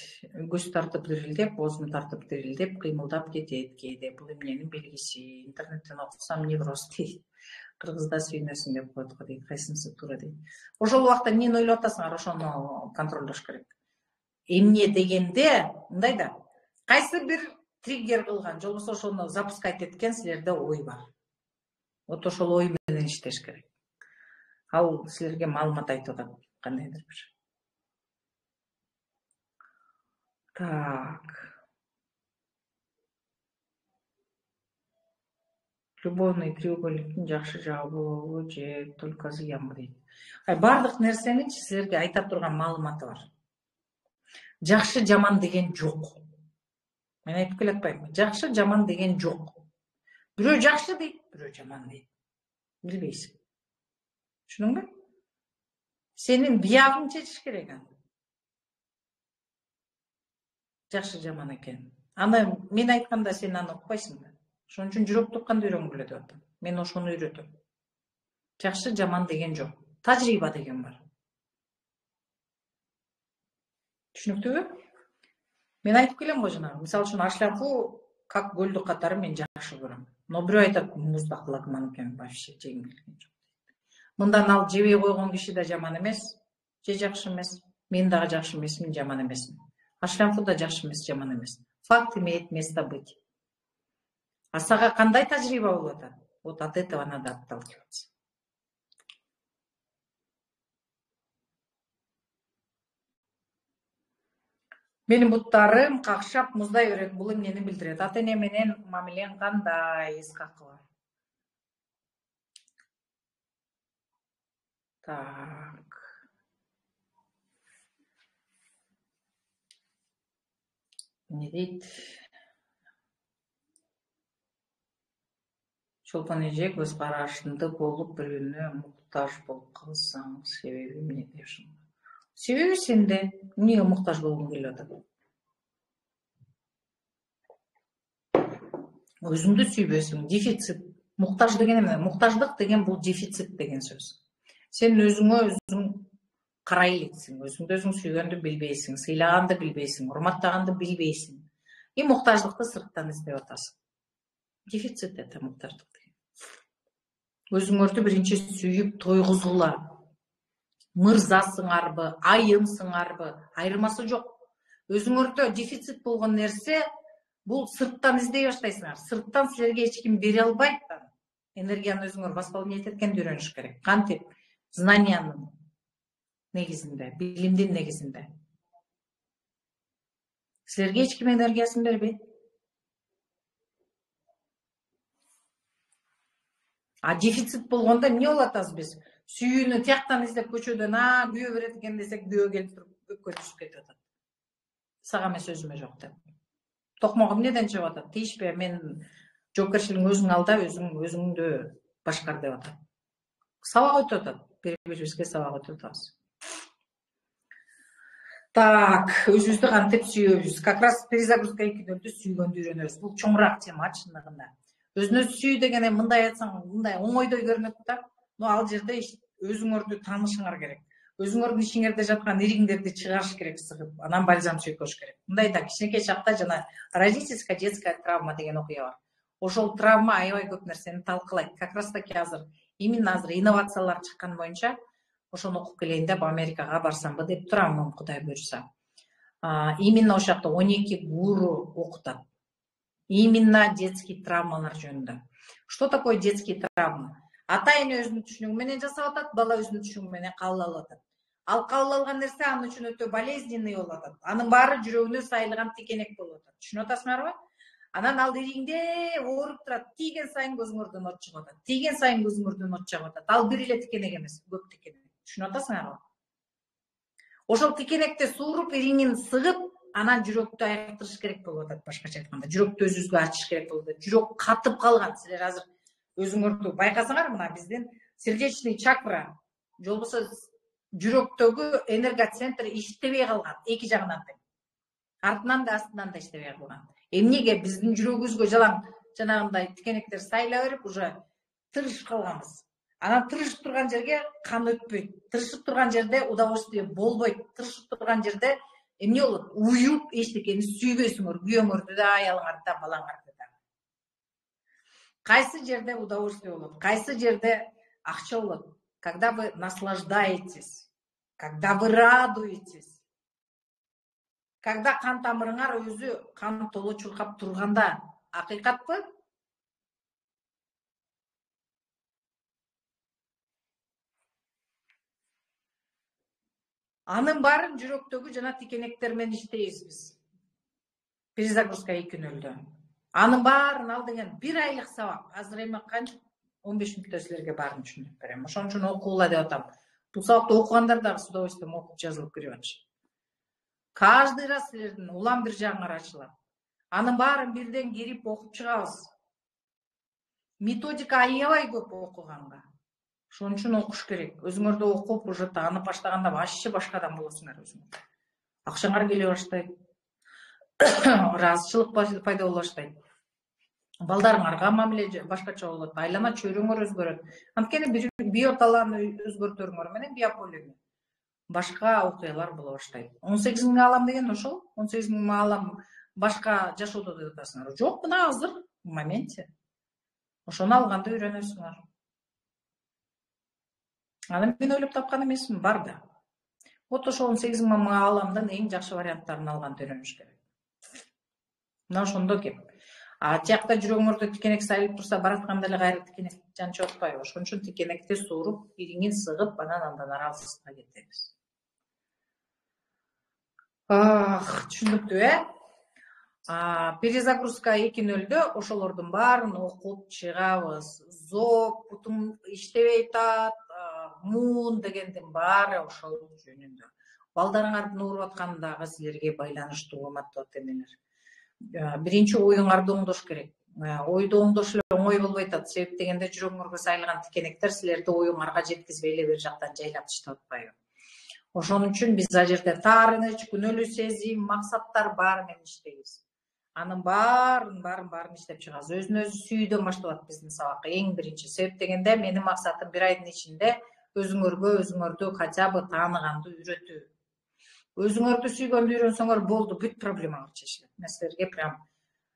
көз тартып дирилдеп, оозум тартып дирилдеп, кыймылдап кетет кээде. Бул эмненин белгиси? Интернеттен окусам невроз дейт. Кыргызда сүйнөсүң деп коет го дейт. Кайсынысы туура дейт. Ошол убакта эмнени ойлоп атасыңар? Ошону контролдош керек. Эмне дегенде, мындай да, кайсы бир триггер кылган, же болбосо ошону запускать эткен силерде ой бар. Вот ошол ой менен иштеш керек. Ал силерге маалымат айтып атат, кандайдыр бир. Так. Любовный треугольниктин жакшы жагы болобу же только зыянбы дейт. Бардык нерсенин силерге айта турган маалыматы бар. Жакшы жаман деген жок. Мен айтып келатпаймынбы? Жакшы жаман деген жок. Бирөө жакшы дейт, бирөө жаман дейт. Билбейсиң. Түшүндүңбү? Сенин биягың чечиш керек аны. Жакшы жаман экен. Аны мен айтканда сен аны укпайсың да. Ошон үчүн жүрөк тукканды үйрөнгүлө деп атам. Мен ошону үйрөтөм. Жакшы жаман деген жок. Тажрыйба деген бар. Түшүнүктүүбү? Мен айтып келем го жана. Мисалы үчүн ашлафу как көлдү катары мен жакшы көрөм. Но бирөө айтат, муздак лагман экен, вообще жегим келген жок. Мындан ал жебей койгон киши да жаман эмес, же жакшы эмес. Мен дагы жакшы эмесмин, жаман эмесмин. Ашлафу да жакшы эмес, жаман эмес. Факт имеет место быть. А сага кандай тажрыйба болуп атат? Вот от этого надо отталкиваться. Менин буттарым какшап муздай берет. Бул эмнени билдирет? Ата эне менен мамилең кандай? Искакова. Так. Не дейт? Чолпон эже көз карашында болуп бирөөнө муктаж болуп калсаң, себеби эмнеде? Себеби сенде. Эмнеге муктаж болгуң келип атат? Өзүңдү сүйбөсүң. Дефицит. Муктаж деген эмне? Муктаждык деген бул дефицит деген сөз. Сен өзүңө өзүң карай элексиң, өзүңдү өзүң сүйгөндү билбейсиң, сыйлаганды билбейсиң, урматтаганды билбейсиң. И муктаждыкты сырттан издеп атасың. Дефицит это муктаждык деген. Өзүңөрдү биринчи сүйүп тойгузгула. Мырзасыңарбы, айымсыңарбы, айырмасы жок. Өзүңөрдө дефицит болгон нерсе бул сырттан издей баштайсыңар. Сырттан силерге эч ким бере албайт. Энергияны өзүңөр восполнять эткенди үйрөнүш керек. Кантип? Знаниянын негизинде, билимдин негизинде. Силерге эч ким энергиясын бербейт. А дефицит болгондо эмне болот азыр биз? Сүйүүнү тияктан издеп көчөдөн күйөө берет экен десек, күйөө келип туруп өккө түшүп кетип атат. Сага эмес өзүмө жок деп. Токмок эмнеден чыгып атат? Тийишпе, мен жоопкерчилигиң өзүң ал да, өзүңдү башкар деп атат. Сабак өтүп атат. Бири-бирибизге сабак өтүп атабыз. Так, өзүбүздү кантип сүйөбүз? Как раз перезагрузка 2.0 сүйгөндү үйрөнөбүз. Бул чоңураак тема чындыгында. Өзүнө сүй деген мындай айтсаң, мындай оңойдой көрүнөт да. Но ал жерде өзүңөрдү таанышыңар керек. Өзүңөрдүн ичиңерде жаткан ириңдерди чыгарыш керек сыгып, анан бальзам чөйкөш керек. Мындай да кичинекей чакта жана родительская детская травма деген окуя бар. Ошол травма аябай көп нерсени талкалайт. Как раз таки именно азыр инновациялар чыккан боюнча ошону окуп келейин деп Америкага барсамбы деп турам, Кудай буйрса. Именно ошол жакта 12 гуру окутат. Именно детский травмалар жөнүндө. Что такое детский травма? Ата эне өзүнүн түшүнүгү менен жасап атат, бала өзүнүн түшүнүгү менен кабыл алып атат. Ал кабыл алган нерсе анын үчүн өтө болезненный болуп атат. Анын баары жүрөгүнө сайылган тикенек болуп атат. Түшүнүп атасыңарбы? Анан ал ириңде ооруп турат. Тийген сайын көзүңөрдөн от чыгып атат. Тийген сайын көзүңөрдөн от чыгып атат. Ал бир эле тикенек эмес, көп тикенек. Түшүнүп атасыңарбы? Ошол тикенекти сууруп, ириңин сыгып, анан жүрөктү айыктырыш керек болуп атат. Башкача айтканда, жүрөктү өзүбүзгө ачыш керек болуп атат. Жүрөк катып калган. Силер азыр өзүңөрдү байкасаңар, мына биздин сердечный чакра, же болбосо жүрөктөгү энергоцентр иштебей калган, эки жагынан да. Артынан да, астынан да иштебей калган. Эмнеге биздин жүрөгүбүзгө жанагындай тикенектер сайыла берип, уже тырышып калганбыз. Анан тырышып турган жерге кан өтпөйт. Тырышып турган жерде удовольствие болбойт. Тырышып турган жерде эмне болот? Уюп эчтекени сүйбөйсүңөр, күйөөңөрдү да, аялыңарды да, балаңарды да. Кайсы жерде удовольствие болот? Кайсы жерде акча болот? Когда вы наслаждаетесь, когда вы радуетесь, когда кан тамырыңар өзү кан толо чуркап турганда. Акыйкатпы? Анын баарын жүрөктөгү жана тикенектер менен иштейбиз биз. Перезагрузка 2.0. Анын баарын ал деген 1 айлык сабак. Азыр эми канча 15 мүнөттө силерге баарын түшүндүрүп берем. Ошон үчүн окугула деп атам. Бул сабакты окугандар дагы с удовольствием окуп жазылып кирип атышат. Каждый раз силердин улам бир жагыңар ачылат. Анын баарын бирден кирип окуп чыгабыз. Методика аябай көп окуганга. Ошон үчүн окуш керек. Өзүңөрдү окуп, уже таанып баштаганда вообще башка адам болосуңар өзүңөр. Акчаңар келе баштайт. Ыраазычылык пайда боло баштайт. Балдарыңарга мамиле башкача болот. Айлана чөйрөңөр өзгөрөт. Анткени биоталааны өзгөртөрүңөр менен биополени башка окуялар боло баштайт. 18.000 алам деген ошол. 18.000 алам башка жашоодо деп атасыңар. Жок, мына азыр в моменте. Ошону алганды үйрөнөсүңөр. Аны мен ойлоп тапкан эмесмин, бар да. Вот ошол 18.000 аламдын эң жакшы варианттарын алганды үйрөнүш керек. Мына ошондо кеп. Тиякта жүрөгүңөрдө тикенек сайылып турса, баратканда эле кайра тикенек жанчып атпайбы? Ошон үчүн тикенекти сууруп, ириңин сыгып, анан андан аралсызга кетебиз. Түшүнүктүү, перезагрузка 2.0'дө ошолордун баарын окуп чыгабыз. Зоб, бутум иштебей атат, муун дегендин баары ошол жөнүндө. Балдарыңардын ооруп атканы дагы силерге байланыштуу, урматтуу ата-энелер. Биринчи оюңарды оңдош керек. Ойду оңдош эле оңой болбой атат. Себеп дегенде жүрөгүңөргө сайылган тикенектер силерди оюңарга жеткизбей эле бир жактан жайлап таштап атпайбы. Ошон үчүн биз ал жерде таарыныч, күнөөлүү сезим, максаттар баары менен иштейбиз. Анын баарын иштеп чыгабыз. Өзүн өзү сүйүүдөн башталат биздин сабак. Эң биринчи. Себеп дегенде менин максатым бир айдын ичинде өзүңөрдү хотя бы тааныганды үйрөтүү. Өзүңөрдү сүйгөндү үйрөнсөңөр болду, бүт проблемаңар чечилет. Мен силерге прям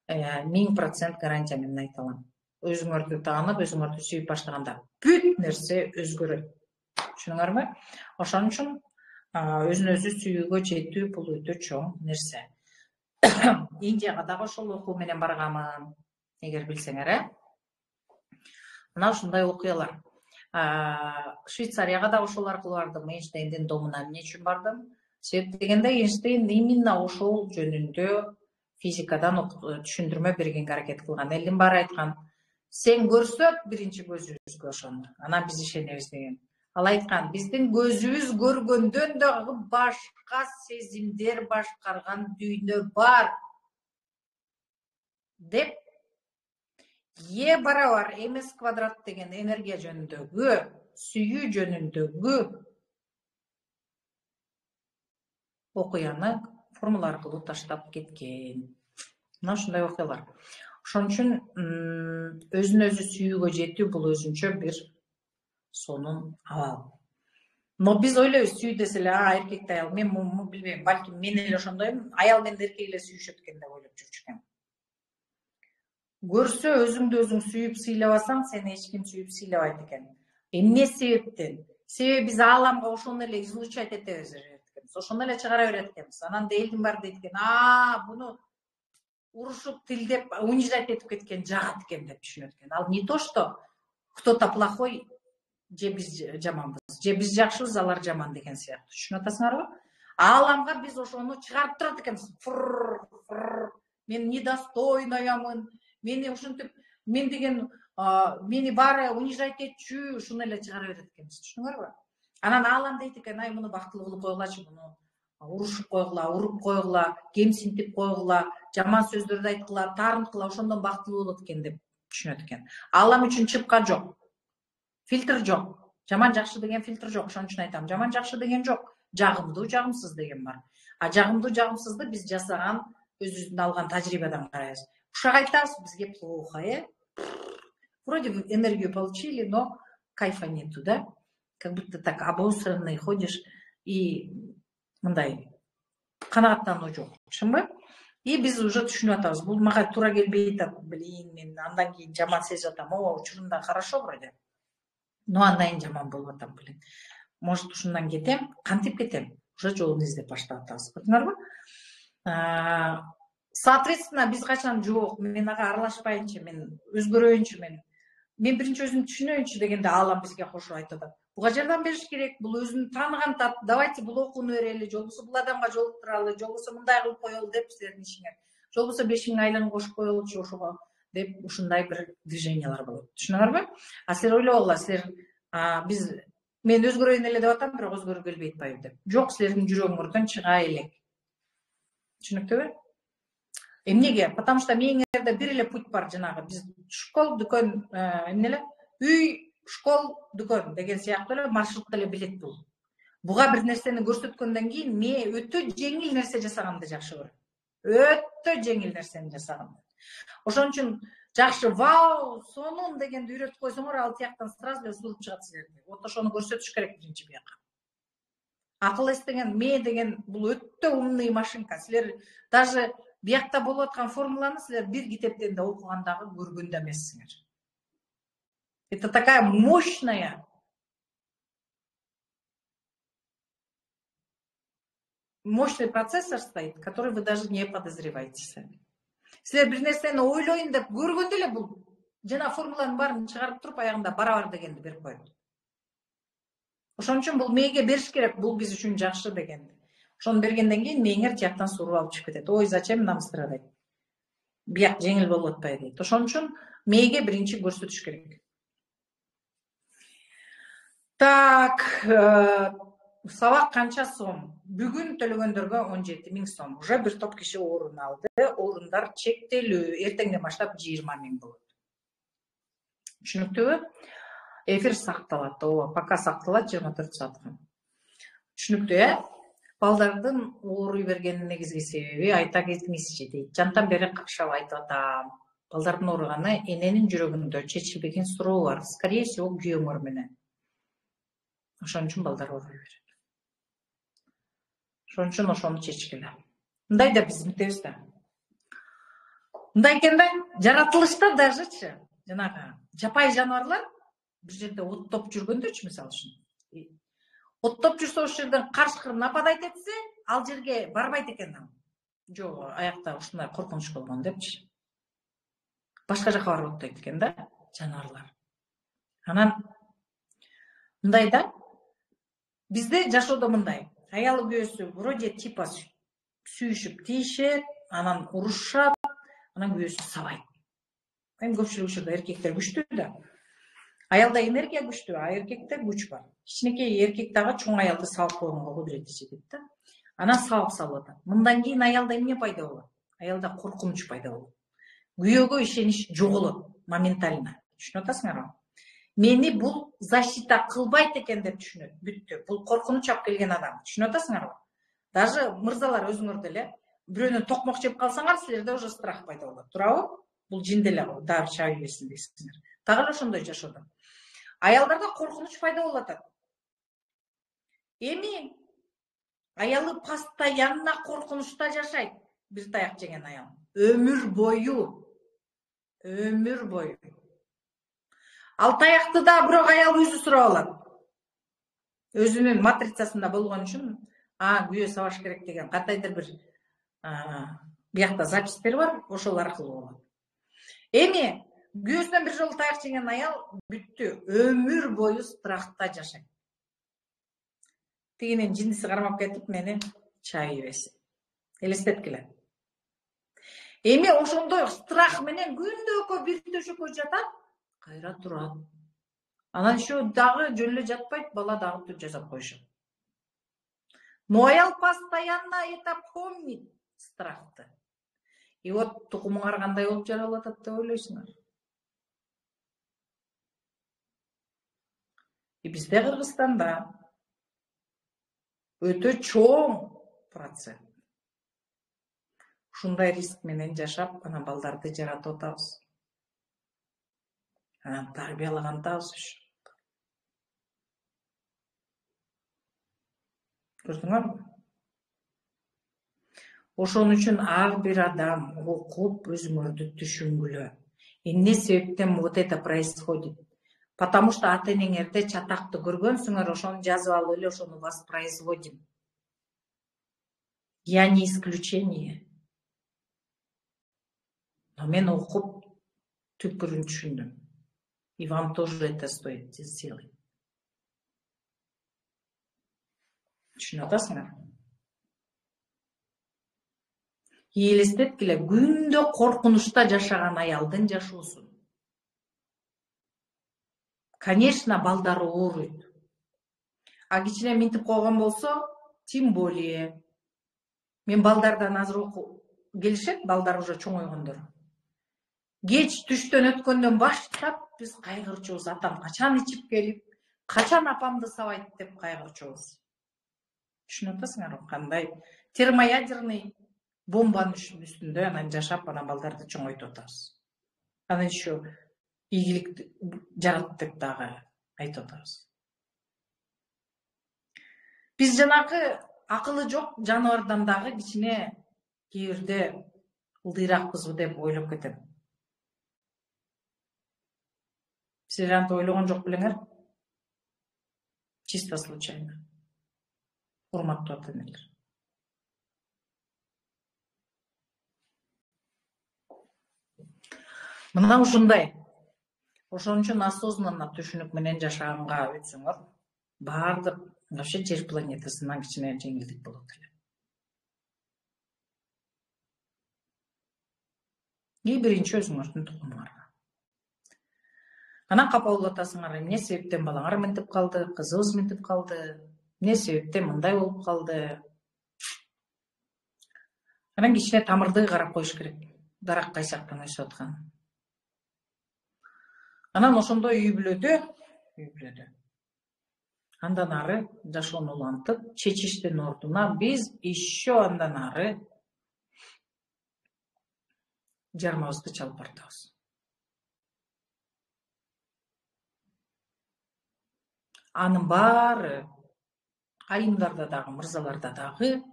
1000% гарантия менен айта алам. Өзүңөрдү таанып, өзүңөрдү сүйүп баштаганда бүт нерсе өзгөрөт. Түшүнүңөрбү? Ошон үчүн өзүн өзү сүйүүгө жетүү бул өтө чоң нерсе. Индияга дагы ошол окуу менен барганмын, эгер билсеңер, Мына ушундай окуялар. Швейцарияга да ошол аркылуу бардым. Эйнштейндин домуна эмне үчүн бардым? Себеп дегенде Эйнштейн именно ошол жөнүндө физикадан түшүндүрмө бергенге аракет кылган. Элдин баары айткан, сен көрсөк биринчи көзүбүзгө ошону, анан биз ишенебиз деген. Ал айткан, биздин көзүбүз көргөндөн дагы башка сезимдер башкарган дүйнө бар деп Е барабар ms квадрат деген энергия жөнүндөгү, сүйүү жөнүндөгү окуяны формула аркылуу таштап кеткен. Мына ушундай окуялар. Ошон үчүн өзүн өзү сүйүүгө жетүү бул өзүнчө бир сонун абал. Но биз ойлойбуз, сүй десе эле эркекти аял, мен билбейм, балким мен эле ошондоймун, аял менен эркек эле сүйүшөт экен деп ойлоп жүрчү экен. Көрсө өзүңдү өзүң сүйүп сыйлабасаң, сени эч ким сүйүп сыйлабайт экен. Эмне себептен? Себеби биз ааламга ошону эле излучать эте берет экенбиз, ошону эле чыгара берет экенбиз. Анан элдин баары дейт экен, буну урушуп, тилдеп, унижать этип кеткен жагат экен деп түшүнөт экен. Ал не то, что кто-то плохой, же биз жаманбыз, же биз жакшыбыз, алар жаман деген сыяктуу. Түшүнүп атасыңарбы? Ааламга биз ошону чыгарып турат экенбиз. Мен недостойноямын, мени ушинтип, мен деген мени баары унижать этчү, ушуну эле чыгара берет экенбиз. Түшүнүңөрбү? Анан аалам дейт экен, муну бактылуу кылып койгулачы, муну урушуп койгула, уруп койгула, кемсинтип койгула, жаман сөздөрдү айткыла, таарынткыла, ошондон бактылуу болот экен деп түшүнөт экен. Аалам үчүн чыпка жок. Фильтр жок. Жаман жакшы деген фильтр жок. Ошон үчүн айтам, жаман жакшы деген жок. Жагымдуу жагымсыз деген бар. Жагымдуу жагымсызды биз жасаган, өзүбүздүн алган тажрыйбадан карайбыз. Ушак айтабыз, бизге плохо, Вроде бы энергию получили, но кайфа нету, да? Как будто так обосранный ходишь и мындай канааттануу жок. Түшүнбү? И биз уже түшүнүп атабыз. Бул мага туура келбей атат. Блин, мен андан кийин жаман сезип атам. Учурунда хорошо вроде. Но андан кийин жаман болуп атам, блин. Может, ушундан кетем, кантип кетем? Уже жолун издеп баштап атабыз. Көрдүңөрбү? Соответственно, биз качан жок, мен ага аралашпайынчы, мен өзгөрөйүнчү, мен биринчи өзүмдү түшүнөйүнчү дегенде аалам бизге кошуп айтып атат. Буга жардам бериш керек, бул өзүн тааныган тат, давайте бул окууну берели, же болбосо бул адамга жолуктуралы, же болбосо мындай кылып коелу деп силердин ишиңер. Же болбосо 5000 айлыгын кошуп коелучу ошого деп ушундай бир движениялар болот. Түшүнүңөрбү? Силер ойлогула, силер мен өзгөрөйүн эле деп атам, бирок өзгөргү келбей атпайбы деп. Жок, силердин жүрөгүңөрдөн чыга элек. Түшүнүктүүбү? Эмнеге? Потому что мээңерде бир эле путь бар, жанагы биз школ, дүкөн, эмне эле? Үй, школ, дүкөн деген сыяктуу эле маршрут эле билет бул. Буга бир нерсени көрсөткөндөн кийин мен өтө жеңил нерсе жасаганды жакшы көрөм. Өтө жеңил нерсени жасаганды. Ошон үчүн жакшы, вау, сонун дегенди үйрөтүп койсоңор, ал тияктан сразу эле сулуп чыгат силерге. Вот ошону көрсөтүш керек биринчи бияка. Акыл эс деген, ме деген бул өтө умный машинка. Силер даже биякта болуп аткан формуланы силер бир китептен да окугандагы көргөн да эмессиңер. Это такая мощный процессор стоит, который вы даже не подозреваете сами. Силер бир нерсени ойлойн деп көргөндө эле бул жана формуланын баарын чыгарып туруп аягында барабар дегенди берип коет. Ошон үчүн бул мээге бериш керек, бул биз үчүн жакшы дегенди. Ошону бергенден кийин мээңер тияктан суруп алып чыгып кетет. Ой, зачем нам страдать? Бияк жеңил болуп атпайбы дейт. Ошон үчүн мээге биринчи көрсөтүш керек. Так, сабак канча сом? Бүгүн төлөгөндөргө 17 000 сом. Уже бир топ киши орун алды. Орундар чектелүү. Эртеңден баштап 20 000 болот. Түшүнүктүүбү? Эфир сакталат. Ооба, пока сакталат 24 саатка. Түшүнүктүү, балдардын ооруй бергенин негизги себеби айта кетиңизчи дейт. Жантан бери какшап айтып атам. Балдардын ооруганы эненин жүрөгүндө чечилбеген суроо бар. Скорее всего, күйөөңөр менен. Ошон үчүн балдар ооруй берет. Ошон үчүн ошону чечкиле. Мындай да биздикибиз да. Мындай экен да, жаратылышта дажычы, жанагы жапай жаныбарлар бир жерде оттоп жүргөндөрчү, мисалы үчүн. Оттоп жүрсө, ошол жерден карышкыр нападать этсе, ал жерге барбайт экен ал. Жок, аякта ушундай коркунуч болгон депчи. Башка жака барып оттойт экен да, жаныбарлар. Анан мындай да, бизде жашоодо мындай. Аялы күйөөсү вроде типа сүйүшүп тийишет, анан урушат, анан күйөөсү сабайт. Эми көпчүлүк учурда эркектер күчтүү да. Аялда энергия күчтүү, а эркекте күч бар. Кичинекей эркек дагы чоң аялды салып койгонго кудурети жетет да. Анан салып атат. Мындан кийин аялда эмне пайда болот? Аялда коркунуч пайда болот. Күйөөгө ишенич жоголот моментально. Түшүнүп атасыңарбы? Мени бул защита кылбайт экен деп түшүнөт. Бүттү. Бул коркунуч алып келген адам. Түшүнүп атасыңарбы? Даже мырзалар өзүңөр деле бирөөнөн токмок жеп калсаңар, силерде уже страх пайда болот. Туурабы? Бул жин деле дары чаап ийбесин дейсиңер. Дагы эле ошондой жашоодо. Аялдарда коркунуч пайда болуп атат. Эми аялы постоянно коркунучта жашайт. Бир таяк жеген аял. Өмүр бою. Өмүр бою. Ал таякты да бирок аял өзү сурап алат. Өзүнүн матрицасында болгон үчүн, күйөө сабаш керек деген кандайдыр бир биякта запистер бар, ошол аркылуу болот. Эми күйөөсүнөн бир жолу таяк жеген аял бүттү. Өмүр бою страхта жашайт. Тигинин жиндиси кармап кетип мени чаап ийбесин. Элестеткиле. Эми ошондой страх менен күндө бир төшөккө жатат, кайра турат. Анан еще дагы жөн эле жатпайт, бала дагы жасап коюшат. Но аял постоянно это помнит, страхты. И вот тукумуңар кандай болуп жаралып атат деп ойлойсуңар? И бизде Кыргызстанда өтө чоң процент. Ушундай риск менен жашап, анан балдарды жаратып атабыз. Анан тарбиялагандабыз ушу. Көрдүңөрбү? Ошон үчүн ар бир адам окуп өзүңөрдү түшүнгүлө. Эмне себептен вот это происходит? Потому что ата-энеңерде чатакты көргөнсүңөр, ошону жазып алып эле ошону воспроизводим. Я не исключение. Но мен окуп түпкүрүн түшүндүм. И вам тоже это стоит сделать. Түшүнүп атасыңар? Элестеткиле, күндө коркунучта жашаган аялдын жашоосун. Конечно, балдары ооруйт. А кичине минтип койгон болсо, тем более. Мен балдардан азыр келишет, балдар уже чоңойгондор. Кеч түштөн өткөндөн баштап биз кайгырчубуз. Атам качан ичип келип, качан апамды сабайт деп кайгырчубуз. Түшүнүп атасыңарбы? Кандай термоядерный бомбанын үстүндө анан жашап, анан балдарды чоңойтуп атабыз. Анан еще ийгилик жарат деп дагы айтып атабыз. Биз жанагы акылы жок жаныбардан дагы кичине кээ бирде ылдыйракпызбы деп ойлоп кетем. Силер антип ойлогон жок белеңер? Чисто случайно. Урматтуу ата-энелер. Мына ушундай. Ошон үчүн осознанно түшүнүк менен жашаганга өтсөңөр, баардык вообще жер планетасынан кичине жеңилдик болот эле. биринчи өзүңөрдүн тукумуңарга. Анан капа болуп атасыңар, эмне себептен балаңар мынтип калды, кызыбыз мынтип калды, эмне себептен мындай болуп калды. Анан кичине тамырды карап коюш керек, дарак кайсактан өсүп аткан. Анан ошондой үй бүлөдө андан ары жашоону улантып, чечиштин ордуна биз еще андан ары жармабызды чалып бартабыз. Анын баары айымдарда дагы, мырзаларда дагы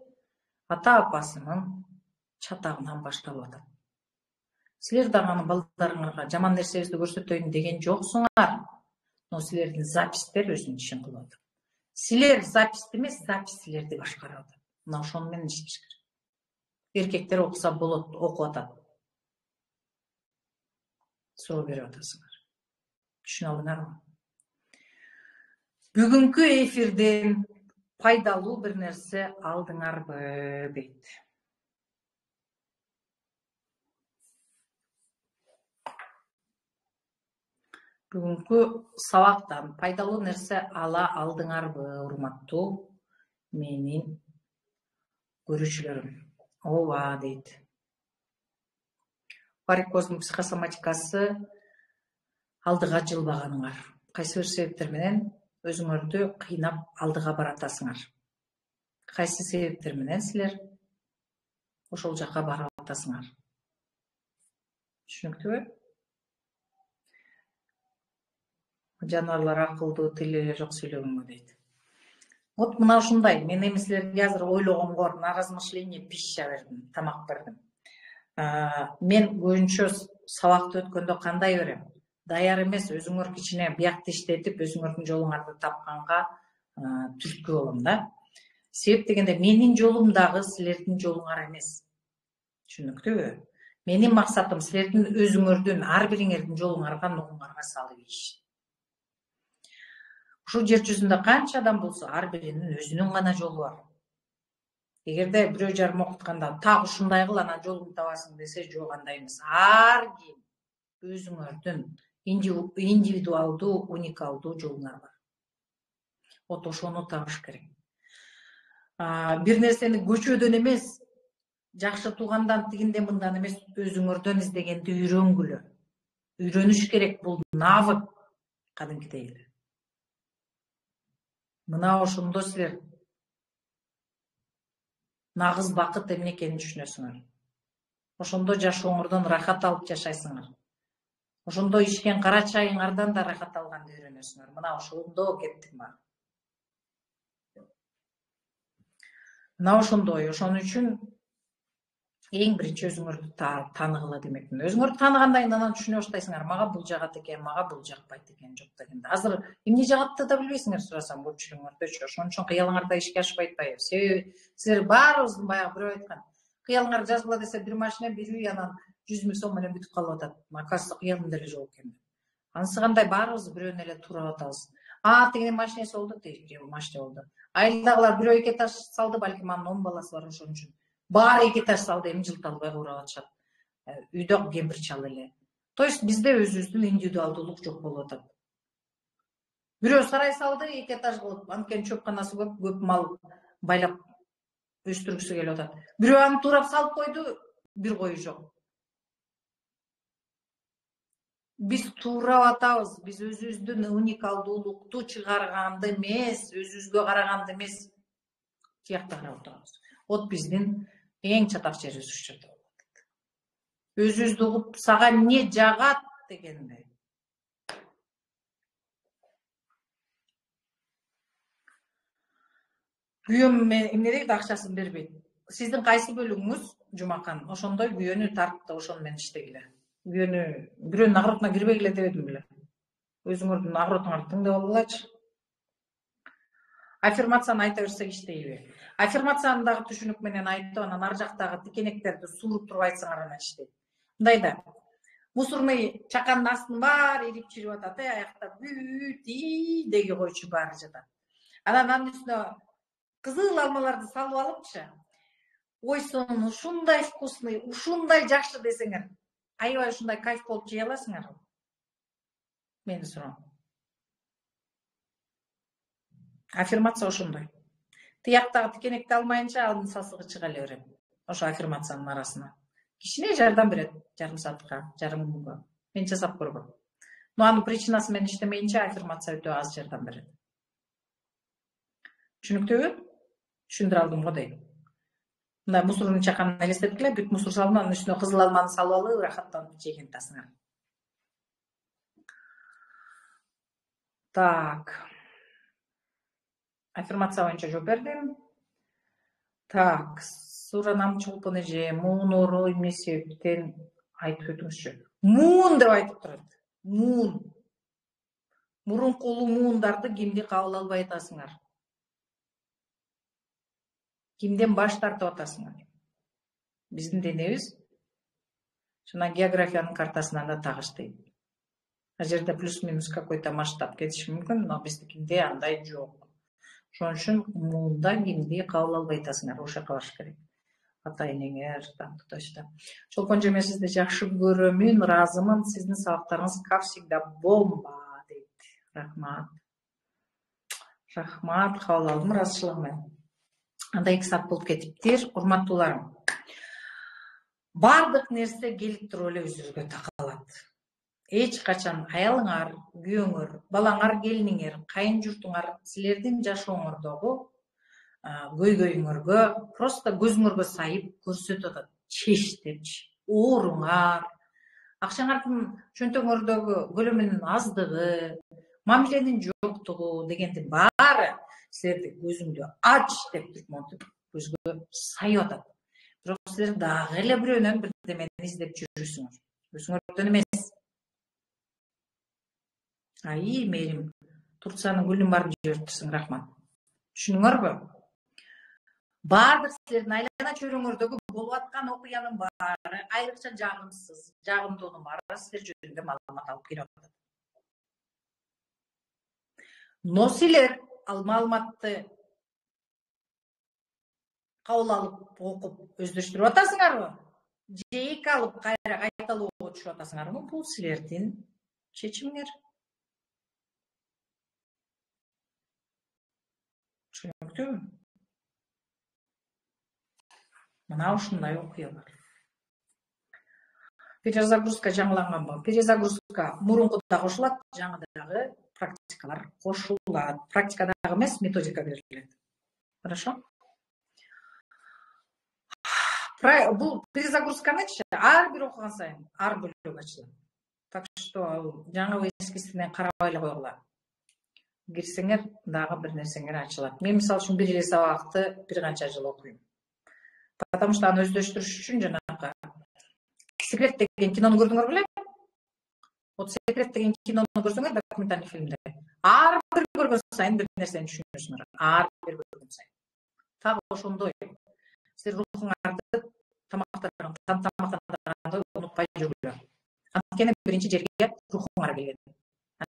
ата-апасынын чатагынан башталып атат. Силер дагы анын балдарыңарга жаман нерсебизди көрсөтөйүн деген жоксуңар, но силердин запистер өзүнүн ишин кылып атат. Силер записти эмес, запись силерди башкарып атат. Мына ошону менен иштеш керек. Эркектер окуса болот, окуп атат. Суроо берип атасыңар. Түшүнө алдыңарбы? Бүгүнкү эфирден пайдалуу бир нерсе алдыңарбы дейт. Бүгүнкү сабактан пайдалуу нерсе ала алдыңарбы, урматтуу менин көрүүчүлөрүм? Ооба дейт. Варикоздун психосоматикасы алдыга жылбаганыңар. Кайсы бир себептер менен өзүңөрдү кыйнап алдыга баратасыңар. Кайсы себептер менен силер ошол жакка барып атасыңар. Түшүнүктүүбү? Жаныбарлар акылдуу, тили эле жок сүйлөгөнгө дейт. Вот мына ушундай. Мен эми силерге азыр ойлогонго на размышление пища бердим, тамак бердим. Мен көбүнчө сабакты өткөндө кандай берем? Даяр эмес, өзүңөр кичине биякты иштетип, өзүңөрдүн жолуңарды тапканга түрткү болом да. Себеп дегенде менин жолум дагы силердин жолуңар эмес. Түшүнүктүүбү? Менин максатым силердин өзүңөрдүн, ар бириңердин жолуңарга, нугуңарга салып ийиш. Ушул жер жүзүндө канча адам болсо, ар биринин өзүнүн гана жолу бар. Эгерде бирөө жарым окутканда так ушундай кыл, анан жолуңду табасың десе, жок, андай эмес. Ар ким өзүңөрдүн индивидуалдуу, уникалдуу жолуңар бар. Вот ошону табыш керек. Бир нерсени көчөдөн эмес, жакшы туугандан, тигинден, мындан эмес, өзүңөрдөн издегенди үйрөнгүлө. Үйрөнүш керек, бул навык кадимкидей эле. Мына ошондо силер нагыз бакыт эмне экенин түшүнөсүңөр. Ошондо жашооңордон рахат алып жашайсыңар. Ошондо ичкен кара чайыңардан да рахат алганды үйрөнөсүңөр. Мына ошондо кеттик баа. Мына ошондой. Ошон үчүн эң биринчи өзүңөрдү тааныгыла демекмин. Өзүңөрдү тааныгандан кийин анан түшүнө баштайсыңар. Мага бул жагат экен, мага бул жакпайт экен, жок дегенде. Азыр эмне жагатты да билбейсиңер сурасам көпчүлүгүңөрдөчү. Ошон үчүн кыялыңарда ишке ашпайт атпайбы? Себеби силер баарыбыздын баягы бирөө айткан. Кыялыңар жазгыла десе, бир машина, бир үй, анан 100 000 сом менен бүтүп калып атат. Оказывается, кыялым деле жок экен. Анысы кандай, баарыбыз бирөөнү эле туурап атабыз. Тигинин машинеси болду, тигинин машина болду. Айылдагылар бирөө 2 этаж салды, балким анын 10 баласы бар, ошон үчүн баары 2 этаж салды, эми жылт албай курап атышат. Үйдө кемпир чал эле. То есть бизде өзүбүздүн индивидуалдуулук жок болуп атат. Бирөө сарай салды, 2 этаж кылып, анткени чөпканасы көп мал байлап өстүргүсү келип атат. Бирөө аны туурап салып койду, бир кою жок. Биз туурап атабыз, биз өзүбүздүн уникалдуулукту чыгарганды эмес, өзүбүзгө караганды эмес, тиякта карап отурабыз. Вот биздин эң чатак жерибиз ушул жерде болуп атат. Өзүбүздү угуп, сага эмне жагат дегенде. Күйөөм эмне дейт, акчасын бербейт. Сиздин кайсы бөлүгүңүз жумакан, ошондой күйөөнү тартып, ошону менен иштегиле. Күйөөнү бирөөнүн агыротуна кирбегиле дебедим беле. Өзүңөрдүн агыротуңарды тыңдап алгылачы. Аффирмацияны айта берсек иштейби? Аффирмацияны дагы түшүнүк менен айтып, анан ар жактагы тикенектерди сууруп туруп айтсаңар анан иштейт. Мындай да. Мусорный чаканын астын баары ирип чирип атат, аякта бүт деги койчу баары жатат. Анан анын үстүнө кызыл алмаларды салып алыпчы. Ой, сонун ушундай вкусный, ушундай жакшы десеңер, аябай ушундай кайф болуп жей аласыңарбы? Мени суроо. Аффирмация ошондой. Тияктагы тикенекти алмайынча алдын сасыгы чыга эле берет. Ошо аффирмациянын арасына. Кичине жардам берет, жарым саатка, жарым күнгө. Мен жасап көргөм. Но анын причинасы менен иштемейинче аффирмация өтө аз жардам берет. Түшүнүктүүбү? Түшүндүрө алдым го дейм. Мындай мусордун чаканын элестеткиле, бүт мусор салып, анын үстүнө кызыл алманы салып алып, рахаттанып жеген атасыңар. Так. Аффирмация боюнча жооп бердим. Так, Суранам чолпон эже, муун оору эмне себептен айтып өтүңүзчү. Муун деп айтып турат. Муун. Мурунку улуу муундарды кимди кабыл албай атасыңар? Кимден баш тартып атасыңар? Биздин денебиз жана географиянын картасынан да тагыштайт. Ал жерде плюс-минус какой-то масштаб кетиши мүмкүн, но биздикинде андай жок. Ошон үчүн муунда кимди кабыл албай атасыңар, ошол жака барыш керек. Ата энеңер, туташта. Чолпон эже, мен сизди жакшы көрөмүн, ыраазымын. Сиздин сабактарыңыз как всегда бомба дейт. Рахмат. Рахмат, кабыл алдым ыраазычылыгым менен. Анда 2 саат болуп кетиптир. Урматтууларым. Бардык нерсе келип туруп эле өзүбүзгө такалат. Эч качан аялыңар, күйөөңөр, балаңар, келиниңер, кайын журтуңар силердин жашооңордогу көйгөйүңөргө просто көзүңөргө сайып көрсөтүп атат. Чечтепчи, ооруңар, акчаңардын чөнтөгүңөрдөгү көлөмүнүн аздыгы, мамиленин жоктугу дегендин баары силерди көзүңдү ач деп туруп монтип көзгө сайып атат. Бирок силер дагы эле бирөөнөн бирдемени издеп жүрүсүңөр. Өзүңөрдөн эмес. Ай, мээрим, Турциянын гүлүн баарын жибериптирсиң, рахмат. Түшүнүңөрбү? Бардык силердин айлана чөйрөңөрдөгү болуп аткан окуянын баары, айрыкча жагымсыз, жагымдуунун баары силер жөнүндө маалымат алып келип атат. Но силер ал маалыматты кабыл алып, окуп, өздөштүрүп атасыңарбы? Же эки алып кайра кайталоого түшүп атасыңарбы? Бул силердин чечимиңер. Түшүнүктүүбү? Мына ушундай окуя бар. Перезагрузка жаңыланганбы? Перезагрузка мурункуда кошулат, жаңы дагы практикалар кошулат. Практика дагы эмес, методика берилет. Хорошо? Бул перезагрузканычы ар бир окуган сайын ар бөлөк ачылат. Так что жаңы эскисине карабай эле койгула. Кирсеңер дагы бир нерсеңер ачылат. Мен мисалы үчүн бир эле сабакты бир канча жыл окуйм. Потому что аны өздөштүрүш үчүн жанагы Секрет деген кинону көрдүңөр беле? Вот Секрет деген кинону көрсөңөр, документальный фильмде. Ар бир көргөн сайын бир нерсени түшүнөсүңөр. Ар бир көргөн сайын. Так ошондой. Силер рухуңарды тамактанганды унутпай жүргүлө. Анткени биринчи жерге рухуңар келген.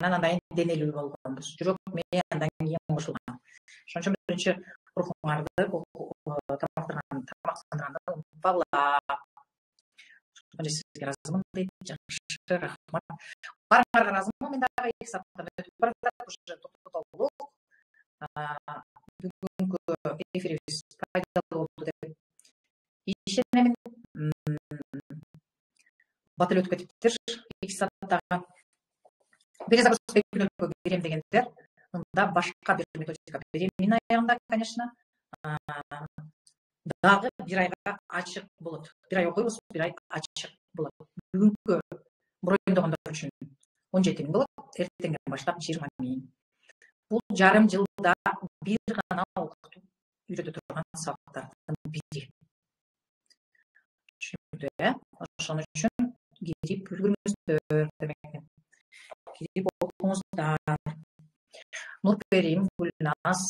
Анан андан денелүү болгонбуз. Жүрөк, мээ андан кийин кошулган. Ошон үчүн биринчи рухуңарды тамактанганды унутпагыла. Сизге ыраазымын дейт. Жакшы, рахмат. Барыңарга ыраазымын. Мен дагы 2 сааттан өтүп баратат, уже токтотолдук. Бүгүнкү эфирибиз пайдалуу болду деп ишенемин. Батыл өтүп кетиптир 2 сааттагы. Перезагрузка күнөөлүккө кирем дегендер, мында башка бир методика берем. Менин аягымда, конечно, дагы бир айга ачык болот. Бир ай окуйбуз, бир ай ачык болот. Бүгүнкү броендогондор үчүн 17 миң болот, эртеңден баштап 20 миң. Бул жарым жылда бир гана окутуп үйрөтө турган сабактардын бири. Түшүндү, ошон үчүн кирип үлгүрүңүздөр демекмин. Кирип окуңуздар. Нурперим, Гүлназ,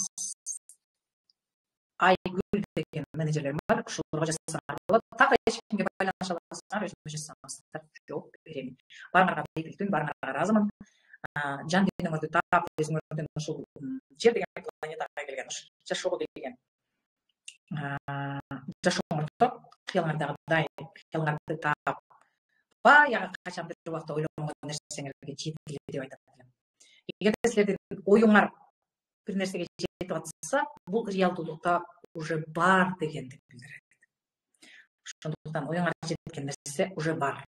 Айгүл деген менеджерлерим бар. Ошолорго жазсаңар болот. Так эч кимге байланыша аласыңар, өзүңөр жазсаңыздар жооп берем. Барыңарга бейпилтүн, барыңарга ыраазымын. Жан денеңөрдү таап, өзүңөрдүн ушул жер деген планетага келген, жашоого келген жашооңордо кыялыңардагы дайым, кыялыңарды таап, баягы качан бир убакта ойлогон нерсеңерге жеткиле деп айтат элем. Эгерде силердин оюңар бир нерсеге жетип атса, бул реалдуулукта уже бар дегенди билдирет. Ошондуктан оюңар жеткен нерсе уже бар.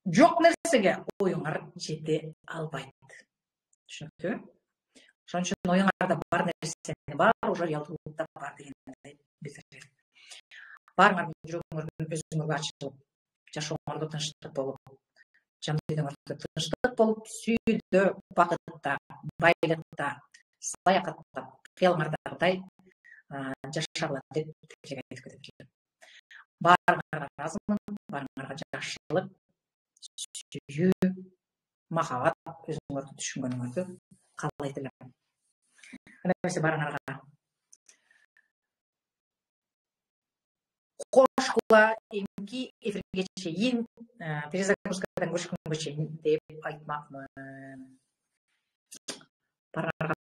Жок нерсеге оюңар жете албайт. Түшүнүктүүбү? Ошон үчүн оюңарда бар нерсени бар уже реалдуулукта бар дегенди билдирет. Баарыңардын жүрөгүңөрдүн өзүңөргө ачылып, жашооңордо тынчтык болуп, жан дүйнөңөрдө тынчтык болуп, сүйүүдө, бакытта, байлыкта, саякатта, кыялыңардагыдай жашагыла деп тилек айтып кетет элем. Баарыңарга ыраазымын, баарыңарга жакшылык, сүйүү, махабат өзүңөрдү түшүнгөнүңөрдү каалайт элем. Анда эмесе баарыңарга кошкула эмки эфирге чейин, перезагрузкадан көрүшкөнгө чейин деп айтмакмын. Баарыңарга